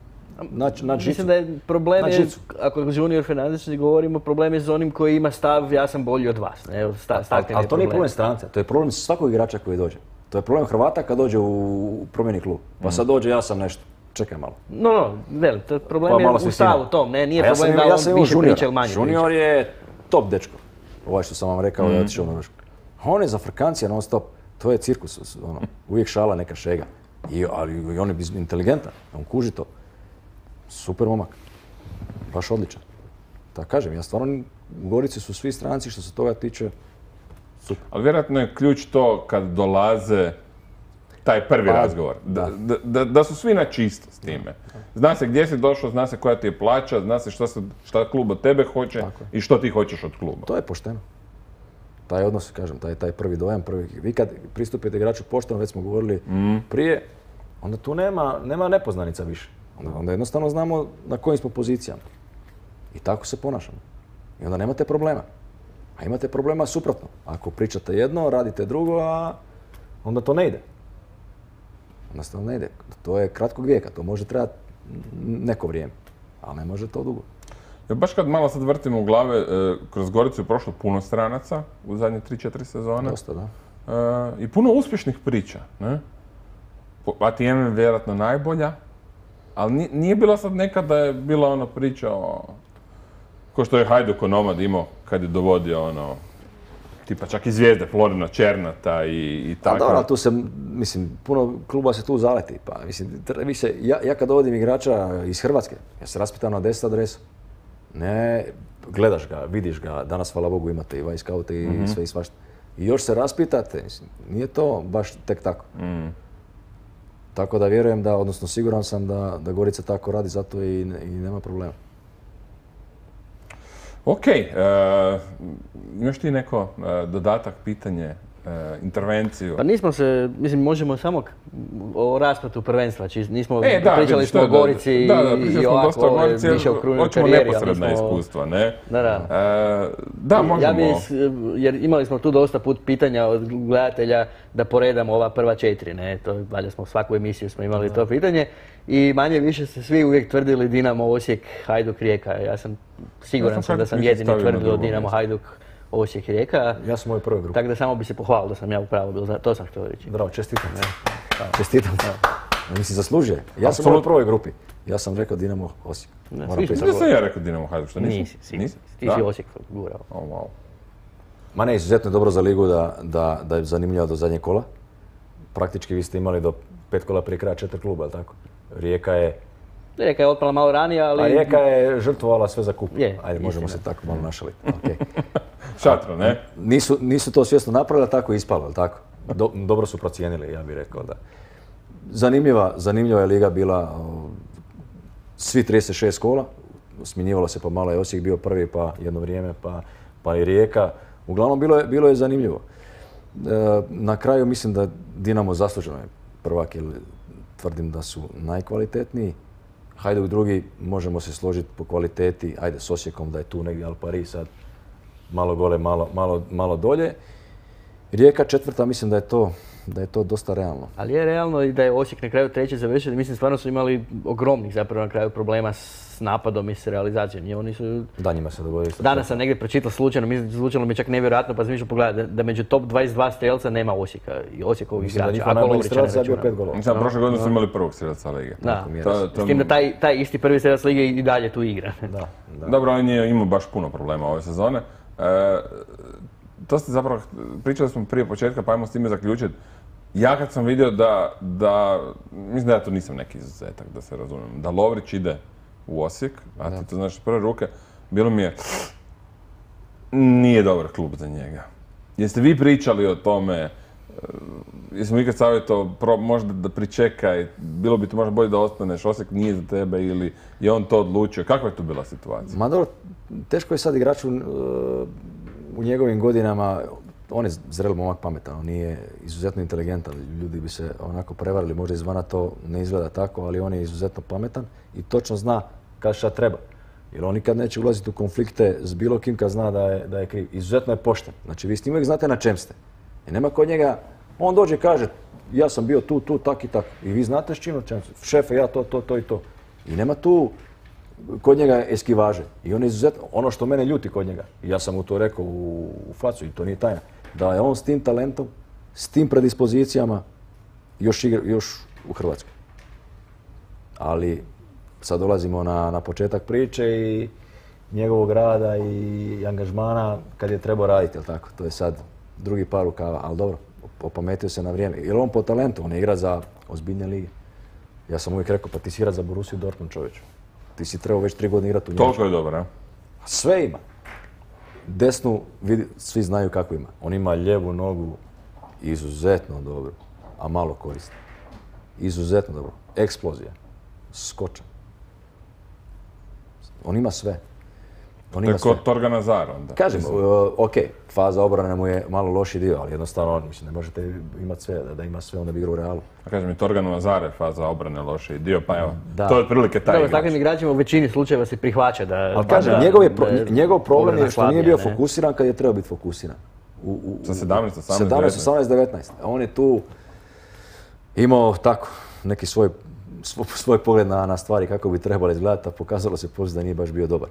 naći naći žicu. Mislim da je problem, Na je, žicu. ako Junior Fernandes govorimo, problem je s onim koji ima stav ja sam bolji od vas. Ne? Sta, Ali, ali to nije problem stranca, to je problem svakog igrača koji dođe. To je problem Hrvata kad dođe u promjeni klub. Pa sad dođe ja sam nešto, čekaj malo. No, no, veli, to je problem Pa je malo u se stavu stima. tom, ne, nije A ja sam problem imao- da ja on sam imao više juniora. priča ili manje Junior priča. je top dečko. Ovaj što sam vam rekao da je otišao u Norvešku. On je za Frkancija non stop. To je cirkus, ono, uvijek šala neka šega. I, ali i on je inteligentan, on kuži to. super momak. Baš odličan. Tako kažem, ja stvarno, u Gorici su svi stranci što se toga tiče super. Ali vjerojatno je ključ to kad dolaze taj prvi Pa, razgovor. Da, da, da, da su svi na čisto s time. Zna se gdje si došao, zna se koja ti je plaća, zna se šta, se, šta klub od tebe hoće Tako je. i što ti hoćeš od kluba. To je pošteno. Taj odnos, kažem, taj, taj prvi dojam, prvi... Vi kad pristupite igraču pošteno, već smo govorili prije, onda tu nema, nema nepoznanica više. Onda, onda jednostavno znamo na kojim smo pozicijama. I tako se ponašamo. I onda nemate problema. A imate problema suprotno. Ako pričate jedno, radite drugo, a onda to ne ide. Jednostavno ne ide. To je kratkog vijeka, to može trebati neko vrijeme. Ali ne može to dugo. Ja, baš kad malo sad vrtimo u glave, e, kroz Goricu je prošlo puno stranaca u zadnje tri četiri sezone. Dosta, da. E, I puno uspješnih priča. Ne? A T M je vjerojatno najbolja, ali nije, nije bilo sad nekad da je bila ona priča o... Ko što je Hajduk Onomad imao kad je dovodio ono... Tipa čak i zvijezde, Florina Černata i, i Pa tako. dobro, ali tu se, mislim, puno kluba se tu zaleti. Pa, mislim, tre- vi se, ja, ja kad dovodim igrača iz Hrvatske, ja se raspitam na deset adresa. Ne, gledaš ga, vidiš ga, danas hvala Bogu imate i Vajskaute i Mhm. sve i svašta. I još se raspitate, mislim, nije to baš tek tako. Mm. Tako da vjerujem da, odnosno siguran sam da, da Gorica tako radi, zato i, ne- i nema problema. Ok, e, imaš ti neko e, dodatak, pitanje, e, intervenciju? Pa nismo se, mislim, možemo samo k- o rasplatu prvenstva, či nismo, E, da, pričali vidiš, smo da, o da, Gorici da, da, pričali i smo ovako, dosta o Gorici, jer više o krunoj hoćemo karijeri, ali neposredna nismo- iskustva, ne? Da, da. E, da, možemo. Ja bi, s- jer imali smo tu dosta put pitanja od gledatelja da poredamo ova prva četiri, ne, to valjda smo svaku emisiju smo imali to pitanje i manje više se svi uvijek tvrdili Dinamo, Osijek, Hajduk, Rijeka. Ja sam siguran Ja sam sam da Hajduk sam isto jedini stavio na tvrdio drugo Dinamo, mjesto. Hajduk, Osijek, Rijeka. Ja sam u ovoj prvoj grupi. Tako da samo bi se pohvalio da sam ja u pravu bio, to sam htio reći. Bravo, čestitam. Čestitam. Mislim, zaslužuje. Ja sam u ovoj prvoj grupi. Ja sam rekao Dinamo Osijek. Ne, Moram sviđa priznati. Mislim da sam ja rekao Dinamo Hajduk, što nisi? Nisi, sigurno. Nisi? Ti Da? si Osijek gurao. Oh, wow. Ma ne, izuzetno je dobro za ligu da, da, da je zanimljivo do zadnjeg kola. Praktički vi ste imali do pet kola prije kraja četiri kluba, jel tako? Rijeka je, Rijeka je otpala malo ranije, ali... a Rijeka je žrtvovala sve za kup. Je, Ajde, možemo se istina. tako malo našaliti. Okay. Šatro, ne? Nisu, nisu to svjesno napravili, ali tako je ispalo, jel tako? Do, dobro su procijenili, ja bih rekao da. Zanimljiva, zanimljiva je liga bila, o, svi trideset šest kola, smjenjivalo se pa malo je Osijek bio prvi, pa jedno vrijeme, pa, pa i Rijeka. Uglavnom bilo je, bilo je zanimljivo. E, na kraju mislim da Dinamo zasluženo je prvak, jer tvrdim da su najkvalitetniji. Hajduk drugi, možemo se složiti po kvaliteti, ajde s Osijekom da je tu negdje Al Paris sad malo gole, malo, malo, malo dolje. Rijeka četvrta, mislim da je to, da je to dosta realno. Ali je realno i da je Osijek na kraju treći završio. Mislim, stvarno su imali ogromnih zapravo na kraju problema s napadom i s realizacijom. I oni su... Da, njima se dogodilo isto. Danas sam negdje pročitao slučajno, mislim, zvučalo mi čak nevjerojatno, pa sam išao pogledati da, da među top dvadeset dva strelca nema Osijeka i Osijekovih Mislim da igrača. njihov ako najbolji Lovrića ne strelac je bio računamo. pet golova. Mislim, prošle godine su imali prvog strelca lige. Da, Tako mi je To- jasno. to- s tim da taj, taj isti prvi strelac lige i dalje tu igra. Da, da. Dobro, on je imao baš puno problema ove sezone. E, to ste zapravo, pričali smo prije početka, pa ajmo s time zaključiti. Ja kad sam vidio da, da, mislim da ja to nisam neki izuzetak, da se razumijem, da Lovrić ide u Osijek, a ti to znaš iz prve ruke, bilo mi je, nije dobar klub za njega. Jeste vi pričali o tome, e, jesmo ikad savjetovao, pro- možda da pričekaj, bilo bi to možda bolje da ostaneš, Osijek nije za tebe ili je on to odlučio, kakva je tu bila situacija? Ma dobro, teško je sad igraču uh, u njegovim godinama, on je zrel momak, pametan, on nije izuzetno inteligentan, ljudi bi se onako prevarili, možda izvana to ne izgleda tako, ali on je izuzetno pametan i točno zna kad šta treba. Jer on nikad neće ulaziti u konflikte s bilo kim kad zna da je, da je kriv. Izuzetno je pošten. Znači vi s njim uvijek znate na čem ste. I nema kod njega, on dođe i kaže ja sam bio tu, tu, tak i tak. I vi znate s čim na čem ste. Šefe, ja to, to, to i to. I nema tu kod njega eskivaže. I on je izuzetno, ono što mene ljuti kod njega, i ja sam mu to rekao u, u facu i to nije tajna, da je on s tim talentom, s tim predispozicijama još, igra, još u Hrvatskoj. Ali sad dolazimo na, na početak priče i njegovog rada i angažmana kad je trebao raditi, jel tako? To je sad drugi par rukava, ali dobro, opametio se na vrijeme. Jer on po talentu, on ne igra za ozbiljne lige. Ja sam uvijek rekao, pa ti si igra za Borussiju Dortmund, čovječu. Ti si trebao već tri godine igrati u Njemačkoj. Toliko je dobro, a? Sve ima. Desnu, vidi, svi znaju kako ima. On ima lijevu nogu izuzetno dobro, a malo koristi. Izuzetno dobro. Eksplozija. Skočan. On ima sve. On To ima je sve. kod Torgan Azar onda. Kažem, uh, ok, faza obrane mu je malo loši dio, ali jednostavno, mislim, ne možete imati sve, da, da ima sve, onda bi igrao u Realu. A kažem, i Torganu Azar je faza obrane loši dio, pa evo, Da. to je otprilike taj Dobro, s igrač. takvim igračima u većini slučajeva se prihvaća da... Ali kažem, da- njegov, je pro- da je njegov problem je obrana što nije slabija, bio ne? fokusiran kad je trebao biti fokusiran. U, u, Sa sedamnaest, osamnaest, sedamnaest, osamnaest, devetnaest. A on je tu imao tako neki svoj, svoj, svoj pogled na, na stvari kako bi trebalo izgledati, a pokazalo se poslije da nije baš bio dobar.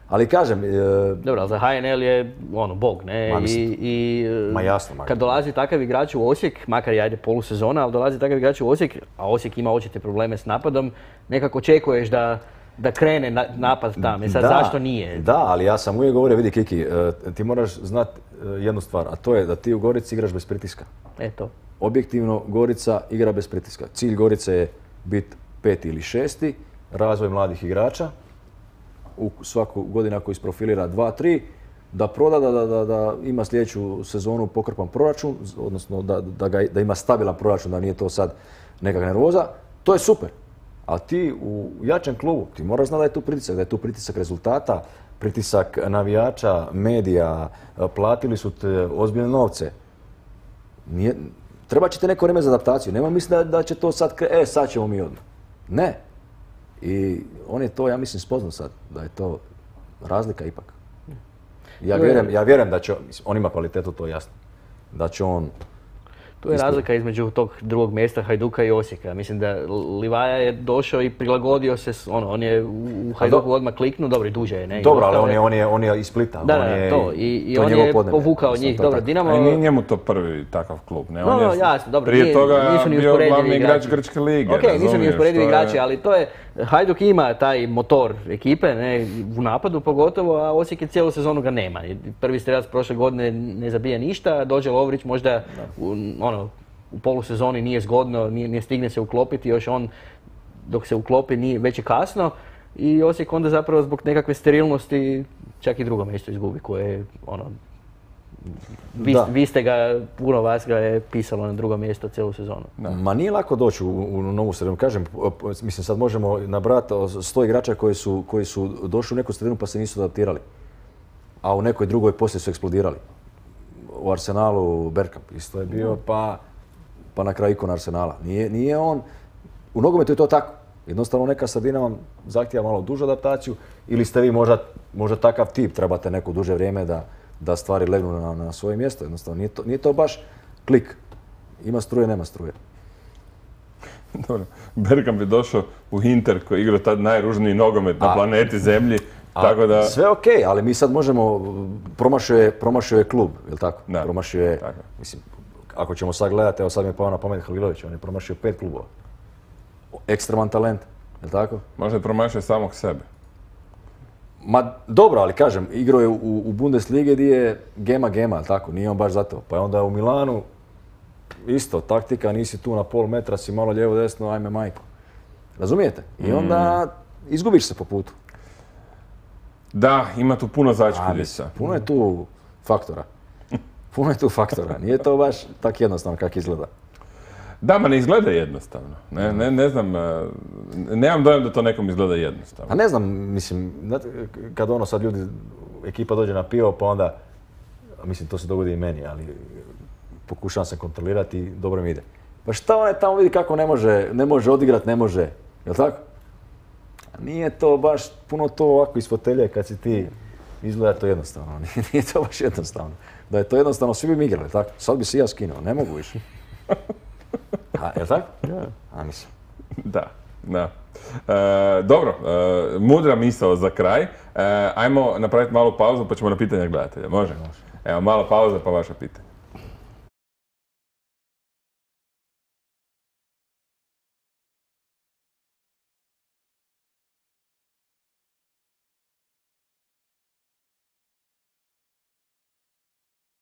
Ali kažem, e, Dobro, ali za H N L je ono, bog, ne? Ma, I, mislim, i ma jasno, ma. kad dolazi takav igrač u Osijek, makar i ajde polusezona, ali dolazi takav igrač u Osijek, a Osijek ima očite probleme s napadom, nekako očekuješ da, da krene na, napad tam. I sad da, zašto nije? Da, ali ja sam uvijek govorio, vidi Kiki, e, ti moraš znati jednu stvar, a to je da ti u Gorici igraš bez pritiska. Eto. Objektivno, Gorica igra bez pritiska. Cilj Gorice je biti peti ili šesti, razvoj mladih igrača, u svaku godinu ako isprofilira dva, tri, da proda, da, da, da, da ima sljedeću sezonu pokrpan proračun, odnosno da, da, ga, da ima stabilan proračun, da nije to sad nekakva nervoza, to je super. A ti u jačem klubu, ti moraš znati da je tu pritisak, da je tu pritisak rezultata, pritisak navijača, medija, platili su te ozbiljne novce. Nije, treba će ti neko vrijeme za adaptaciju. Nema mislim da, da će to sad, kre- e sad ćemo mi odmah. Ne. I on je to, ja mislim, spoznao sad, da je to razlika ipak. Ja vjerujem, ja vjerujem da će, mislim, on ima kvalitetu, to je jasno. Da će on... Tu je razlika između tog drugog mjesta Hajduka i Osijeka. Mislim da Livaja je došao i prilagodio se, s- ono, on je u Hajduku odmah kliknuo, dobro i duže je, ne? I Dobro, ali ostao on je, on je, on je iz Splita. Da, on da, je, to. I, i to on njegovo je podneblje. povukao Mislim, njih. to je Dobro, tako. Dinamo... A i nije njemu to prvi takav klub, ne? No, On je no, jasno, dobro, prije nije- toga nisu ni bio usporedivi glavni igrač igrači. Grčke lige, Ok, nisu ni razumiješ, usporedivi to je- igrači, ali to je, Hajduk ima taj motor ekipe, ne, u napadu pogotovo, a Osijek je cijelu sezonu ga nema. I prvi strelac prošle godine ne zabija ništa, dođe Lovrić možda u, ono, u polusezoni nije zgodno, nije, nije stigne se uklopiti, još on dok se uklopi nije, već je kasno i Osijek onda zapravo zbog nekakve sterilnosti čak i drugo mjesto izgubi koje je ono, vi, Da. vi ste ga, puno vas ga je pisalo na drugo mjesto cijelu sezonu. Ma nije lako doći u, u novu sredinu. Kažem, mislim sad možemo nabrati sto igrača koji su, koji su došli u neku sredinu pa se nisu adaptirali. A u nekoj drugoj poslije su eksplodirali. U Arsenalu Bergkamp isto je bio, pa, pa na kraju ikon Arsenala. Nije, nije on, u nogometu je to tako. Jednostavno neka sredina vam zahtijeva malo dužu adaptaciju ili ste vi možda, možda takav tip, trebate neko duže vrijeme da, da stvari legnu na, na svoje mjesto. Jednostavno nije to, nije to baš klik. Ima struje, nema struje. Dobro, Bergkamp je došao u Inter koji je igrao tad najružniji nogomet na A- planeti Zemlji, A tako da... Sve ok, ali mi sad možemo, promašio je, promašio je klub, jel tako? Da, Promašio je, tako. mislim, ako ćemo sad gledati, evo sad mi je pao na pamet Halilović, on je promašio pet klubova. Ekstreman talent, jel tako? Možda je promašio samog sebe. Ma dobro, ali kažem, igrao je u, u Bundesligi gdje je gema gema, jel tako? Nije on baš zato. Pa je onda u Milanu, isto, taktika, nisi tu na pol metra, si malo lijevo desno, ajme majko. Razumijete? I onda izgubiš se po putu. Da, ima tu puno A, začkuljica. mislim, puno je tu faktora. Puno je tu faktora. Nije to baš tako jednostavno kako izgleda. Da, ma ne izgleda jednostavno. Ne, ne, ne znam, e, nemam dojam da to nekom izgleda jednostavno. A ne znam, mislim, znate, kad ono sad ljudi, ekipa dođe na pivo, pa onda, mislim, to se dogodi i meni, ali pokušavam se kontrolirati i dobro mi ide. Pa šta onaj tamo vidi kako ne može, ne može odigrat, ne može, jel tako? A nije to baš puno to ovako iz fotelje kad si ti, izgleda to jednostavno, nije, nije to baš jednostavno. Da je to jednostavno, svi bi mi igrali, tako? Sad bi se i ja skinuo, ne mogu više. A, jel tako? A, mislim. Da, da. E, dobro, e, mudra misao za kraj. E, ajmo napraviti malu pauzu pa ćemo na pitanja gledatelja, može? Evo, mala pauza pa vaša pitanja.